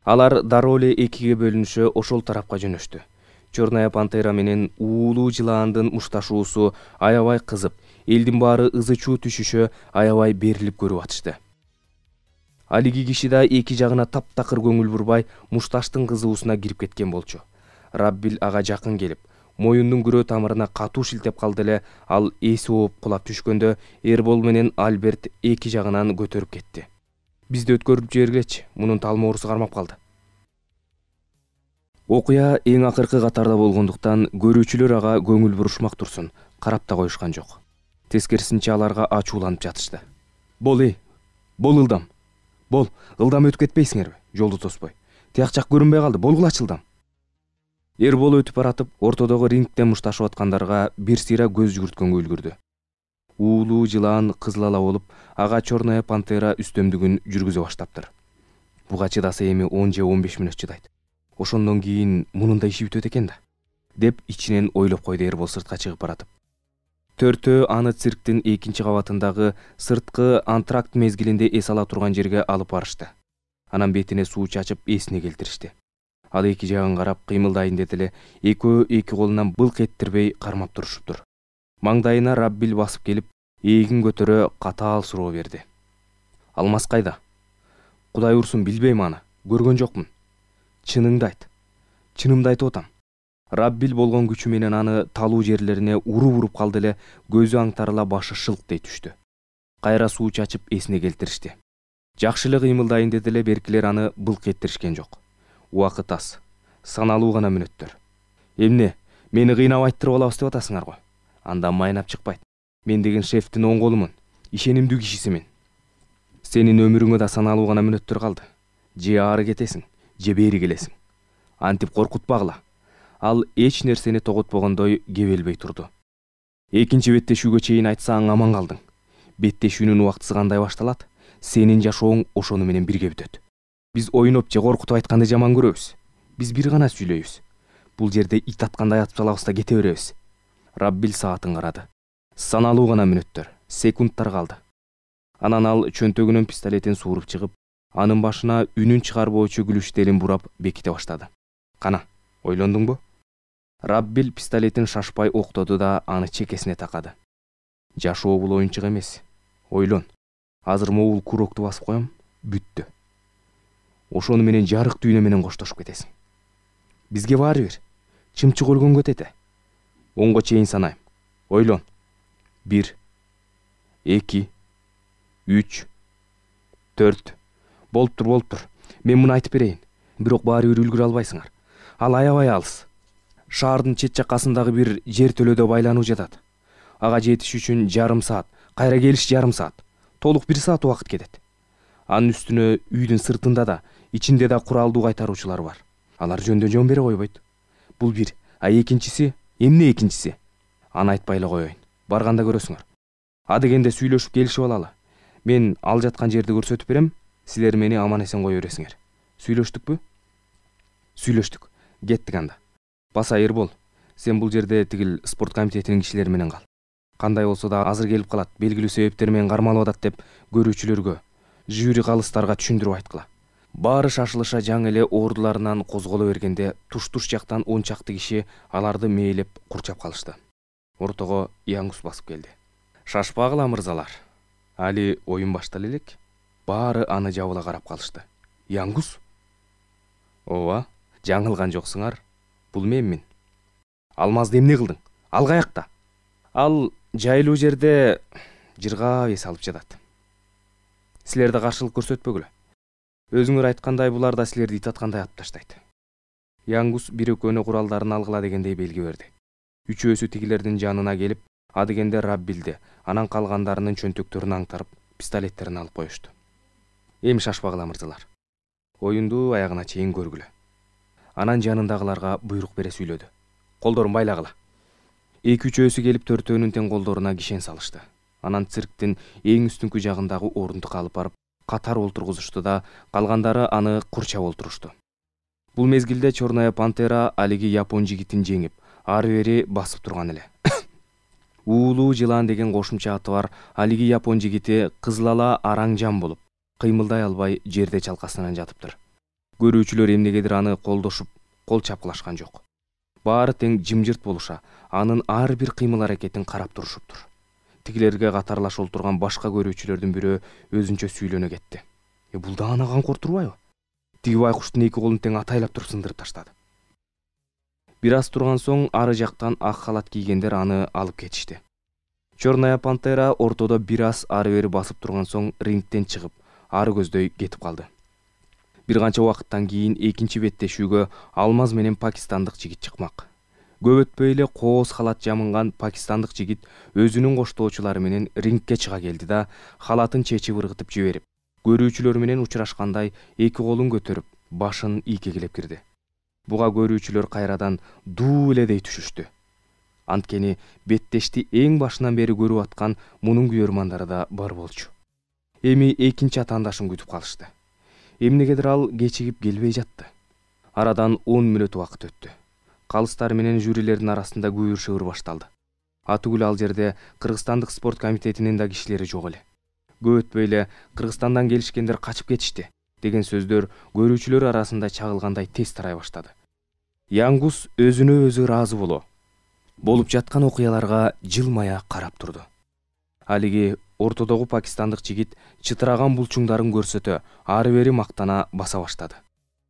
Алар дароо эле экиге бөлүнүшө ошол тарапка жөнөштү. Черная пантера менен уулуу жылаандын мушташуусу аябай кызып, элдин баары ызы чуу түшүшө аябай берилип көрүп атышты. Алиги киши да эки жагына таптакыр көңүл бурбай мушташтын кызуусуна кирип кеткен болчу. Раббил ага жакын келип, моюндун күрөө тамырына катуу шилтеп калды эле, ал эси ооп кулап түшкөндө Эрбол менен Альберт эки жагынан көтөрүп кетти. Бизди өткөрүп жибергилечи, мунун талмоорусу кармап калды. Окуя эң акыркы катарда болгондуктан көрүүчүлөр ага көңүл бурушмак турсун, карап да коюшкан жок. Тескерисинче аларга ачууланып жатышты. Бол эй, бол ылдам. Бол, ылдам өтүп кетпейсиңерби? Жолду тоспой. Тияк жак көрүнбөй калды, болгулачы ылдам. Эрбол өтүп баратып, ортодогу рингден мушташып аткандарга бир сыйра көз жүгүрткөнгө үлгүрдү. Уулуу жылаан кызылала болуп, ага Черная пантера үстөмдүгүн жүргүзө баштаптыр. Буга чыдаса эми он же он беш мүнөт чыдайт. Ошондон кийин мунун да иши бүтөт экен да, деп ичинен ойлоп койду Эрбол сыртка чыгып баратып. Төртөө аны цирктин экинчи кабатындагы сырткы антракт мезгилинде эс ала турган жерге алып барышты. Анан бетине суу чачып эсине келтиришти. Ал эки жагын карап кыймылдайын деди эле, экөө эки колунан былк эттирбей кармап турушуптур. Маңдайына Раббил басып келип, эгин көтөрө катаал суроо берди. Алмаз кайда? Кудай урсун, билбейм аны, көргөн жокмун. Чыныңды айт. Чынымды айтып атам. Раббил болгон күчү менен аны талуу жерлерине уруп-уруп калды эле, көзү аңтарыла башы шылктай түштү. Кайра суу чачып эсине келтиришти. Жакшы эле кыймылдайын деди эле, беркилер аны былк эттиришкен жок. Убакыт аз, саналуу гана мүнөттөр. Эмне, мени кыйнап айттырып алабыз деп атасыңар го? Андан майнап чыкпайт. Мен деген шефтин оң колумун, ишенимдүү кишисимин. Сенин өмүрүңө да саналуу гана мүнөттөр калды. Же ары кетесиң, же бери келесиң. Антип коркутпагыла. Ал эч нерсени тоготпогондой кебелбей турду. Экинчи беттешүүгө чейин айтсаң аман калдың. Беттешүүнүн убактысы кандай башталат? Сенин жашооң ошону менен бирге бүтөт. Биз ойноп же коркутуп айтканды жаман көрөбүз. Биз бир гана сүйлөйбүз. Бул жерде ит аткандай атып салабыз да кете беребиз. Раббил саатын карады. Саналуу гана мүнөттөр, секундтар калды. Анан ал чөнтөгүнөн пистолетин сууруп чыгып, анын башына үнүн чыгарбоочу күлүштелин бурап беките баштады. Кана, ойлондуңбу? Раббил пистолетин шашпай октоду да аны чекесине такады. Жашоо бул оюнчук эмес. Ойлон. Азыр могул курокту басып коем, бүттү. Ошону менен жарык дүйнө менен коштошуп кетесиң. Бизге баары бир. Чымчык өлгөнгө тете. Онго чейин санайм. Ойлон. Бир, эки, үч, төрт. Болуптур, болуптур. Мен муну айтып берейин. Бирок баары бир үлгүрө албайсыңар. Ал аябай алыс. Шаардын чет жаккасындагы бир жер төлөдө байлануу жатат. Ага жетиш үчүн жарым саат, кайра келиш жарым саат. Толук бир саат убакыт кетет. Анын үстүнө үйдүн сыртында да, ичинде да куралдуу кайтаруучулар бар. Алар жөндөн жон бере койбойт. Бул бир. А экинчиси, эмне экинчиси? Аны айтпай эле коеюн. Барганда көрөсүңөр. Адегенде сүйлөшүп келишип алалы. Мен ал жаткан жерди көрсөтүп берем, силер мени аман эсен кое бересиңер. Сүйлөштүкпү? Сүйлөштүк. Кеттик анда. Баса Эрбол, сен бул жерде тигил спорт комитетинин кишилери менен кал. Кандай болсо да азыр келип калат, белгилүү себептер менен кармалып атат деп көрүүчүлөргө, жюри калыстарга түшүндүрүп айткыла. Баары шашылыша жаңы эле ордуларынан козголо бергенде туш-туш жактан он чакты киши аларды мээлеп курчап калышты. Ортого Яңгус басып келди. Шашпагыла мырзалар. Али оюн баштала элек. Баары аны жабыла карап калышты. Яңгус? Ооба, жаңылган жоксуңар. Бул менмин. Алмазды эмне кылдың? Ал каякта? Ал жайлуу жерде жыргап эс алып жатат. Силерде каршылык көрсөтпөгүлө. Өзүңөр айткандай булар да силерди ит аткандай атып таштайт. Яңгус бир экөөнө куралдарын алгыла дегендей белги берди. Үчөөсү тигилердин жанына келип, адегенде Раббилди, анан калгандарынын чөнтөктөрүн аңтарып, пистолеттерин алып коюшту. Эми шашпагыла мырзалар. Оюнду аягына чейин көргүлө. Анан жанындагыларга буйрук бере сүйлөдү. Колдорун байлагыла. Эки-үчөөсү келип төртөөнүн тең колдоруна кишен салышты. Анан цирктин эң үстүнкү жагындагы орундукка алып барып, катар олтургузушту да, калгандары аны курчап олтурушту. Бул мезгилде Черная пантера алиги япон жигитин жеңип, ары бери басып турган эле. Уулуу жылан деген кошумча аты бар алиги япон жигити кызылала араң жан болуп, кыймылдай албай жерде чалкасынан жатыптыр. Көрүүчүлөр эмнегедир аны колдошуп, кол чапкылашкан жок. Баары тең жымжырт болуша, анын ар бир кыймыл аракетин карап турушуптур. Тигилерге катарлаш олтурган башка көрүүчүлөрдүн бирөө өзүнчө сүйлөнө кетти. Э бул да аны канкор турбайбы? Тиги байкуштун эки колун тең атайлап туруп сындырып таштады. Бир аз турган соң ары жактан ак халат кийгендер аны алып кетишти. Черная пантера ортодо бир аз ары бери басып турган соң рингден чыгып, ары көздөй кетип калды. Бир канча убакыттан кийин экинчи беттешүүгө Алмаз менен пакистандык жигит чыкмак. Көп өтпөй эле кооз халат жамынган пакистандык жигит өзүнүн коштоочулары менен рингке чыга келди да, халатын чечип ыргытып жиберип, көрүүчүлөр менен учурашкандай эки колун көтөрүп, башын ийкегилеп кирди. Буга көрүүчүлөр кайрадан дуу эледей түшүштү. Анткени беттешти эң башынан бери көрүп аткан мунун күйөрмандары да бар болчу. Эми экинчи атаандашын күтүп калышты. Эмнегедир ал кечигип келбей жатты. Арадан он мүнөт убакыт өттү. Калыстар менен жюрилердин арасында күйүр-шыбыр башталды. Атүгүл ал жерде Кыргызстандык спорт комитетинин да кишилери жок эле. Көп өтпөй эле Кыргызстандан келишкендер качып кетишти деген сөздөр көрүүчүлөр арасында чагылгандай тез тарай баштады. Яңгус өзүнө өзү ыраазы боло, болуп жаткан окуяларга жылмая карап турду. Алиги ортодогу пакистандык жигит чытыраган булчуңдарын көрсөтө, ары бери мактана баса баштады.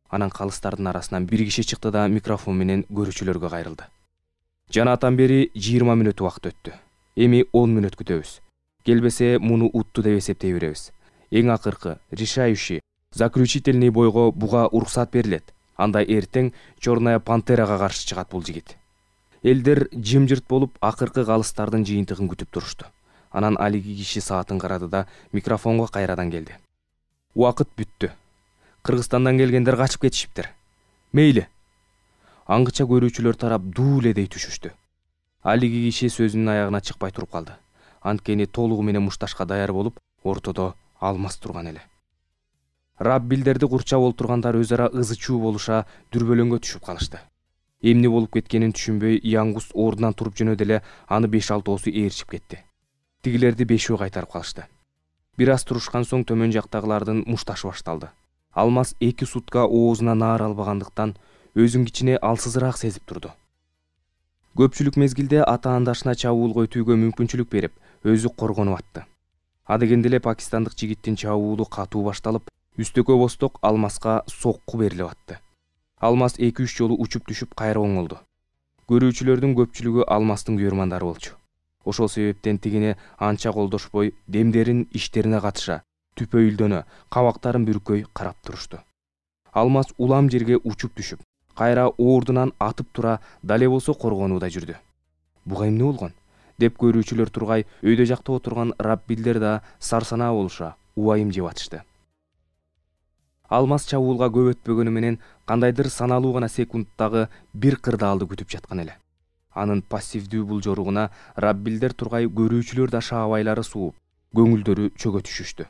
Анан калыстардын арасынан бир киши чыкты да микрофон менен көрүүчүлөргө кайрылды. Жанатан бери жыйырма мүнөт убакыт өттү. Эми он мүнөт күтөбүз. Келбесе муну утту деп эсептей беребиз. Эң акыркы, решающий, заключительный бойго буга уруксат берилет. Анда эртең Черная пантерага каршы чыгат бул жигит. Элдер жымжырт болуп акыркы калыстардын жыйынтыгын күтүп турушту. Анан алиги киши саатын карады да микрофонго кайрадан келди. Убакыт бүттү. Кыргызстандан келгендер качып кетишиптир. Мейли. Аңгыча көрүүчүлөр тарап дуу эледей түшүштү. Алиги киши сөзүнүн аягына чыкпай туруп калды. Анткени толугу менен мушташка даяр болуп, ортодо Алмаз турган эле. Раббилдерди курчап олтургандар өз ара ызы-чуу болуша дүрбөлөңгө түшүп калышты. Эмне болуп кеткенин түшүнбөй, Яңгус ордунан туруп жөнөдү эле аны беш алтоосу ээрчип кетти. Тигилерди бешөө кайтарып калышты. Бир аз турушкан соң төмөн жактагылардын мушташы башталды. Алмаз эки сутка оозуна наар албагандыктан өзүн кичине алсызыраак сезип турду. Көпчүлүк мезгилде ата-андашына чабуул көтүүгө мүмкүнчүлүк берип, өзү коргонуп атты. Адегенде эле пакистандык жигиттин чабуулу катуу башталып, үстөкө босток Алмазга сокку берилип атты. Алмаз эки үч жолу учуп түшүп кайра оңолду. Көрүүчүлөрдүн көпчүлүгү Алмаздын күйөрмандары болчу. Ошол себептен тигине анча колдошпой, демдерин иштерине катыша, түпөйүлдөнө, кабактарын бүркөй карап турушту. Алмаз улам жерге учуп түшүп, кайра ордунан атып тура, дале болсо коргонууда жүрдү. Буга эмне болгон деп көрүүчүлөр тургай, өйдө жакта отурган раббилдер да сарсанаа болуша, убайым жеп атышты. Алмаз чабуулга көп өтпөгөнү менен кандайдыр саналуу гана секундтагы бир кырдаалды күтүп жаткан эле. Анын пассивдүү булжоругуна раббилдер тургай, көрүүчүлөр да шаабайлары сууп, көңүлдөрү чөгө түшүштү.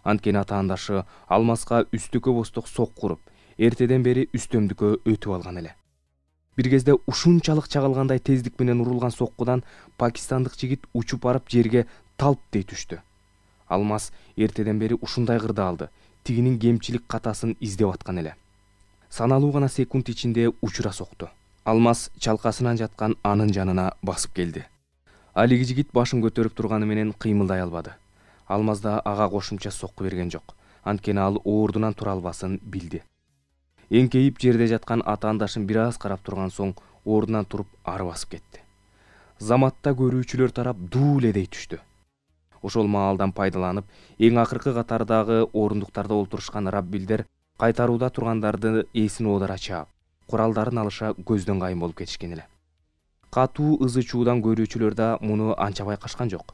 Анткени ата-андашы Алмазга үстүкө босток сокку уруп, эртеден бери үстөмдүккө өтүп алган эле. Бир кезде ушунчалык чагылгандай тездик менен урулган соккудан пакистандык жигит учуп барып жерге талп дей түштү. Алмаз эртеден бери ушундай кырдаалды, тигинин кемчилик катасын издеп аткан эле. Саналуу гана секунд ичинде учура сокту. Алмаз чалкасынан жаткан анын жанына басып келди. Алиги жигит башын көтөрүп турганы менен кыймылдай албады. Алмаз да ага кошумча сокку берген жок. Анткени ал ордунан тура албасын билди. Эңкейип жерде жаткан ата-андашын бир аз карап турган соң ордунан туруп ары басып кетти. Заматта көрүүчүлөр тарап дуу эле дей түштү. Ошол маалдан пайдаланып, эң акыркы катардагы орундуктарда олтурушкан раббилдер кайтарууда тургандарды эсин оодара чаап, куралдарын алыша көздөн кайын болуп кетишкен эле. Катуу ызы чуудан көрүүчүлөр да муну анча байкашкан жок.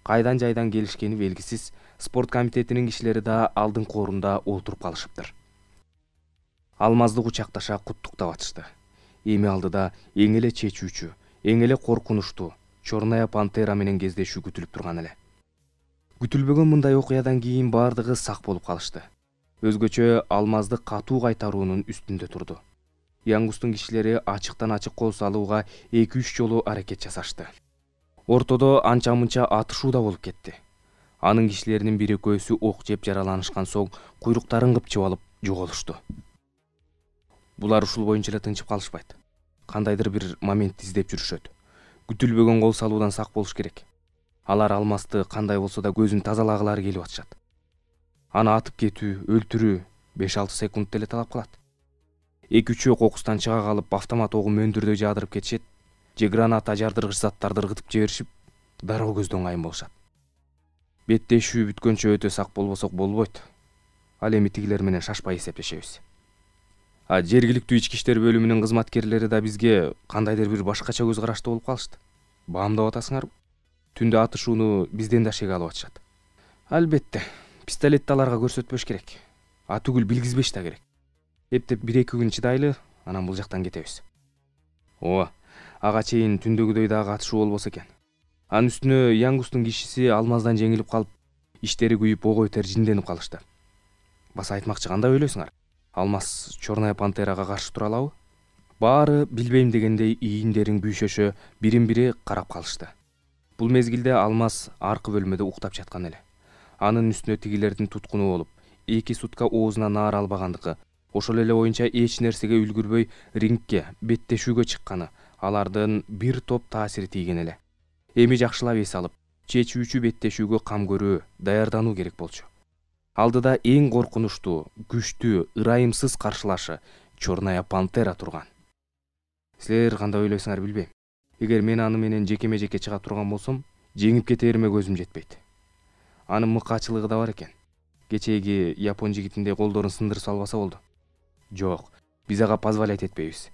Кайдан жайдан келишкени белгисиз, спорт комитетинин кишилери да алдыңкы орунда отуруп калышыптыр. Алмазды кучакташа куттуктап атышты. Эми алдыда эң эле чечүүчү, эң эле коркунучтуу Чорная пантера менен кездешүү күтүлүп турган эле. Күтүлбөгөн мындай окуядан кийин бардыгы сак болуп калышты. Өзгөчө Алмазды катуу кайтаруунун үстүндө турду. Яңгустун кишилери ачыктан ачык кол салууга эки үч жолу аракет жасашты. Ортодо анча-мынча атышуу да болуп кетти. Анын кишилеринин бир экөөсү ок жеп жараланышкан соң куйруктарын кыпчып алып жоголушту. Булар ушул боюнча эле тынчып калышпайт. Кандайдыр бир момент издеп жүрүшөт. Күтүлбөгөн кол салуудан сак болуш керек. Алар Алмазды кандай болсо да көзүн тазалагылары келип атышат. Аны атып кетүү, өлтүрүү беш алты секунд эле талап кылат. эки үчөө кокустан чыга калып автомат огу мөндүрдөй жаадырып кетишет, же граната жардыргыч заттарды ыргытып жиберишип, дароо көздөн кайын болушат. Беттешүү бүткөнчө өтө сак болбосок болбойт. Ал эми тигилер менен шашпай эсептешебиз. А жергиликтүү ички иштер бөлүмүнүн кызматкерлери да бизге кандайдыр бир башкача көз карашты болуп калышты. Баамдап атасыңарбы? Түндө атышууну бизден да шеге алып атышат. Албетте, пистолетти аларга көрсөтпөш керек. А түгүл билгизбеш да керек. Эптеп бир эки күн чыдайлы, анан бул жактан кетебиз. Ооба, ага чейин түндөгүдөй дагы атышуу болбосо экен. Анын үстүнө Яңгустун кишиси Алмаздан жеңилип калып, иштери күйүп ого бетер жинденип калышты. Баса айтмакчы, кандай ойлойсуңар? Алмаз Чорная пантерага каршы тура алабы? Баары билбейм дегендей ийиндерин күйшөшө бирин-бири карап калышты. Бул мезгилде Алмаз аркы бөлмөдө уктап жаткан эле. Анын үстүнө тигилердин туткуну болуп, эки сутка оозуна наар албагандыгы, ошол эле боюнча эч нерсеге үлгүрбөй рингке, беттешүүгө чыкканы, алардын бир топ таасири тийген эле. Эми жакшылап эс алып, чечүүчү беттешүүгө кам көрүү, даярдануу керек болчу. Алдыда эң коркунучтуу, күчтүү, ырайымсыз каршылашы Чорная пантера турган. Силер кандай ойлойсуңар билбейм. Эгер мен аны менен жекеме-жеке чыга турган болсом, жеңип кетериме көзүм жетпейт. Анын мыкаачылыгы да бар экен. Кечеги япон жигитиндей колдорун сындырып салбаса болду. Жок, биз ага позволять этпейбиз.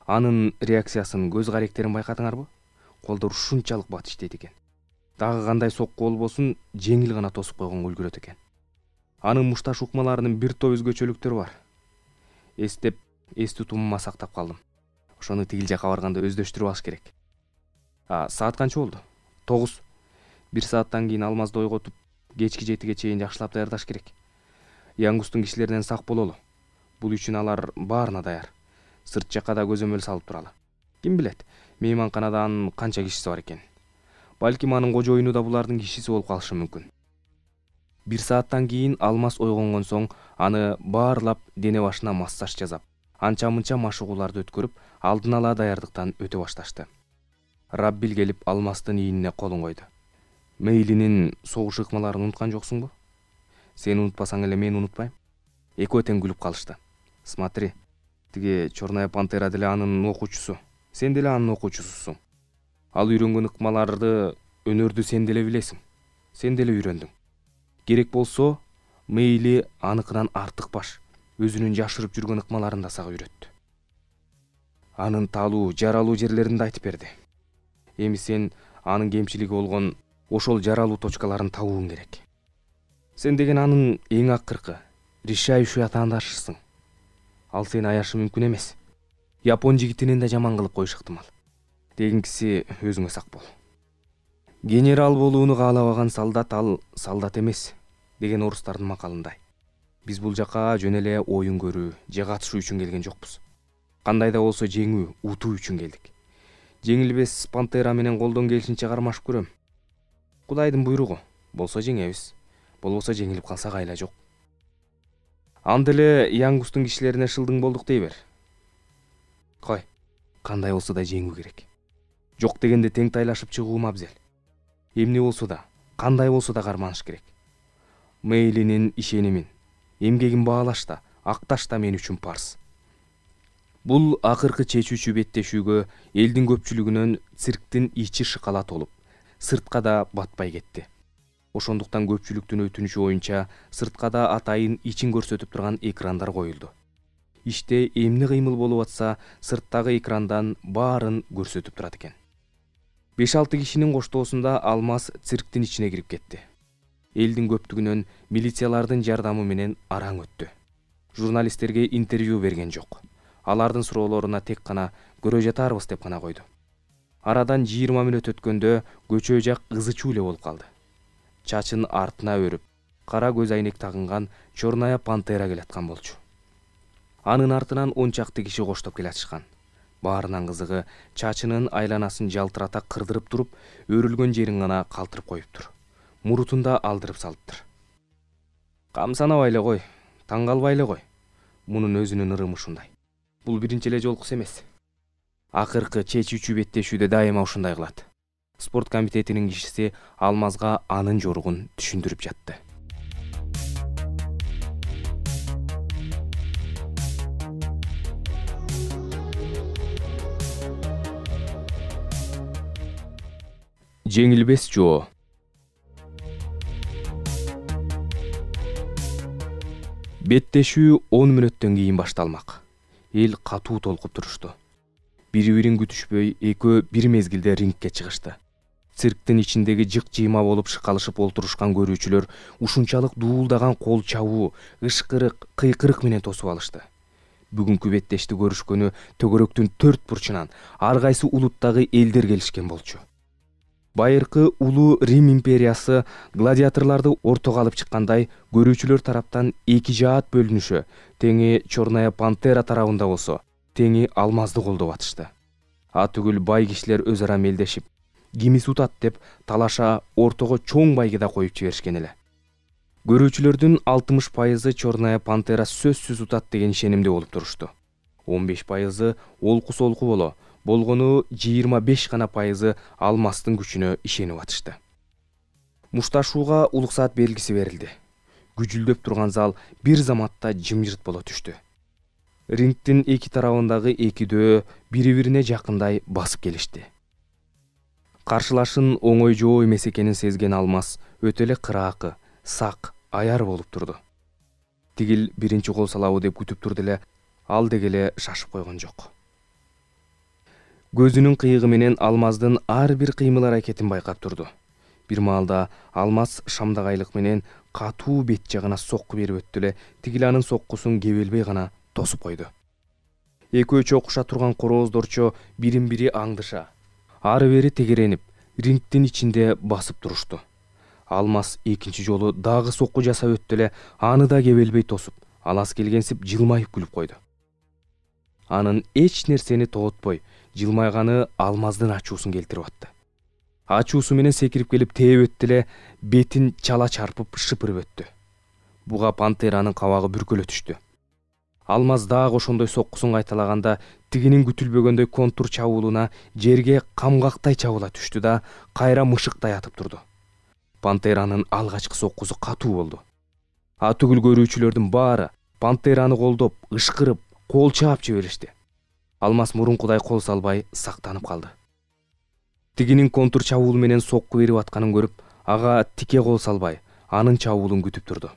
Анын реакциясын, көз каректерин байкадыңарбы? Колдор ушунчалык бат иштейт экен. Дагы кандай сокку болбосун, жеңил гана тосуп койгонго үлгүрөт экен. Анын мушташ укмаларынын бир топ өзгөчөлүктөрү бар. Эстеп, эс тутумума сактап калдым. Ошону тигил жака барганда өздөштүрүп алыш керек. А саат канча болду? тогуз. Бир сааттан кийин Алмазды ойготуп, кечки жетиге чейин жакшылап даярдаш керек. Яңгустун кишилеринен сак бололу. Бул үчүн алар баарына даяр. Сырт жакка да көзөмөл салып туралы. Ким билет, мейманканада анын канча кишиси бар экен. Балким анын кожоюну да булардын кишиси болуп калышы мүмкүн. бир сааттан кийин Алмаз ойгонгон соң аны баарлап дене башына массаж жасап, анча-мынча машыгууларды өткөрүп, алдын ала даярдыктан өтө башташты. Раббил келип Алмаздын ийинине колун койду. Мейлинин согуш ыкмаларын унуткан жоксуңбу? Сен унутпасаң эле мен унутпайм. Экөө тең күлүп калышты. Смотри, тиги Черная пантера деле анын окуучусу. Сен деле анын окуучусусуң. Ал үйрөнгөн ыкмаларды, өнөрдү сен деле билесиң. Сен деле үйрөндүң. Керек болсо, мейли аныкынан артык баш, өзүнүн жашырып жүргөн ыкмаларын да сага үйрөттү. Анын талуу, жаралуу жерлерин да айтып берди. Эми сен анын кемчилиги болгон ошол жаралуу точкаларын табууң керек. Сен деген анын эң акыркы, решающий атаандашысың. Ал сени аяшы мүмкүн эмес. Япон жигитинен да жаман кылып коюш ыктымал. Дегинкиси өзүңө сак бол. Генерал болууну каалабаган солдат ал солдат эмес деген орустардын макалындай. Биз бул жака жөн эле оюн көрүү, же катышуу үчүн келген жокпуз. Кандай да болсо жеңүү, утуу үчүн келдик. Жеңилбес пантера менен колдон келишинче кармашып көрөм. Кудайдын буйругу. Болсо жеңебиз, болбосо жеңилип калсак айла жок. Анда эле Янгустун кишилерине шылдың болдук дей бер. Кой, кандай болсо да жеңүү керек. Жок дегенде тең тайлашып чыгуу абзел. Эмне болсо да, кандай болсо да карманыш керек. Мейлинин ишенимин, эмгегин баалаш да, акташ да мен үчүн парз. Бул акыркы чечүүчү беттешүүгө элдин көпчүлүгүнөн цирктин ичи шыкала толуп, сыртка да батпай кетти. Ошондуктан көпчүлүктүн өтүнүчү боюнча сыртка да атайын ичин көрсөтүп турган экрандар коюлду. Иште эмне кыймыл болуп атса, сырттагы экрандан баарын көрсөтүп турат экен. беш алты кишинин коштоосунда Алмаз цирктин ичине кирип кетти. Элдин көптүгүнөн милициялардын жардамы менен араң өттү. Журналисттерге интервью берген жок. Алардын суроолоруна тек гана көрө жатарбыз деп гана койду. Арадан жыйырма мүнөт өткөндө көчө жак ызы чуу эле болуп калды. Чачын артына өрүп, кара көз айнек тагынган Черная пантера келаткан болчу. Анын артынан он чакты киши коштоп келатышкан. Баарынан кызыгы, чачынын айланасын жалтырата кырдырып туруп, өрүлгөн жерин гана калтырып коюптур. Мурутун да алдырып салыптыр. Камсанабай эле кой, таң калбай эле кой. Мунун өзүнүн ырымы ушундай. Бул биринчи эле жолкус эмес. Акыркы чечүүчү беттешүүдө дайыма ушундай кылат. Спорт комитетинин кишиси Алмазга анын жоругун түшүндүрүп жатты. Жеңилбес жоо. Беттешүү он мүнөттөн кийин башталмак. Эл катуу толкуп турушту. Бири-бирин күтүшпөй экөө бир мезгилде рингке чыгышты. Цирктин ичиндеги жык-жыйма болуп шыкалышып олтурушкан көрүүчүлөр ушунчалык дуулдаган кол чабуу, ышкырык, кыйкырык менен тосуп алышты. Бүгүнкү беттешти көрүшкөнү төгөрөктүн төрт бурчунан ар кайсы улуттагы элдер келишкен болчу. Байыркы улуу Рим империясы гладиаторлорду ортого алып чыккандай, көрүүчүлөр тараптан эки жаат бөлүнүшө, теңи Черная пантера тарабында болсо, теңи Алмазды колдоп атышты. А түгүл бай кишилер өз ара мелдешип, кимис утат деп талаша ортого чоң байгы да коюп жиберишкен эле. Көрүүчүлөрдүн алтымыш пайызы Черная пантера сөзсүз утат деген ишенимде болуп турушту. он беш пайызы олку-солку боло, болгону жыйырма беш гана пайызы Алмаздын күчүнө ишенип атышты. Мушташууга улуксаат белгиси берилди. Күжүлдөп турган зал бир заматта жымжырт боло түштү. Рингдин эки тарабындагы экидөө бири-бирине жакындай басып келишти. Каршылашын оңой жоо эмес экенин сезген Алмаз өтө эле кыраакы, сак, аяр болуп турду. Тигил биринчи кол салабы деп күтүп турду эле, ал дегеле шашып койгон жок. Көзүнүн кыйыгы менен Алмаздын ар бир кыймыл аракетин байкап турду. Бир маалда Алмаз шамдагайлык менен катуу бет жагына сокку берип өттү эле, тигил анын соккусун кебелбей гана тосуп койду. Экөө чокуша турган корооздорчо бирин-бири аңдыша, ары бери тегеренип, рингдин ичинде басып турушту. Алмаз экинчи жолу дагы сокку жасап өттү эле, аны да кебелбей тосуп, алас келгенсип жылмайып күлүп койду. Анын эч нерсени тоотпой, жылмайганы Алмаздын ачуусун келтирип атты. ачуусу менен секирип келип тээп өттү эле бетин чала чарпып шыпырып өттү. Буга пантеранын кабагы бүркөлө түштү. Алмаз дагы ошондой соккусун кайталаганда тигинин күтүлбөгөндөй контур чабуулуна жерге камгактай чабыла түштү да кайра мышыктай атып турду. Пантеранын алгачкы соккусу катуу болду. Атүгүл көрүүчүлөрдүн баары пантераны колдоп, ышкырып, кол чаап жиберишти. Алмаз мурункудай кол салбай сактанып калды. Тигинин контур чабуул менен сокку берип атканын көрүп, ага тике кол салбай, анын чабуулун күтүп турду.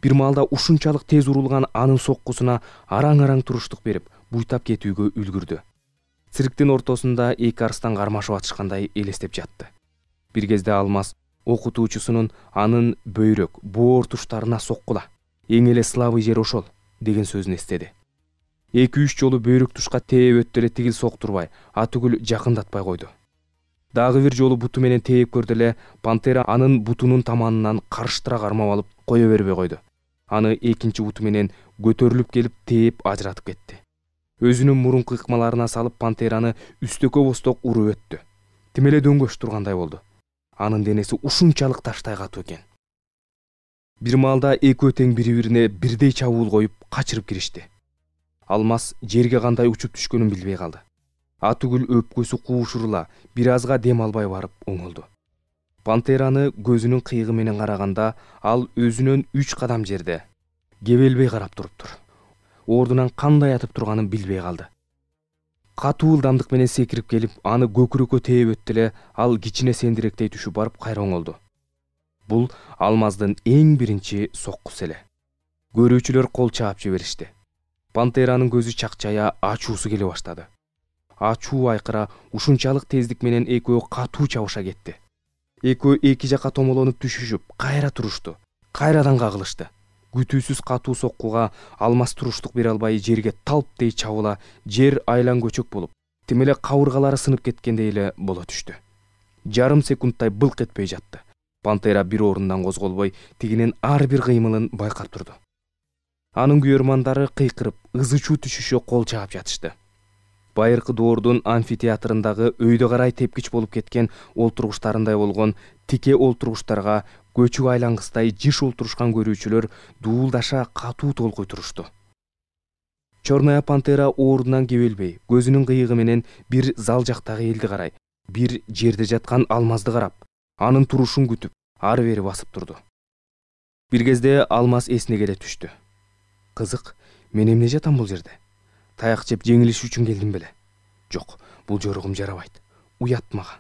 Бир маалда ушунчалык тез урулган анын соккусуна араң-араң туруштук берип, буйтап кетүүгө үлгүрдү. Цирктин ортосунда эки арстан кармашып атышкандай элестеп жатты. Бир кезде Алмаз окутуучусунун анын бөйрөк, боор туштарына соккула, эң эле слабый жер ошол деген сөзүн эстеди. эки-үч жолу бөйрөк тушка тээп өттү эле тигил соктурбай, атүгүл жакындатпай койду. Дагы бир жолу буту менен тээп көрдү эле, пантера анын бутунун таманынан карыштыра кармап алып кое бербей койду. Аны экинчи буту менен көтөрүлүп келип тээп ажыратып кетти. Өзүнүн мурунку ыкмаларына салып пантераны үстөккө босток уруп өттү. Тим эле дөңгөш тургандай болду. Анын денеси ушунчалык таштай катуу экен. Бир маалда экөө тең бири-бирине бирдей чабуул коюп качырып киришти. Алмаз жерге кандай учуп түшкөнүн билбей калды. Атүгүл өпкөсү куушурула, бир азга дем албай барып оңолду. Пантераны көзүнүн кыйыгы менен караганда, ал өзүнөн үч кадам жерде кебелбей карап туруптур. Ордунан кандай атып турганын билбей калды. Катуу ылдамдык менен секирип келип, аны көкүрөккө тээп өттү эле, ал кичине сендиректей түшүп барып кайра оңолду. Бул Алмаздын эң биринчи соккусу эле. Көрүүчүлөр кол чаап жиберишти. Пантеранын көзү чакчая, ачуусу келе баштады. Ачуу айкыра ушунчалык тездик менен экөө катуу чабыша кетти. Экөө эки жакка томолонуп түшүшүп, кайра турушту, кайрадан кагылышты. Күтүүсүз катуу соккуга Алмаз туруштук бере албай жерге талптей чабыла, жер айлан көчөк болуп, тим эле кабыргалары сынып кеткендей эле боло түштү. Жарым секундтай былк этпей жатты. Пантера бир орундан козголбой, тигинин ар бир кыймылын байкап турду. Анын күйөрмандары кыйкырып, ызы-чуу түшүшө кол чаап жатышты. Байыркы доордун амфитеатрындагы өйдө карай тепкич болуп кеткен олтургучтарындай болгон тике олтургучтарга көчүк айлангыстай жыш олтурушкан көрүүчүлөр дуулдаша катуу толкуй турушту. Чорная пантера ордунан кебелбей, көзүнүн кыйыгы менен бир зал жактагы элди карай, бир жерде жаткан Алмазды карап, анын турушун күтүп, ары бери басып турду. Бир кезде Алмаз эсине келе түштү. Кызык, мен эмне жатам бул жерде? Таяк жеп жеңилиш үчүн келдим беле? Жок, бул жорогум жарабайт. Уят мага.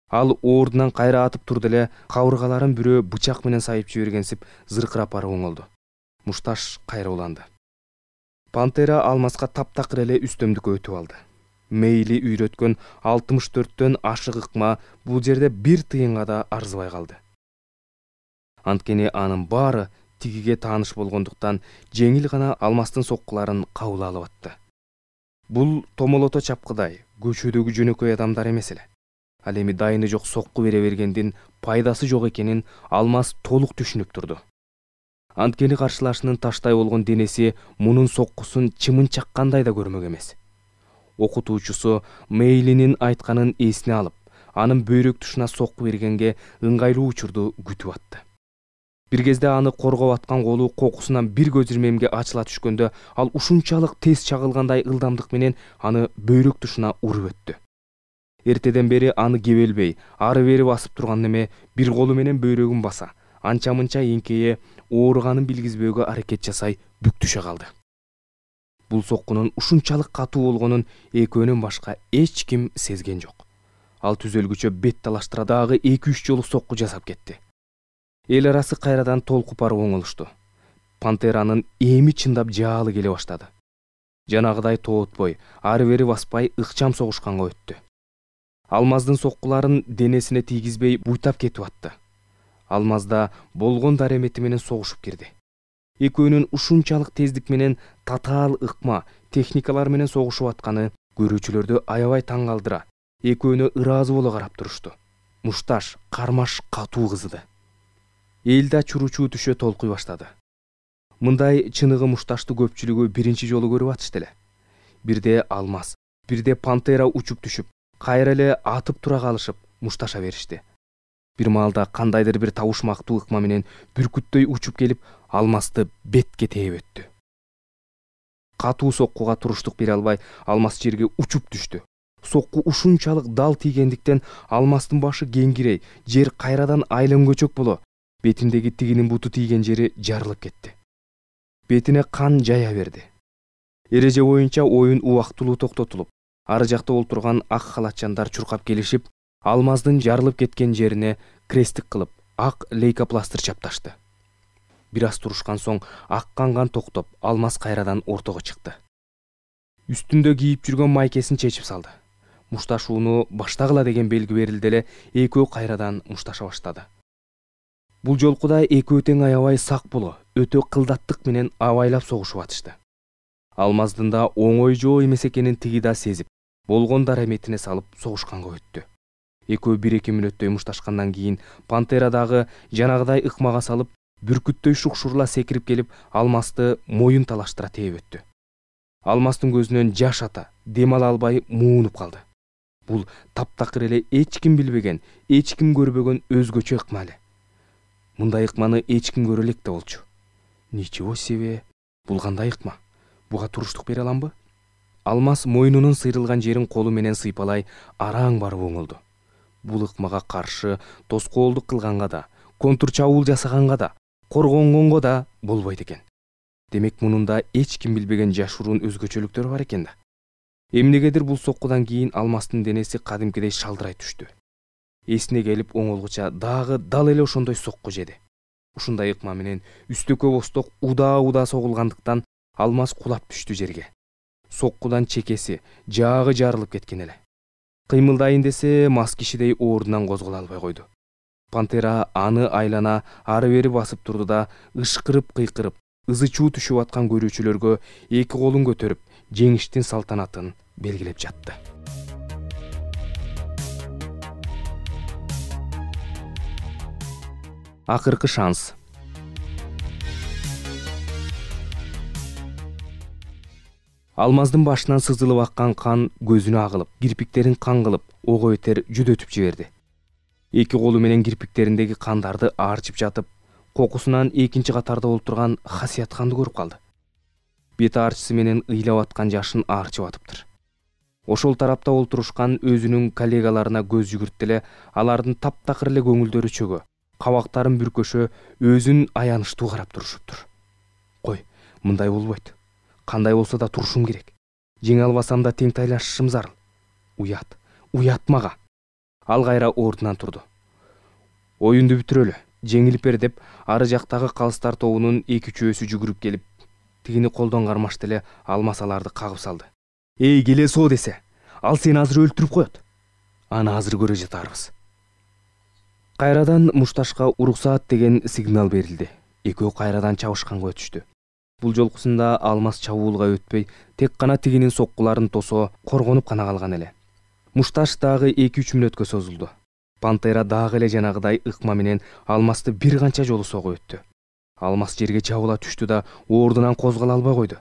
Ал ордунан кайра атып турду эле, кабыргаларын бирөө бычак менен сайып жибергенсип, зыркырап барып оңолду. Мушташ кайра уланды. Пантера Алмазга таптакыр эле үстөмдүккө өтүп алды. Мейли үйрөткөн алтымыш төрттөн ашык ыкма бул жерде бир тыйынга да арзыбай калды. Анткени анын баары тигиге тааныш болгондуктан жеңил гана Алмаздын соккуларын кабыл алып атты. Бул томолото чапкыдай, көчөдөгү жөнөкөй адамдар эмес эле. Ал эми дайыны жок сокку бере бергендин пайдасы жок экенин Алмаз толук түшүнүп турду. Анткени каршылашынын таштай болгон денеси мунун соккусун чымын чаккандай да көрмөк эмес. Окутуучусу Мейлинин айтканын эсине алып, анын бөйрөк тушуна сокку бергенге ыңгайлуу учурду күтүп атты. Бир кезде аны коргоп аткан колу кокусунан бир көз ирмемге ачыла түшкөндө, ал ушунчалык тез чагылгандай ылдамдык менен аны бөйрөк тушуна уруп өттү. Эртеден бери аны кебелбей, ары бери басып турган эме бир колу менен бөйрөгүн баса, анча-мынча эңкейе ооруганын билгизбөөгө аракет жасай бүктүшө калды. Бул соккунун ушунчалык катуу болгонун экөөнөн башка эч ким сезген жок. Ал түзөлгүчө бет талаштыра дагы эки-үч жолу сокку жасап кетти. Эл арасы кайрадан толкуп барып оңолушту. Пантеранын эми чындап жаалы келе баштады. Жанагыдай тоотпой, ары бери баспай ыкчам согушканга өттү. Алмаздын соккуларын денесине тийгизбей буйтап кетип атты. Алмазда болгон даремети менен согушуп кирди. Экөөнүн ушунчалык тездик менен татаал ыкма, техникалар менен согушуп атканы көрүүчүлөрдү аябай таң калтыра. Экөөнү ыраазы боло карап турушту. Мушташ, кармаш катуу кызыды. Элде чуручуу түшө толкуй баштады. Мындай чыныгы мушташты көпчүлүгү биринчи жолу көрүп атышты эле. Бирде Алмаз, бирде Пантера учуп түшүп, кайра эле атып тура калышып, мушташа беришти. Бир маалда кандайдыр бир табышмактуу ыкма менен бүркүттөй учуп келип алмасты бетке тээп өттү. Катуу соккуга туруштук бере албай алмас жерге учуп түштү. Сокку ушунчалык дал тийгендиктен алмастын башы кеңкирей, жер кайрадан айлан көчөк боло, бетиндеги тигинин буту тийген жери жарылып кетти. Бетине кан жая берди. Эреже боюнча оюн убактылуу токтотулуп, ары жакта олтурган ак халатчандар чуркап келишип, алмаздын жарылып кеткен жерине крестик кылып, ак лейкопластыр чапташты. Бир аз турушкан соң аккан кан токтоп, алмаз кайрадан ортого чыкты. Үстүндө кийип жүргөн майкесин чечип салды. Мушташууну баштагыла деген белги берилди эле, экөө кайрадан мушташа баштады. Бул жолку да экөө тең аябай сак боло, өтө кылдаттык менен абайлап согушуп атышты. Алмаздын да оңой жоо эмес экенин тиги да сезип, болгон дараметине салып согушканга өттү. Экөө бир-эки мүнөттөй мушташкандан кийин пантера дагы жанагыдай ыкмага салып, бүркүттөй шукшурла секирип келип, алмасты моюн талаштыра тээп өттү. Алмастын көзүнөн жаш ата, дем ала албай муунуп калды. Бул таптакыр эле эч ким билбеген, эч ким көрбөгөн өзгөчө ыкма эле. Мындай ыкманы эч ким көрө элек да болчу. Ничего себе, бул кандай ыкма? Буга туруштук бере аламбы? Алмаз мойнунун сыйрылган жерин колу менен сыйпалай араң барып оңолду. Бул ыкмага каршы тоскоолдук кылганга да, контур чабуул жасаганга да, коргонгонго да болбойт экен. Демек мунунда эч ким билбеген жашыруун өзгөчөлүктөр бар экен да. Эмнегедир бул соккудан кийин алмастын денеси кадимкидей шалдырай түштү. Эсине келип оңолгуча дагы дал эле ошондой сокку жеди. Ушундай ыкма менен үстөккө босток удаа-удаа согулгандыктан алмаз кулап түштү жерге. Соккудан чекеси, жаагы жарылып кеткен эле. Кыймылдайын десе, мас кишидей ордунан козголо албай койду. Пантера аны айлана ары бери басып турду да, ышкырып кыйкырып, ызы чуу түшүп аткан көрүүчүлөргө эки колун көтөрүп, жеңиштин салтанатын белгилеп жатты. Акыркы шанс. Алмаздын башынан сызылып аккан кан көзүнө агылып, кирпиктерин кан кылып, ого бетер жүдөтүп жиберди. Эки колу менен кирпиктериндеги кандарды аарчып жатып, кокусунан экинчи катарда олтурган Хасиятханды көрүп калды. Бет аарчысы менен ыйлап аткан жашын аарчып атыптыр. Ошол тарапта олтурушкан өзүнүн коллегаларына көз жүгүрттү эле, алардын таптакыр эле көңүлдөрү чөгө, кабактарын бүркөшө, өзүн аянычтуу карап турушуптур. Кой, мындай болбойт. Кандай болсо да турушум керек. Жеңе албасам да тең тайлашышым зарыл. Уят, уят мага. Ал кайра ордунан турду. Оюнду бүтүрөлү, жеңилип бер деп, ары жактагы калыстар тобунун эки-үчөөсү жүгүрүп келип, тигини колдон кармашты эле, алмаз аларды кагып салды. Эй, келе соо десе, ал сени азыр өлтүрүп коет. Аны азыр көрө жатарбыз. Кайрадан мушташка уруксаат деген сигнал берилди. Экөө кайрадан чабышканга өтүштү. Бул жолкусунда алмаз чабуулга өтпөй, тек гана тигинин соккуларын тосо, коргонуп гана калган эле. Мушташ дагы эки-үч мүнөткө созулду. Пантера дагы эле жанагыдай ыкма менен алмазды бир канча жолу согуп өттү. Алмаз жерге жабыла түштү да, ордунан козголо албай койду.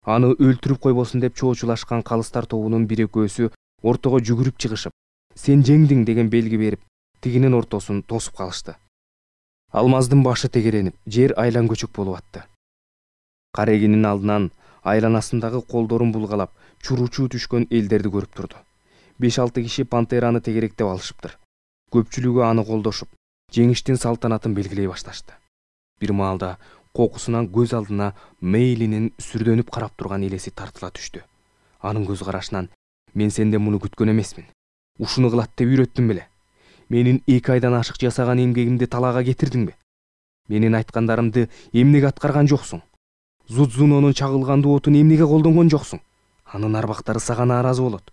Аны өлтүрүп койбосун деп чоочулашкан калыстар тобунун бир экөөсү ортого жүгүрүп чыгышып, сен жеңдиң деген белги берип, тигинин ортосун тосуп калышты. Алмаздын башы тегеренип, жер айлан көчөк болуп атты. Карегинин алдынан айланасындагы колдорун булгалап, чуручуу түшкөн элдерди көрүп турду. беш-алты киши пантераны тегеректеп алышыптыр. Көпчүлүгү аны колдошуп, жеңиштин салтанатын белгилей башташты. Бир маалда кокусунан көз алдына Мейлинин сүрдөнүп карап турган элеси тартыла түштү. Анын көз карашынан мен сенден муну күткөн эмесмин. Ушуну кылат деп үйрөттүм беле? Менин эки айдан ашык жасаган эмгегимди талаага кетирдиңби? Менин айткандарымды эмнеге аткарган жоксуң? Зудзунонун чагылгандуу отун эмнеге колдонгон жоксуң? Анын арбактары сага нааразы болот.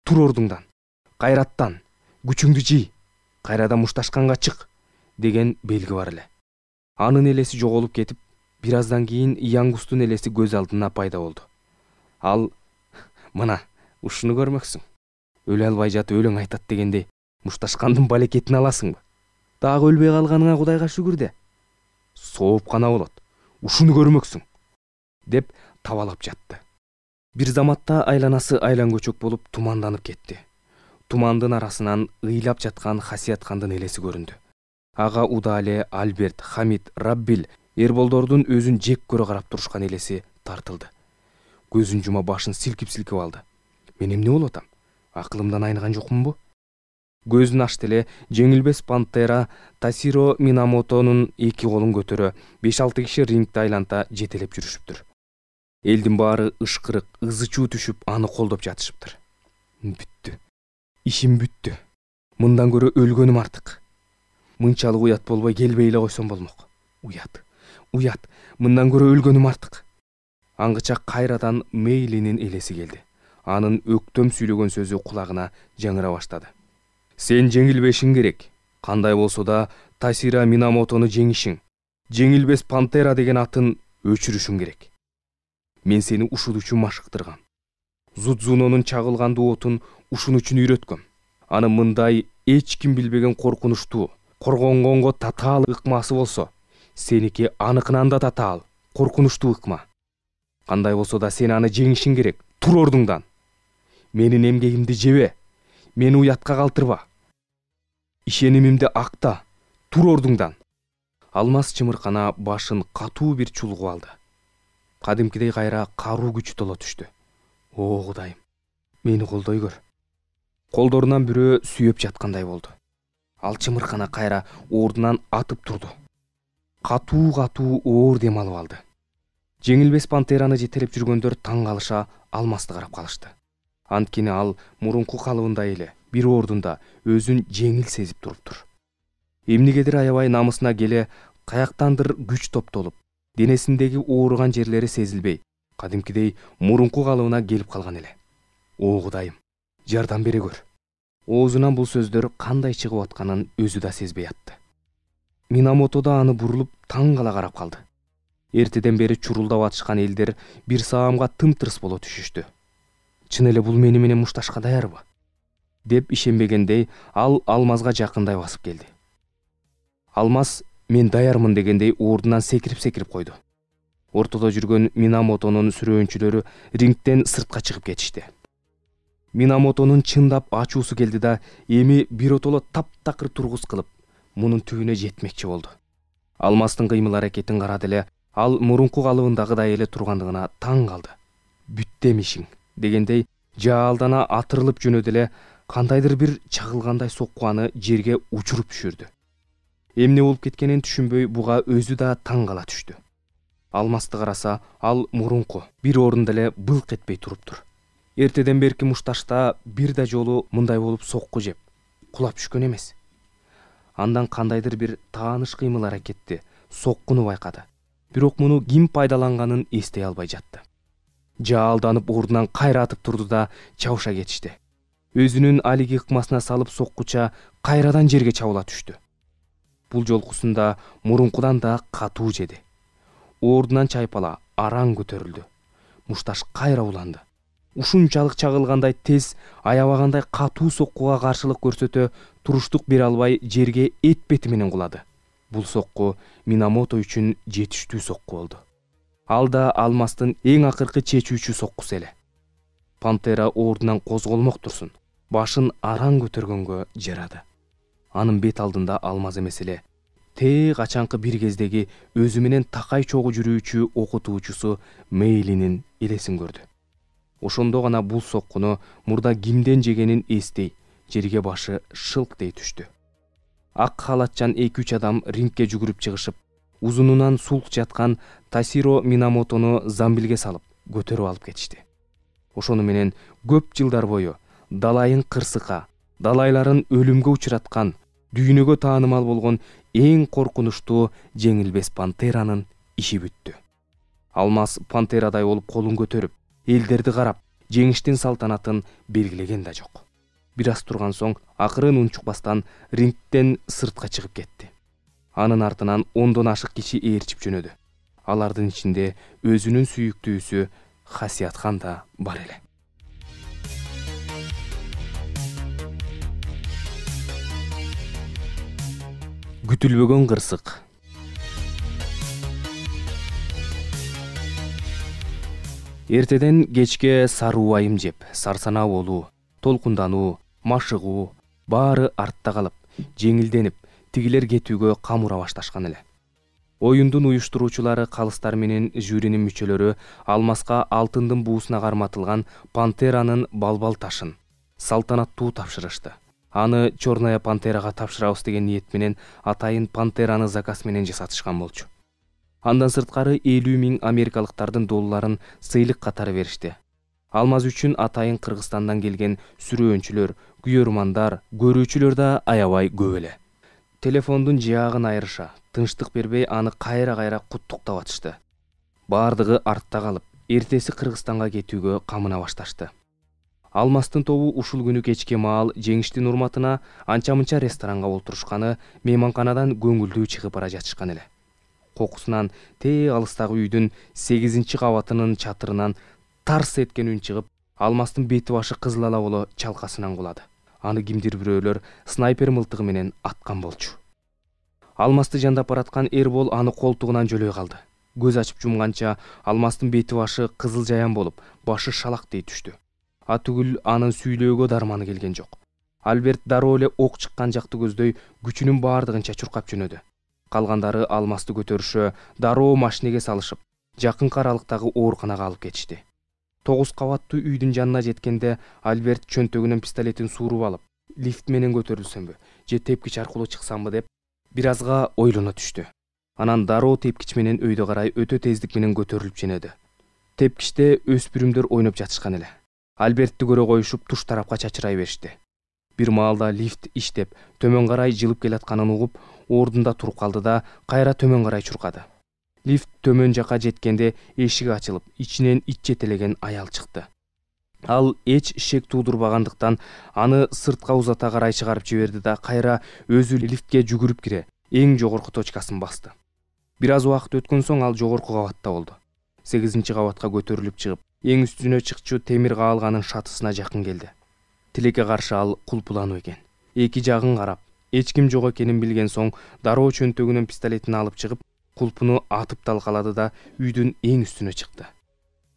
Тур ордуңдан, кайраттан, күчүңдү жий, кайрадан мушташканга чык деген белги бар эле. Анын элеси жоголуп кетип, бир аздан кийин Янгустун элеси көз алдына пайда болду. Ал, мына, ушуну көрмөксүң. Өлө албай жатып өлөң айтат дегендей, мушташкандын балекетин аласыңбы? Дагы өлбөй калганыңа Кудайга шүгүр де. Сооп гана болот. Ушуну көрмөксүң, деп табалап жатты. Бир заматта айланасы айлан көчөк болуп туманданып кетти. тумандын арасынан ыйлап жаткан Хасияткандын элеси көрүндү. Ага Удале, Альберт, Хамид, Раббил, Эрболдордун өзүн жек көрө карап турушкан элеси тартылды. Көзүн жума башын силкип-силкип алды. Мен эмне болуп атам? Акылымдан айныган жокмунбу? Көзүн ачты эле жеңилбес пантера Тасиро Минамотонун эки колун көтөрө беш алты киши рингди айланта жетелеп жүрүшүптүр. Элдин баары ышкырык, ызы-чуу түшүп аны колдоп жатышыптыр. Бүттү. Ишим бүттү. Мындан көрө өлгөнүм артык. Мынчалык уят болбой келбей эле койсом болмок. Уят. Уят. Мындан көрө өлгөнүм артык. Аңгыча кайрадан Мейлинин элеси келди. Анын өктөм сүйлөгөн сөзү кулагына жаңыра баштады. Сен жеңилбешиң керек. Кандай болсо да Тасиро Минамотону жеңишиң. Жеңилбес пантера деген атын өчүрүшүң керек. Мен сени ушул үчүн машыктыргам. Зудзунонун чагылгандуу отун ушун үчүн үйрөткөм. Аны мындай эч ким билбеген коркунучтуу, коргонгонго татаал ыкмасы болсо, сеники аныкынан да татаал, коркунучтуу ыкма. Кандай болсо да сен аны жеңишиң керек. Тур ордуңдан. Менин эмгегимди жебе. Мени уятка калтырба. Ишенимимди акта. Тур ордуңдан. Алмаз чымыркана башын катуу бир чулгуп алды. Кадимкидей кайра каруу күчү толо түштү. О Кудайым, мени колдой көр. Колдорунан бирөө сүйөп жаткандай болду. Ал чымыркана кайра ордунан атып турду. Катуу-катуу оор дем алып алды. Жеңилбес пантераны жетелеп жүргөндөр таң калыша Алмазды карап калышты. Анткени ал мурунку калыбындай эле бир ордунда өзүн жеңил сезип туруптур. Эмнегедир аябай намысына келе каяктандыр күч топтолуп, денесиндеги ооруган жерлери сезилбей, кадимкидей мурунку калыбына келип калган эле. О Кудайым, жардам бере көр. Оозунан бул сөздөр кандай чыгып атканын өзү да сезбей атты. Минамото да аны бурулуп таң кала карап калды. Эртеден бери чурулдап атышкан элдер бир саамга тым-тырс боло түшүштү. Чын эле бул мени менен мушташка даярбы? Деп ишенбегендей ал Алмазга жакындай басып келди. Алмаз мен даярмын дегендей ордунан секирип-секирип койду. Ортодо жүргөн Минамотонун сүрөөнчүлөрү рингден сыртка чыгып кетишти. Минамотонун чындап ачуусу келди да эми биротоло таптакыр тургус кылып, мунун түбүнө жетмекчи болду. Алмаздын кыймыл аракетин карады эле ал мурунку калыбындагыдай эле тургандыгына таң калды. Бүттем ишиң дегендей жаалдана атырылып жөнөдү эле кандайдыр бир чагылгандай сокку аны жерге учуруп түшүрдү. Эмне болуп кеткенин түшүнбөй буга өзү да таң кала түштү. Алмазды караса ал мурунку бир орунда эле былк этпей туруптур. Эртеден берки мушташта бир да жолу мындай болуп сокку жеп, кулап түшкөн эмес. Андан кандайдыр бир тааныш кыймыл аракетти, соккуну байкады. Бирок муну ким пайдаланганын эстей албай жатты. Жаалданып ордунан кайра атып турду да чабыша кетишти. Өзүнүн алиги ыкмасына салып соккуча кайрадан жерге чабыла түштү. Бул жолкусунда мурункудан да катуу жеди. Ордунан чайпала араң көтөрүлдү. Мушташ кайра уланды. Ушунчалык чагылгандай тез, аябагандай катуу соккуга каршылык көрсөтө туруштук бере албай жерге эт бети менен кулады. Бул сокку Минамото үчүн жетиштүү сокку болду. Ал да Алмаздын эң акыркы чечүүчү соккусу эле. Пантера ордунан козголмок турсун, башын араң көтөргөнгө жарады. Анын бет алдында Алмаз эмес эле тээ качанкы бир кездеги өзү менен такай чогуу жүрүүчү окутуучусу Мейлинин элесин көрдү. Ошондо гана бул соккуну мурда кимден жегенин эстей, жерге башы шылк дей түштү. Ак халатчан эки үч адам рингке жүгүрүп чыгышып, узунунан сулк жаткан Тасиро Минамотону замбилге салып, көтөрүп алып кетишти. Ошону менен көп жылдар бою далайын кырсыкка, далайларын өлүмгө учураткан, дүйнөгө таанымал болгон эң коркунучтуу жеңилбес пантеранын иши бүттү. Алмаз пантерадай болуп колун көтөрүп, элдерди карап, жеңиштин салтанатын белгилеген да жок. Бир аз турган соң акырын унчукпастан рингден сыртка чыгып кетти. Анын артынан ондон ашык киши ээрчип жөнөдү. Алардын ичинде өзүнүн сүйүктүүсү Хасияткан да бар эле. Күтүлбөгөн кырсык. Эртеден кечке сары убайым жеп, сарсанаа болуу, толкундануу, машыгуу баары артта калып, жеңилденип, тигилер кетүүгө камура башташкан эле. Оюндун уюштуруучулары калыстар менен жюринин мүчөлөрү алмаска алтындын буусуна карматылган пантеранын балбал ташын салтанаттуу тапшырышты. Аны Черная пантерага тапшырабыз деген ниет менен атайын пантераны заказ менен жасатышкан болчу. Андан сырткары элүү миң америкалыктардын долларын сыйлык катары беришти. Алмаз үчүн атайын Кыргызстандан келген сүрөөнчүлөр, күйөрмандар, көрүүчүлөр да аябай көп эле. Телефондун жаагын айрыша, тынчтык бербей аны кайра-кайра куттуктап атышты. Баардыгы артта калып, эртеси Кыргызстанга кетүүгө камына башташты. Алмастын тобу ушул күнү кечке маал жеңиштин урматына анча-мынча ресторанга олтурушканы, мейманканадан көңүлдүү чыгып бара жатышкан эле. Кокусунан тээ алыстагы үйдүн сегизинчи кабатынын чатырынан тарс эткен үн чыгып, Алмастын бети башы кызыл ала боло чалкасынан кулады. Аны кимдир бирөөлөр снайпер мылтыгы менен аткан болчу. Алмасты жандап бараткан Эрбол аны колтугунан жөлөй калды. Көз ачып жумганча Алмастын бети башы кызыл жаян болуп, башы шалактей түштү. Атүгүл анын сүйлөөгө дарманы келген жок. Альберт дароо эле ок чыккан жакты көздөй күчүнүн баардыгынча чуркап жөнөдү. Калгандары Алмасты көтөрүшө, дароо машинеге салышып, жакынкы аралыктагы ооруканага алып кетишти. Тогуз кабаттуу үйдүн жанына жеткенде Альберт чөнтөгүнөн пистолетин сууруп алып, лифт менен көтөрүлсөмбү, же тепкич аркылуу чыксамбы деп бир азга ойлоно түштү. Анан дароо тепкич менен өйдө карай өтө тездик менен көтөрүлүп жөнөдү. Тепкичте өспүрүмдөр ойноп жатышкан эле. Альбертти көрө коюшуп туш тарапка чачырай беришти. Бир маалда лифт иштеп, төмөн карай жылып келатканын угуп, ордунда туруп калды да кайра төмөн карай чуркады. Лифт төмөн жака жеткенде эшиги ачылып, ичинен ит жетелеген аял чыкты. Ал эч шек туудурбагандыктан аны сыртка узата карай чыгарып жиберди да кайра өзү лифтке жүгүрүп кире, эң жогорку точкасын басты. Бир аз убакыт өткөн соң ал жогорку кабатта болду. сегизинчи кабатка көтөрүлүп чыгып, эң үстүнө чыкчу темир каалганын шатысына жакын келди. Тилекке каршы ал кулпулануу экен. Эки жагын карап, эч ким жок экенин билген соң, дароо чөнтөгүнөн пистолетин алып чыгып, кулпуну атып талкалады да үйдүн эң үстүнө чыкты.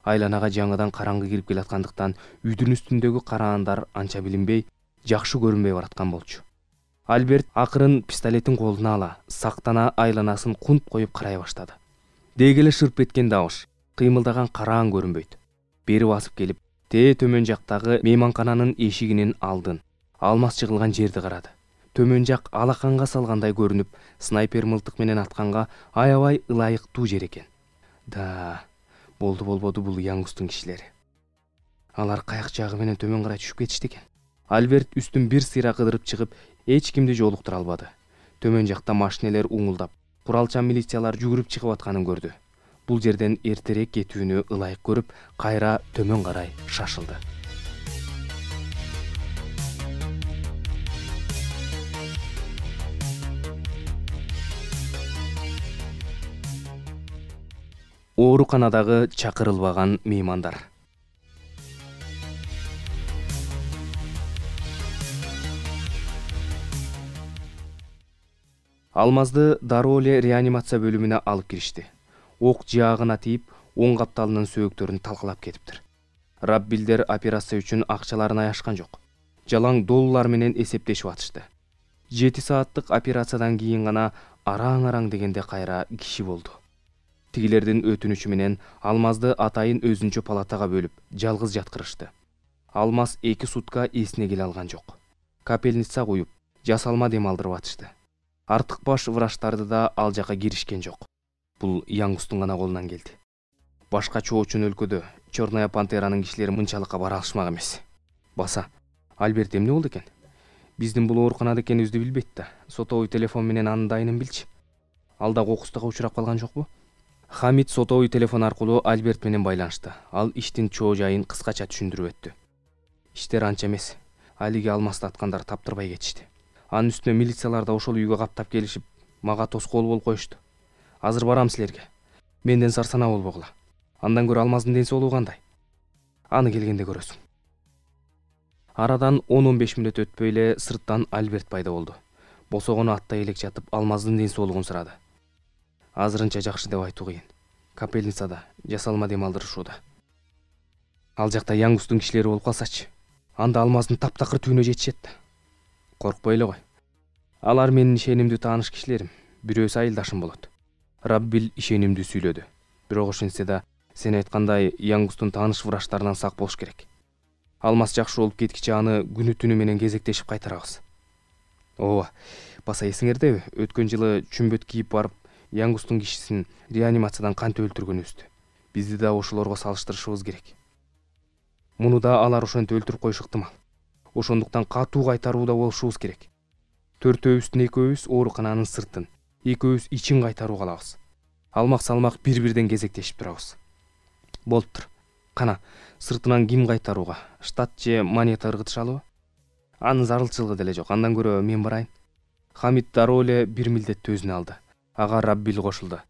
Айланага жаңыдан караңгы кирип келаткандыктан үйдүн үстүндөгү караандар анча билинбей, жакшы көрүнбөй бараткан болчу. Альберт акырын пистолетин колуна ала, сактана айланасын кунт коюп карай баштады. Дегеле шырп эткен дабыш, кыймылдаган караан көрүнбөйт. Бери басып келип, тээ төмөн жактагы мейманкананын эшигинин алдын, Алмаз чыгылган жерди карады. Төмөн жак алаканга салгандай көрүнүп, снайпер мылтык менен атканга аябай ылайыктуу жер экен. Да, болду болбоду бул Янгустун кишилери. Алар каяк жагы менен төмөн карай түшүп кетишти экен. Альберт үстүн бир сыйра кыдырып чыгып, эч кимди жолуктура албады. Төмөн жакта машинелер уңулдап, куралчан милициялар жүгүрүп чыгып атканын көрдү. Бул жерден эртерээк кетүүнү ылайык көрүп, кайра төмөн карай шашылды. Ооруканадагы чакырылбаган меймандар. Алмазды дароо эле реанимация бөлүмүнө алып киришти. Ок жаагына тийип, оң капталынын сөөктөрүн талкалап кетиптир. Раббилдер операция үчүн акчаларын аяшкан жок. Жалаң доллар менен эсептешип атышты. жети сааттык операциядан кийин гана араң-араң дегенде кайра киши болду. Тигилердин өтүнүчү менен Алмазды атайын өзүнчө палатага бөлүп, жалгыз жаткырышты. Алмаз эки сутка эсине келе алган жок. Капельница куюп, жасалма дем алдырып атышты. Артык баш врачтарды да ал жака киришкен жок. Бул Янгустун гана колунан келди. Башка чоочун өлкөдө Черная пантеранын кишилери мынчалыкка бара алышмак эмес. Баса, Альберт эмне болду экен? Биздин бул ооруканада экенибизди билбейт да. Сотовый телефон менен анын дайынын билчи. Ал да кокустукка учурап калган жокпу? Хамид сотовый телефон аркылуу Альберт менен байланышты. Ал иштин чоо жайын кыскача түшүндүрүп өттү. Иштер анча эмес. Алиги Алмазды аткандар таптырбай кетишти. Анын үстүнө милициялар да ошол үйгө каптап келишип, мага тоскоол болуп коюшту. Азыр барам силерге. Менден сарсана болбогула. Андан көрө Алмаздын ден соолугу кандай? Аны келгенде көрөсүң. Арадан он он беш мүнөт өтпөй эле сырттан Альберт пайда болду. Босогону аттай элек жатып, Алмаздын ден соолугун сурады. Азырынча жакшы деп айтуу кыйын. Капельницада, жасалма дем алдырышууда. Ал жакта Янгустун кишилери болуп калсачы. анда алмаздын таптакыр түбүнө жетишет да. Коркпой эле кой. Алар менин ишенимдүү тааныш кишилерим, бирөөсү айылдашым болот. Раббил ишенимдүү сүйлөдү. Бирок ошентсе да сен айткандай Янгустун тааныш врачтарынан сак болуш керек. Алмаз жакшы болуп кеткиче аны күнү түнү менен кезектешип кайтарабыз. Ооба, баса эсиңердеби? Өткөн жылы чүмбөт кийип барып, Янгустун кишисин реанимациядан кантип өлтүргөнүбүздү. Бизди да ошолорго салыштырышыбыз керек. Муну да алар ошентип өлтүрүп коюшу ыктымал. Ошондуктан катуу кайтарууда болушубуз керек. Төртөөбүздүн экөөбүз оорукананын сыртын, экөөбүз ичин кайтарууга алабыз. Алмак салмак бири-бирден кезектешип турабыз. Болуптур. Кана, сыртынан ким кайтарууга? Штат же монета ыргытышалыбы? Анын зарылчылыгы деле жок. Андан көрө мен барайын. Хамит дароо эле бир милдетти өзүнө алды. Ага Раббил кошулду.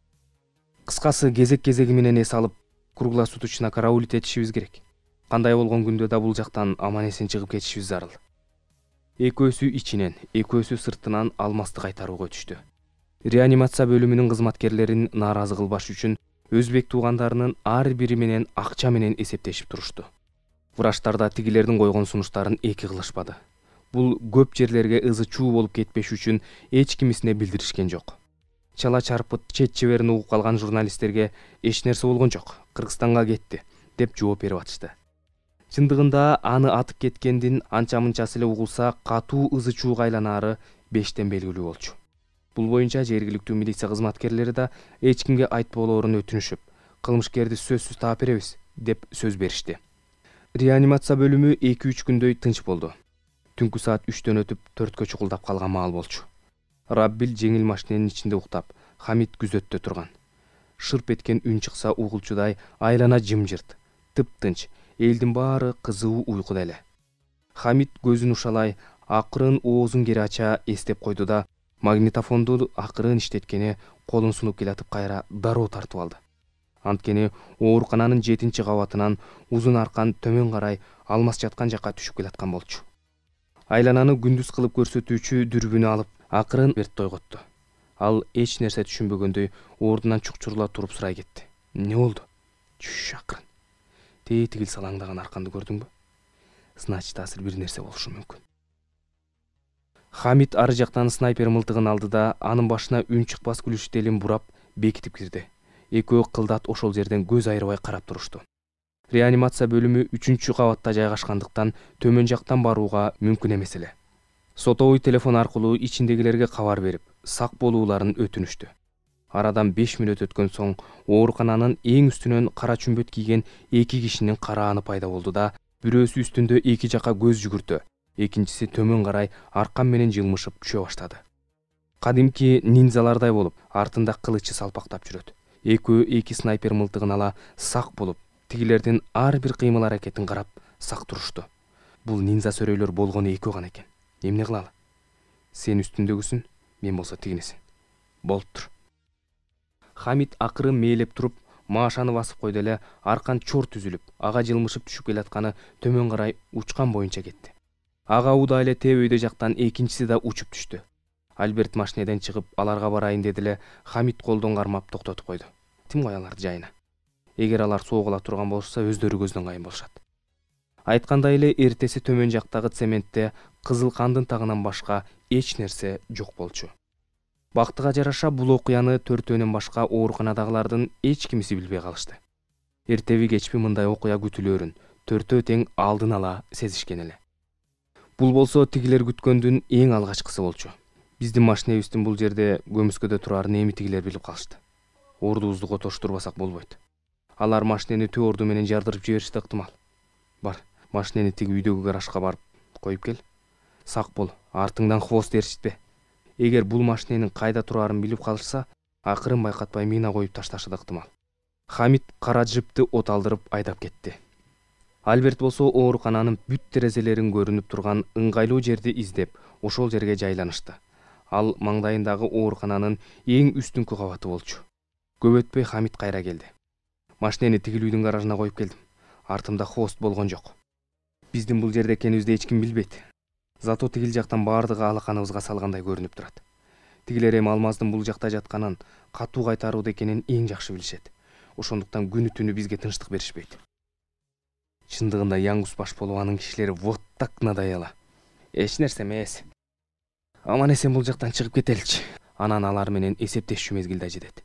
Кыскасы, кезек-кезеги менен эс алып, круглосуточно караулить этишибиз керек. Кандай болгон күндө да бул жактан аман-эсен чыгып кетишибиз зарыл. Экөөсү ичинен, экөөсү сыртынан алмазды кайтарууга өтүштү. Реанимация бөлүмүнүн кызматкерлерин нааразы кылбаш үчүн өзбек туугандарынын ар бири менен акча менен эсептешип турушту. Врачтар да тигилердин койгон сунуштарын эки кылышпады. Бул көп жерлерге ызы чуу болуп кетпеш үчүн эч кимисине билдиришкен жок. Чала чарпыт чет чеберин угуп калган журналисттерге эч нерсе болгон жок, Кыргызстанга кетти деп жооп берип атышты. Чындыгында аны атып кеткендин анча-мынчасы эле угулса, катуу ызы чууга айланаары бештен белгилүү болчу. Бул боюнча жергиликтүү милиция кызматкерлери да эч кимге айтпоолорун өтүнүшүп, кылмышкерди сөзсүз таап беребиз деп сөз беришти. Реанимация бөлүмү эки-үч күндөй тынч болду. Түнкү саат үчтөн өтүп төрткө чукулдап калган маал болчу. Раббил жеңил машиненин ичинде уктап, Хамит күзөттө турган. Шырп эткен үн чыкса угулчудай айлана жымжырт, тыптынч, элдин баары кызуу уйкуда эле. Хамит көзүн ушалай, акырын оозун кери ача эстеп койду да, магнитофонду акырын иштеткени колун сунуп келатып кайра дароо тартып алды. Анткени оорукананын жетинчи кабатынан узун аркан төмөн карай алмаз жаткан жакка түшүп келаткан болчу. Айлананы күндүз кылып көрсөтүүчү дүрбүнү алып, акырын Берт ойготту. Ал эч нерсе түшүнбөгөндөй ордунан чукчурула туруп сурай кетти. Эмне болду? Чүш акырын. Тээ тигил салаңдаган арканды көрдүңбү? Значит, азыр бир нерсе болушу мүмкүн. Хамит ары жактан снайпер мылтыгын алды да, анын башына үн чыкпас күлүш телин бурап, бекитип кирди. Экөө кылдат ошол жерден көз айырбай карап турушту. Реанимация бөлүмү үчүнчү кабатта жайгашкандыктан төмөн жактан барууга мүмкүн эмес эле. Сотовой телефон аркылуу ичиндегилерге кабар берип, сак болууларын өтүнүштү. Арадан беш мүнөт өткөн соң оорукананын эң үстүнөн кара чүмбөт кийген эки кишинин карааны пайда болду да, бирөөсү үстүндө эки жака көз жүгүртө, экинчиси төмөн карай аркан менен жылмышып түшө баштады. Кадимки ниндзалардай болуп, артында кылычы салпактап жүрөт. Экөө эки снайпер мылтыгын ала сак болуп, тигилердин ар бир кыймыл аракетин карап сак турушту. Бул ниндза сөрөйлөр болгону экөө гана экен. Эмне кылалы? Сен үстүндөгүсүн, мен болсо тигинесин. Болуптур. Хамит акырын мээлеп туруп, машаны басып койду эле, аркан чор түзүлүп, ага жылмышып түшүп келатканы төмөн карай учкан боюнча кетти. Ага уда эле тебөйдө жактан экинчиси да учуп түштү. Альберт машинеден чыгып аларга барайын деди эле, Хамит колдон кармап токтотуп койду. Тим кой аларды жайына. Эгер алар согула турган болушса, өздөрү көздөн кайын болушат. Айткандай эле эртеси төмөн жактагы цементте кызыл кандын тагынан башка эч нерсе жок болчу. Бактыга жараша бул окуяны төртөөнөн башка ооруканадагылардын эч кимиси билбей калышты. Эртеби кечпи мындай окуя күтүлөрүн төртөө тең алдын ала сезишкен эле. Бул болсо тигилер күткөндүн эң алгачкысы болчу. Биздин машинебиздин бул жерде көмүскөдө турарын эми тигилер билип калышты. Ордубузду котоштурбасак болбойт. Алар машинени төө орду менен жардырып жиберишти ыктымал. Бар, машинени тиги үйдөгү гаражга барып коюп кел. Сак бол, артыңдан хвост ээрчитпе. Эгер бул машиненин кайда турарын билип калышса, акырын байкатпай мина коюп ташташы да ыктымал. Хамит кара джипти от алдырып айдап кетти. Альберт болсо оорукананын бүт терезелерин көрүнүп турган ыңгайлуу жерди издеп, ошол жерге жайланышты. Ал маңдайындагы оорукананын эң үстүнкү кабаты болчу. Көп өтпөй Хамит кайра келди. Машинени тигилүүдүн гаражына коюп келдим. Артымда хвост болгон жок. Биздин бул жерде экенибизди эч ким билбейт. Зато тигил жактан баардыгы алаканыбызга салгандай көрүнүп турат. Тигилер эми алмаздын бул жакта жатканын, катуу кайтарууда экенин эң жакшы билишет. Ошондуктан күнү түнү бизге тынчтык беришпейт. чындыгында Яңгус баш болуп анын кишилери вот так надоело. Эч нерсе эмес. Аман эсен бул жактан чыгып кетеличи. Анан алар менен эсептешүү мезгилде жетет.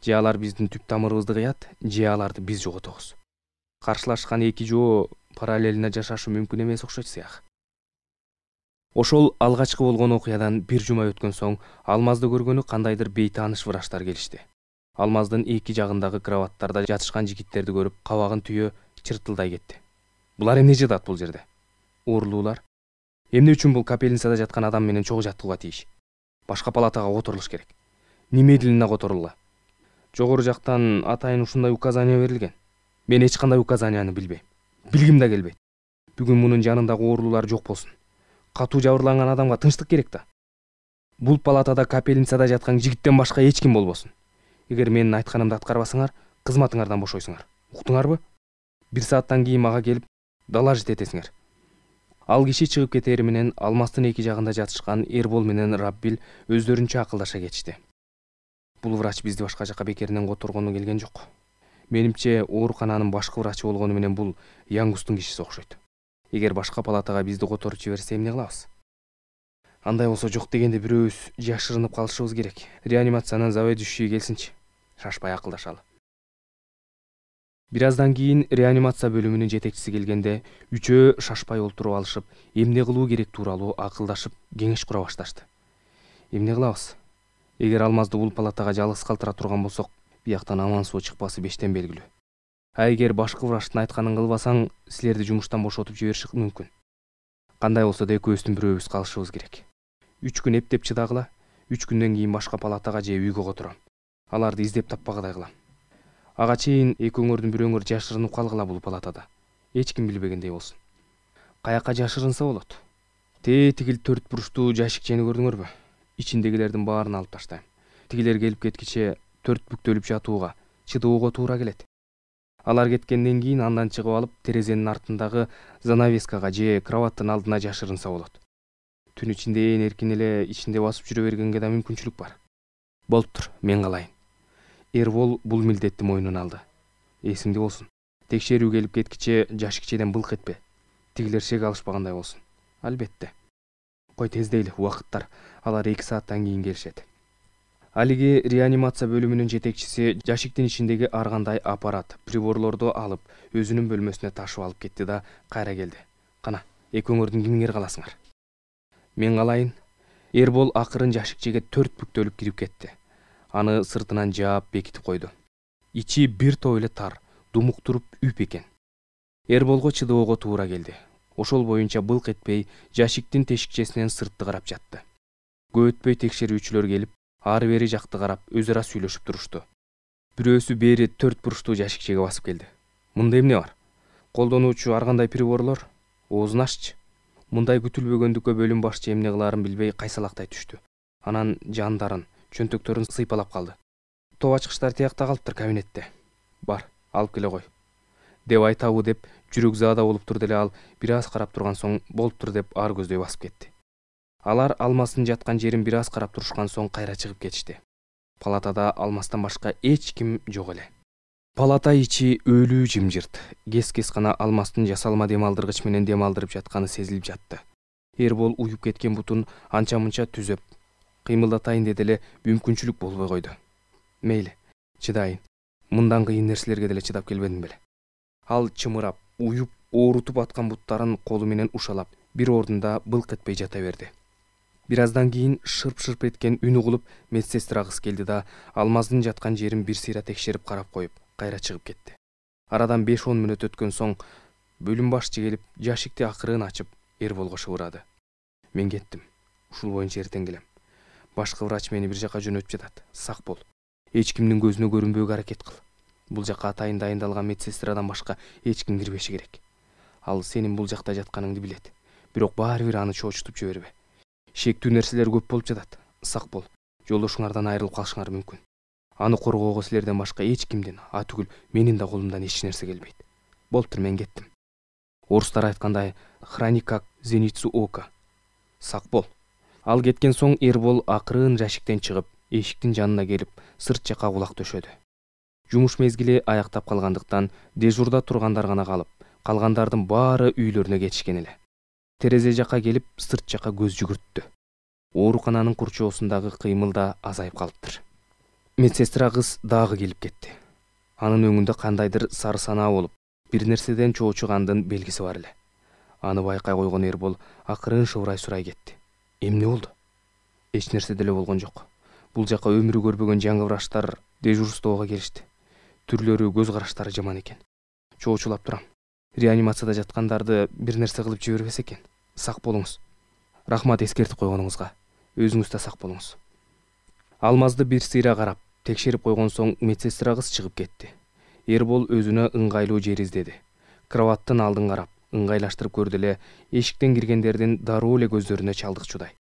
Же алар биздин түп тамырыбызды кыят, же аларды биз жоготобуз. Каршылашкан эки жоо параллелине жашашы мүмкүн эмес окшойт сыяк. Ошол алгачкы болгон окуядан бир жума өткөн соң Алмазды көргөнү кандайдыр бейтааныш врачтар келишти. Алмаздын эки жагындагы кроваттарда жатышкан жигиттерди көрүп, кабагын түйө чыртылдай кетти. Булар эмне жатат бул жерде? Оорулуулар. Эмне үчүн бул капельницада жаткан адам менен чогуу жатууга тийиш? Башка палатага которулуш керек. Немедленно которулгула. Жогору жактан атайын ушундай указания берилген. Мен эч кандай указанияны билбейм. Билгим да келбейт. Бүгүн мунун жанындагы оорулуулар жок болсун. Катуу жабырланган адамга тынчтык керек да. Бул палатада капельницада жаткан жигиттен башка эч ким болбосун. Эгер менин айтканымды аткарбасаңар, кызматыңардан бошойсуңар. Уктуңарбы? Бир сааттан кийин мага келип доложить этесиңер. Ал киши чыгып кетери менен Алмастын эки жагында жатышкан Эрбол менен Раббил өздөрүнчө акылдаша кетишти. Бул врач бизди башка жака бекеринен которгону келген жок. Менимче, оорукананын башкы врачы болгону менен бул Яңгустун кишиси окшойт. Эгер башка палатага бизди которуп жиберсе эмне кылабыз? Андай болсо жок дегенде бирөөбүз жашырынып калышыбыз керек. Реанимациянын заведующий келсинчи. Шашпай акылдашалы. Бир аздан кийин реанимация бөлүмүнүн жетекчиси келгенде, үчөө шашпай олтуруп алышып, эмне кылуу керек тууралуу акылдашып, кеңеш кура башташты. Эмне кылабыз? Эгер Алмазды бул палатага жалгыз калтыра турган болсок, бияктан аман соо чыкпасы бештен белгилүү. А эгер башкы врачтын айтканын кылбасаң, силерди жумуштан бошотуп жибериши мүмкүн. Кандай болсо да экөөбүздүн бирөөбүз калышыбыз керек. Үч күн эптеп чыдагыла, үч күндөн кийин башка палатага же үйгө котором. Аларды издеп таппагыдай кылам. Ага чейин экөөңөрдүн бирөөңөр жашырынып калгыла бул палатада. Эч ким билбегендей болсун. Каяка жашырынса болот? Те тигил төрт буруштуу жашикчени көрдүңөрбү? Ичиндегилердин баарын алып таштайм. Тигилер келип кеткиче төрт бүктөлүп жатууга, чыдоого туура келет. Алар кеткенден кийин андан чыгып алып, терезенин артындагы занавескага же кроваттын алдына жашырынса болот. Түн ичинде ээн эркин эле ичинде басып жүрө бергенге да мүмкүнчүлүк бар. Болуптур, мен калайын. Эрбол бул милдетти мойнуна алды. Эсиңде болсун. Текшерүү келип кеткиче жашикчеден былк этпе. Тигилер шек алышпагандай болсун. Албетте. Кой тездейли, убакыттар. Алар эки сааттан кийин келишет. Алиги реанимация бөлүмүнүн жетекчиси жашиктин ичиндеги ар кандай аппарат, приборлорду алып, өзүнүн бөлмөсүнө ташып алып кетти да кайра келди. Кана, экөөңөрдүн кимиңер каласыңар? Мен калайын. Эрбол акырын жашикчеге төрт бүктөлүп кирип кетти. Аны сыртынан жаап бекитип койду. Ичи бир топ эле тар, думуктуруп үп экен. Эрболго чыдоого туура келди. Ошол боюнча былк этпей жашиктин тешикчесинен сыртты карап жатты. Көп өтпөй текшерүүчүлөр келип, ары бери жакты карап, өз ара сүйлөшүп турушту. Бирөөсү бери төрт буруштуу жашикчеге басып келди. Мында эмне бар? Колдонуучу ар кандай приборлор? Оозун аччы. Мындай күтүлбөгөндүккө бөлүм башчы эмне кылаарын билбей кайсалактай түштү. Анан жандарын, чөнтөктөрүн сыйпалап калды. Топ ачкычтар тиякта калыптыр кабинетте. Бар, алып келе кой. Деп айтабы деп жүрөк заада болуп турду эле ал бир аз карап турган соң болуптур деп ар көздөй басып кетти. Алар Алмастын жаткан жерин бир аз карап турушкан соң кайра чыгып кетишти. Палатада Алмастан башка эч ким жок эле. Палата ичи өлүү жымжырт. Кес-кес гана Алмастын жасалма дем алдыргыч менен дем алдырып жатканы сезилип жатты. Эрбол уюп кеткен бутун анча-мынча түзөп, кыймылдатайын деди эле мүмкүнчүлүк болбой койду. Мейли, чыдайын. Мындан кыйын нерселерге деле чыдап келбедим беле. Ал чымырап, уюп, оорутуп аткан буттарын колу менен ушалап, бир ордунда былк этпей жата берди. Бир аздан кийин шырп-шырп эткен үн угулуп, медсестра кыз келди да Алмаздын жаткан жерин бир сыйра текшерип карап коюп, кайра чыгып кетти. Арадан беш он мүнөт өткөн соң бөлүм башчы келип, жашикти акырын ачып, Эрболго шыбырады. Мен кеттим. Ушул боюнча эртең келем. Башкы врач мени бир жака жөнөтүп жатат. Сак бол. Эч кимдин көзүнө көрүнбөөгө аракет кыл. Бул жака атайын дайындалган медсестрадан башка эч ким кирбеши керек. Ал сенин бул жакта жатканыңды билет. Бирок баары бир аны чоочутуп жибербе. Шектүү нерселер көп болуп жатат. Сак бол. Жолдошуңардан айрылып калышыңар мүмкүн. Аны коргоого силерден башка эч кимдин, а түгүл менин да колумдан эч нерсе келбейт. Болуптур, мен кеттим. Орустар айткандай, храни как зеницу ока. Сак бол. Ал кеткен соң Эрбол акырын жашиктен чыгып, эшиктин жанына келип, сырт жака кулак төшөдү. Жумуш мезгили аяктап калгандыктан дежурда тургандар гана калып, калгандардын баары үйлөрүнө кетишкен эле. Терезе жакка келип сырт жакка көз жүгүрттү. Оорукананын курчоосундагы кыймыл да азайып калыптыр. Медсестра кыз дагы келип кетти. Анын өңүндө кандайдыр сары санаа болуп, бир нерседен чоочугандын белгиси бар эле. Аны байкай койгон Эрбол акырын шыбырай сурай кетти. Эмне болду? Эч нерсе деле болгон жок. Бул жака өмүрү көрбөгөн жаңы врачтар дежурствого келишти. Түрлөрү, көз караштары жаман экен. Чоочулап турам. Реанимацияда жаткандарды бир нерсе кылып жибербесе экен. Сак болуңуз. Рахмат эскертип койгонуңузга. Өзүңүз да сак болуңуз. Алмазды бир сыйра карап, текшерип койгон соң медсестра кыз чыгып кетти. Эрбол өзүнө ыңгайлуу жер издеди. Кроваттын алдын карап, ыңгайлаштырып көрдү эле, эшиктен киргендердин дароо эле көздөрүнө чалдыкчудай.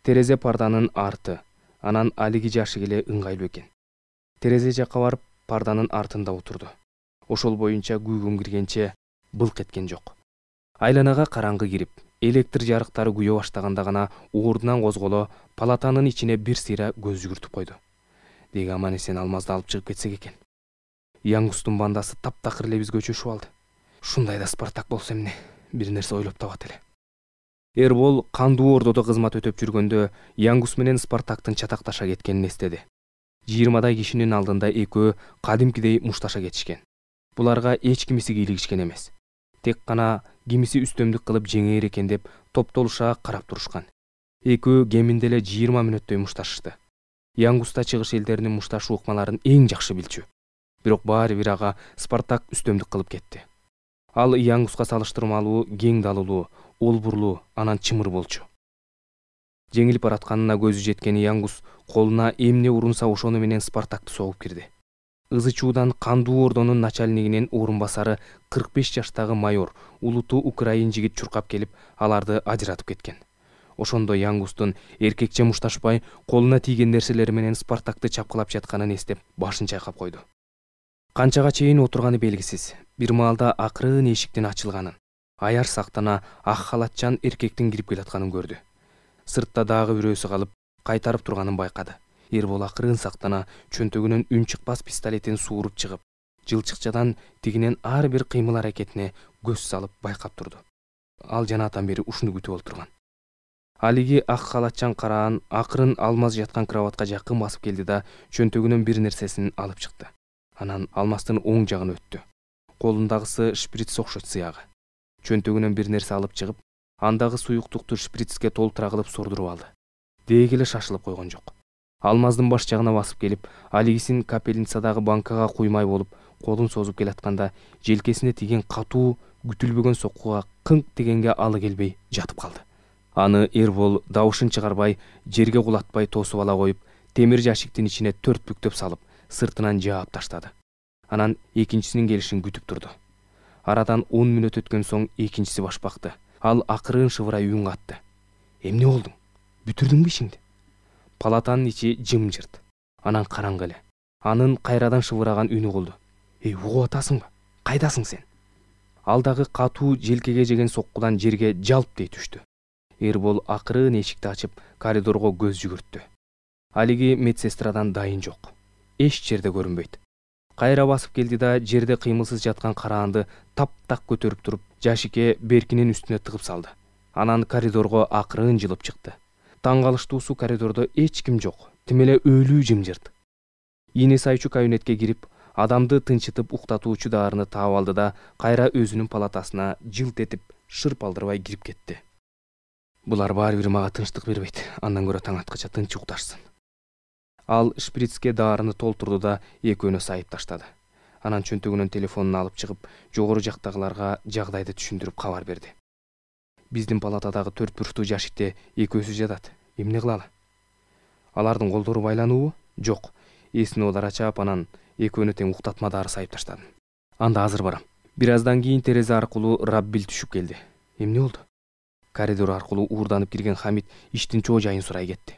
Терезе парданын арты, анан алиги жашык эле ыңгайлуу экен. Терезе жакка барып, парданын артында отурду. Ошол боюнча күйгүм киргенче былк эткен жок. Айланага караңгы кирип, электр жарыктары күйө баштаганда гана ордунан козголо, палатанын ичине бир сыйра көз жүгүртүп койду. Деги аман эсен Алмазды алып чыгып кетсек экен. Яңгустун бандасы таптакыр эле бизге өчүшүп алды. Ушундайда Спартак болсо эмне, бир нерсе ойлоп табат эле. Эрбол кандуу ордодо кызмат өтөп жүргөндө Яңгус менен Спартактын чатакташа кеткенин эстеди. жыйырмадай кишинин алдында экөө кадимкидей мушташа кетишкен. Буларга эч кимиси кийлигишкен эмес. Тек гана кимиси үстөмдүк кылып жеңээр экен деп топтолуша карап турушкан. Экөө кеминде эле жыйырма мүнөттөй мушташышты. Яңгуста чыгыш элдеринин мушташуу ыкмаларын эң жакшы билчү. Бирок баары бир ага Спартак үстөмдүк кылып кетти. Ал Яңгуска салыштырмалуу кең далылуу, олбурлуу, анан чымыр болчу. Жеңилип баратканына көзү жеткен Яңгус колуна эмне урунса ошону менен Спартакты согуп кирди. Ызы чуудан кандуу ордонун начальнигинин орун басары кырк беш жаштагы майор, улуту украин жигит чуркап келип, аларды ажыратып кеткен. Ошондо Яңгустун эркекче мушташпай, колуна тийген нерселери менен Спартакты чапкылап жатканын эстеп, башын чайкап койду. Канчага чейин отурганы белгисиз. Бир маалда акырын эшиктин ачылганын, аяр сактана ак халатчан эркектин кирип келатканын көрдү. Сыртта дагы бирөөсү калып, кайтарып турганын байкады. Эрбол акырын сактана чөнтөгүнөн үн чыкпас пистолетин сууруп чыгып, жылчыкчадан тигинен ар бир кыймыл аракетине көз салып байкап турду. Ал жанатан бери ушуну күтүп олтурган. Алиги ак халатчан караан акырын Алмаз жаткан кроватка жакын басып келди да чөнтөгүнөн бир нерсесин алып чыкты. Анан Алмаздын оң жагын өттү. Колундагысы шприц окшойт сыягы. Чөнтөгүнөн бир нерсе алып чыгып, андагы суюктукту шприцке толтура кылып сордуруп алды. Деги эле шашылып койгон жок. Алмаздын баш жагына басып келип, алигисин капельницадагы банкага куймай болуп, колун созуп келатканда, желкесине тиген катуу, күтүлбөгөн соккуга кыңк дегенге алы келбей жатып калды. Аны Эрбол дабышын чыгарбай, жерге кулатпай тосуп ала коюп, темир жашиктин ичине төрт бүктөп салып, сыртынан жаап таштады. Анан экинчисинин келишин күтүп турду. Арадан он мүнөт өткөн соң экинчиси баш бакты. Ал акырын шыбырай үн катты. Эмне болдуң? Бүтүрдүңбү ишиңди? Палатанын ичи жымжырт. Анан караңгы эле. Анын кайрадан шыбыраган үнү болду. Эй, угуп атасыңбы? Кайдасың сен? Ал дагы катуу желкеге жеген соккудан жерге жалп дей түштү. Эрбол акырын эшикти ачып, коридорго көз жүгүрттү. Алиги медсестрадан дайын жок. Эч жерде көрүнбөйт. Кайра басып келди да жерде кыймылсыз жаткан караанды таптак көтөрүп туруп, жашикке беркинин үстүнө тыгып салды. Анан коридорго акырын жылып чыкты. Таң калыштуусу коридордо эч ким жок. Тим эле өлүү жымжырт. Ийне сайчу кабинетке кирип, адамды тынчытып уктатуучу даарыны таап алды да кайра өзүнүн палатасына жылт этип, шырп алдырбай кирип кетти. Булар баары бир мага тынчтык бербейт. Андан көрө таң аткача тынч укташсын. Ал шприцке даарыны толтурду да экөөнө сайып таштады. Анан чөнтөгүнөн телефонун алып чыгып, жогору жактагыларга жагдайды түшүндүрүп кабар берди. Биздин палатадагы төрт бурчтуу жашикте экөөсү жатат. Эмне кылалы? Алардын колдору байлануубу? Жок. Эсин олар ачаап, анан экөөнө тең уктатма дары сайып таштадым. Анда азыр барам. Бир аздан кийин терезе аркылуу Раббил түшүп келди. Эмне болду? Коридор аркылуу уурданып кирген Хамит иштин чоо жайын сурай кетти.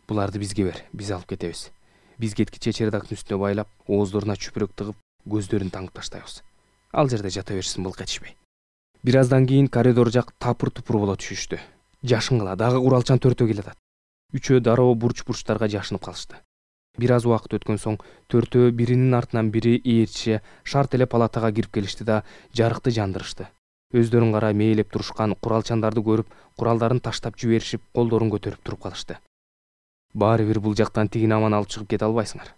Буларды бизге бер, биз алып кетебиз. Биз кеткиче чердактын үстүнө байлап, ооздоруна чүпүрөк тыгып, көздөрүн таңып таштайбыз. Ал жерде жата беришсин, былк этишпей. Бир аздан кийин коридор жак тапыр-тупур боло түшүштү. Жашынгыла дагы куралчан төртөө келатат. Үчөө дароо бурч-бурчтарга жашынып калышты. Бир аз убакыт өткөн соң төртөө биринин артынан бири ээрчише шарт эле палатага кирип келишти да жарыкты жандырышты. Өздөрүн карай мээлеп турушкан куралчандарды көрүп, куралдарын таштап жиберишип, колдорун көтөрүп туруп калышты. Баары бир бул жактан тигин аман алып чыгып кете албайсыңар.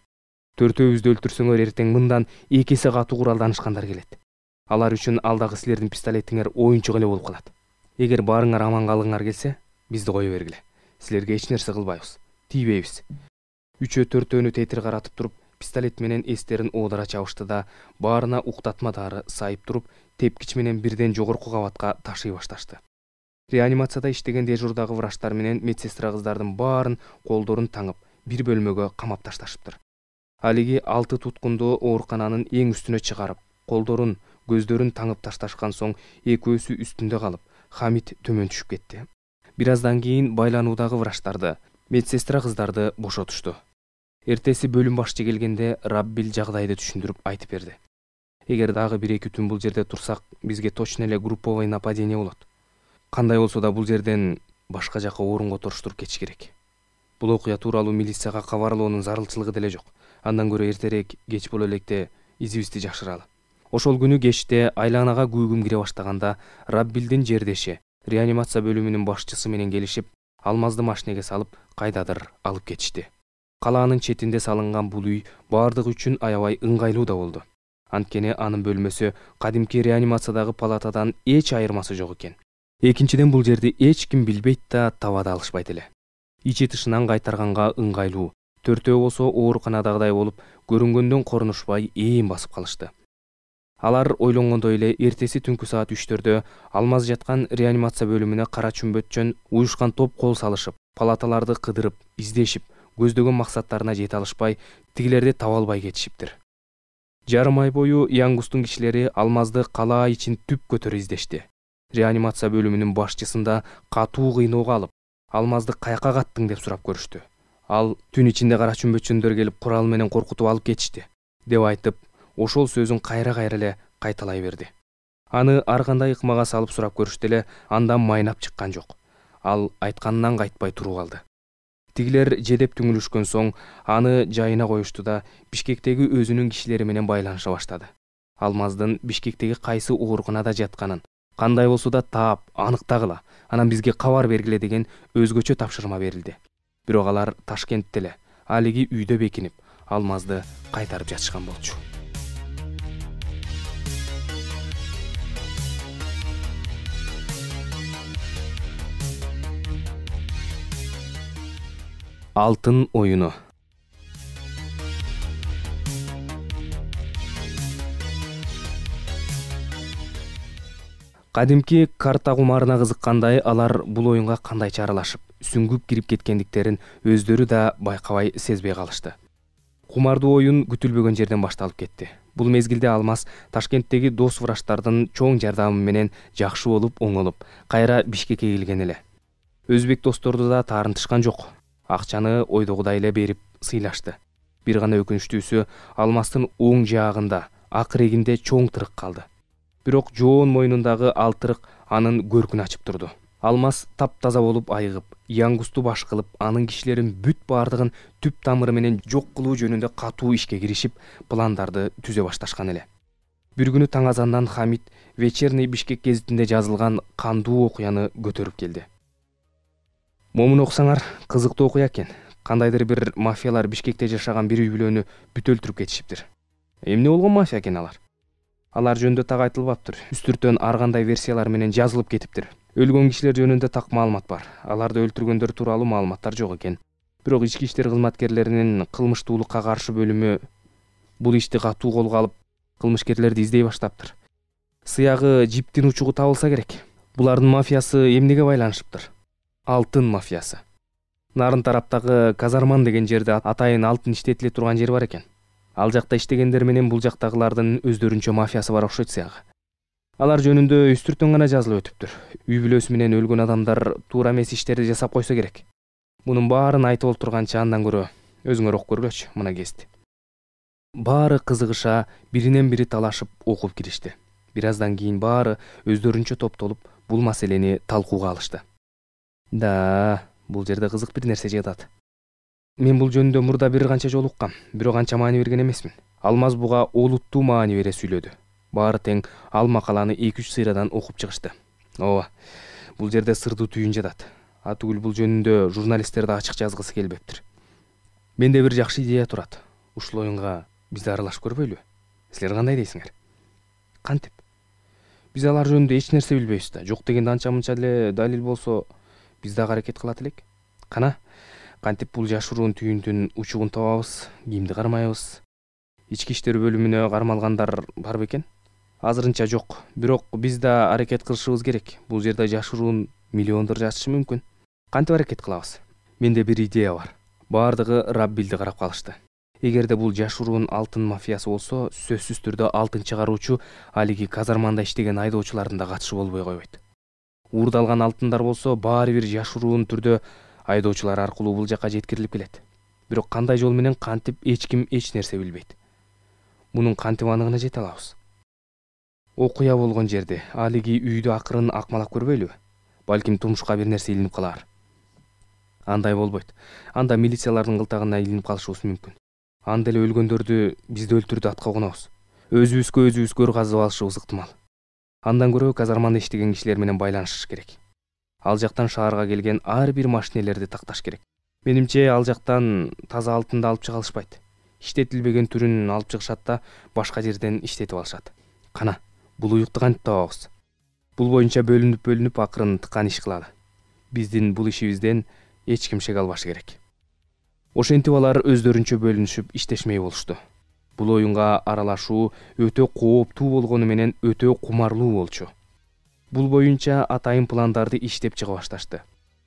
Төртөөбүздү өлтүрсөңөр эртең мындан эки эсе катуу куралданышкандар келет. Алар үчүн алдагы силердин пистолетиңер оюнчук эле болуп калат. Эгер баарыңар аман калгыңар келсе, бизди кое бергиле. Силерге эч нерсе кылбайбыз, тийбейбиз. Үчөө төртөөнү тетир каратып туруп, пистолет менен эстерин оодара чабышты да баарына уктатма дары сайып туруп, тепкич менен бирден жогорку кабатка ташый башташты. Реанимацияда иштеген дежурдагы врачтар менен медсестра кыздардын баарын колдорун таңып, бир бөлмөгө камап ташташыптыр. Алиги алты туткунду оорукананын эң үстүнө чыгарып, колдорун, көздөрүн таңып ташташкан соң экөөсү үстүндө калып, Хамит төмөн түшүп кетти. Бир аздан кийин байлануудагы врачтарды, медсестра кыздарды бошотушту. Эртеси бөлүм башчы келгенде Раббил жагдайды түшүндүрүп айтып берди. Эгер дагы бир эки түн бул жерде турсак, бизге точно эле групповой нападение болот. Кандай болсо да бул жерден башка жака орун которуштуруп кетиш керек. Бул окуя тууралуу милицияга кабарлоонун зарылчылыгы деле жок. Андан көрө эртерээк кеч боло электе изибизди жакшыралы. Ошол күнү кечте айланага күүгүм кире баштаганда Раббилдин жердеши реанимация бөлүмүнүн башчысы менен келишип, Алмазды машинеге салып кайдадыр алып кетишти. Калаанын четинде салынган бул үй баардыгы үчүн аябай ыңгайлуу да болду. Анткени анын бөлмөсү кадимки реанимациядагы палатадан эч айырмасы жок экен. Экинчиден бул жерди эч ким билбейт да таба да алышпайт эле. Ичи тышынан кайтарганга ыңгайлуу. Төртөө болсо ооруканадагыдай болуп, көрүнгөндөн корунушпай ээн басып калышты. Алар ойлонгондой эле эртеси түнкү саат үчтөрдө Алмаз жаткан реанимация бөлүмүнө кара чүмбөтчөн уюшкан топ кол салышып, палаталарды кыдырып, издешип, көздөгөн максаттарына жете алышпай, тигилерди таба албай кетишиптир. Жарым ай бою Янгустун кишилери Алмазды калаа ичин түп көтөрө издешти. Реанимация бөлүмүнүн башчысында катуу кыйноого алып, Алмазды каяка каттың деп сурап көрүштү. Ал түн ичинде кара чүмбөтчөндөр келип курал менен коркутуп алып кетишти деп айтып, ошол сөзүн кайра-кайра эле кайталай берди. Аны ар кандай ыкмага салып сурап көрүштү эле, андан майнап чыккан жок. Ал айтканынан кайтпай туруп алды. Тигилер жедеп түңүлүшкөн соң аны жайына коюшту да Бишкектеги өзүнүн кишилери менен байланыша баштады. Алмаздын Бишкектеги кайсы ооруканада жатканын, кандай болсо да таап, аныктагыла, анан бизге кабар бергиле деген өзгөчө тапшырма берилди. Бирок алар Ташкентте эле, алиги үйдө бекинип, Алмазды кайтарып жатышкан болчу. Алтын оюну. Кадимки карта кумарына кызыккандай алар бул оюнга кандайча аралашып, сүңгүп кирип кеткендиктерин өздөрү да байкабай сезбей калышты. Кумардуу оюн күтүлбөгөн жерден башталып кетти. Бул мезгилде Алмаз Ташкенттеги дос врачтардын чоң жардамы менен жакшы болуп, оңолуп, кайра Бишкекке келген эле. Өзбек досторду да таарынтышкан жок. Акчаны ойдогудай эле берип сыйлашты. Бир гана өкүнүчтүүсү Алмаздын оң жаагында, ак регинде чоң тырык калды. Бирок жоон мойнундагы ал тырык анын көркүн ачып турду. Алмаз таптаза болуп айыгып, Янгусту баш кылып, анын кишилерин бүт баардыгын түп тамыры менен жок кылуу жөнүндө катуу ишке киришип, пландарды түзө башташкан эле. Бир күнү таң азандан Хамит Вечерний Бишкек гезитинде жазылган кандуу окуяны көтөрүп келди. Момун окусаңар, кызыктуу окуя экен. Кандайдыр бир мафиялар Бишкекте жашаган бир үй бүлөнү бүт өлтүрүп кетишиптир. Эмне болгон мафия экен алар? Алар жөнүндө так айтылбаптыр. Үстүртөн ар кандай версиялар менен жазылып кетиптир. Өлгөн кишилер жөнүндө так маалымат бар. Аларды өлтүргөндөр тууралуу маалыматтар жок экен. Бирок ички иштер кызматкерлеринин кылмыштуулукка каршы бөлүмү бул ишти катуу колго алып, кылмышкерлерди издей баштаптыр. Сыягы жиптин учугу табылса керек. Булардын мафиясы эмнеге байланышыптыр? Алтын мафиясы. Нарын тараптагы Казарман деген жерде атайын алтын иштетиле турган жер бар экен. Ал жакта иштегендер менен бул жактагылардын өздөрүнчө мафиясы бар окшойт сыягы. Алар жөнүндө үстүртөн гана жазылып өтүптүр. Үй бүлөсү менен өлгөн адамдар туура эмес иштерди жасап койсо керек. Мунун баарын айтып олтурганча андан көрө өзүңөр окуп көргүлөчү мына гезитти. Баары кызыгыша биринен бири талашып окуп киришти. Бир аздан кийин баары өздөрүнчө топтолуп бул маселени талкууга алышты. Да, бул жерде кызык бир нерсе жатат. Мен бул жөнүндө мурда бир канча жолу уккам, бирок анча маани берген эмесмин. Алмаз буга олуттуу маани бере сүйлөдү. Баары тең ал макаланы эки үч сыйрадан окуп чыгышты. Ооба, бул жерде сырдуу түйүн жатат. Атүгүл бул жөнүндө журналисттерди ачык жазгысы келбептир. Менде бир жакшы идея турат. Ушул оюнга биз да аралашып көрбөйлүбү? Силер кандай дейсиңер? Кантип? Биз алар жөнүндө эч нерсе билбейбиз да. Жок дегенде анча мынча эле далил болсо, биз дагы аракет кылат элек. Кана, кантип бул жашыруун түйүндүн учугун табабыз, кимди кармайбыз? Ички иштер бөлүмүнө кармалгандар бар бекен? Азырынча жок, бирок биз да аракет кылышыбыз керек. Бул жерде жашыруун миллиондор жатышы мүмкүн. Кантип аракет кылабыз? Менде бир идея бар. Баардыгы Раббилди карап калышты. Эгерде бул жашыруун алтын мафиясы болсо, сөзсүз түрдө алтын чыгаруучу алиги казарманда иштеген айдоочулардын да катышы болбой койбойт. Уурдалган алтындар болсо, баары бир жашыруун түрдө айдоочулар аркылуу бул жака жеткирилип келет. Бирок кандай жол менен кантип эч ким эч нерсе билбейт. Мунун кантип аныгына жете алабыз? Окуя болгон жерде алиги үйдү акырын акмалап көрбөйлүбү? Балким тумушка бир нерсе илинип калар. Андай болбойт. Анда милициялардын кылтагына илинип калышыбыз мүмкүн. Анда эле өлгөндөрдү бизди өлтүрдү атка конобуз. Өзүбүзгө өзүбүз көр казып алышыбыз ыктымал. Андан көрө казарманда иштеген кишилер менен байланышыш керек. Ал жактан шаарга келген ар бир машинелерди такташ керек. Менимче ал жактан таза алтынды алып чыга алышпайт. Иштетилбеген түрүн алып чыгышат да башка жерден иштетип алышат. Кана, бул уюкту кантип табабыз? Бул боюнча бөлүнүп-бөлүнүп акырын тыкан иш кылалы. Биздин бул ишибизден эч ким шек албашы керек. Ошентип алар өздөрүнчө бөлүнүшүп иштешмей болушту. Бул оюнга аралашуу өтө кооптуу болгону менен өтө кумарлуу болчу. Бул боюнча атайын пландарды иштеп чыга башташты.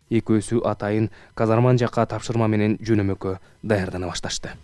Экөөсү атайын казарман жакка тапшырма менен жөнөмөккө даярдана башташты.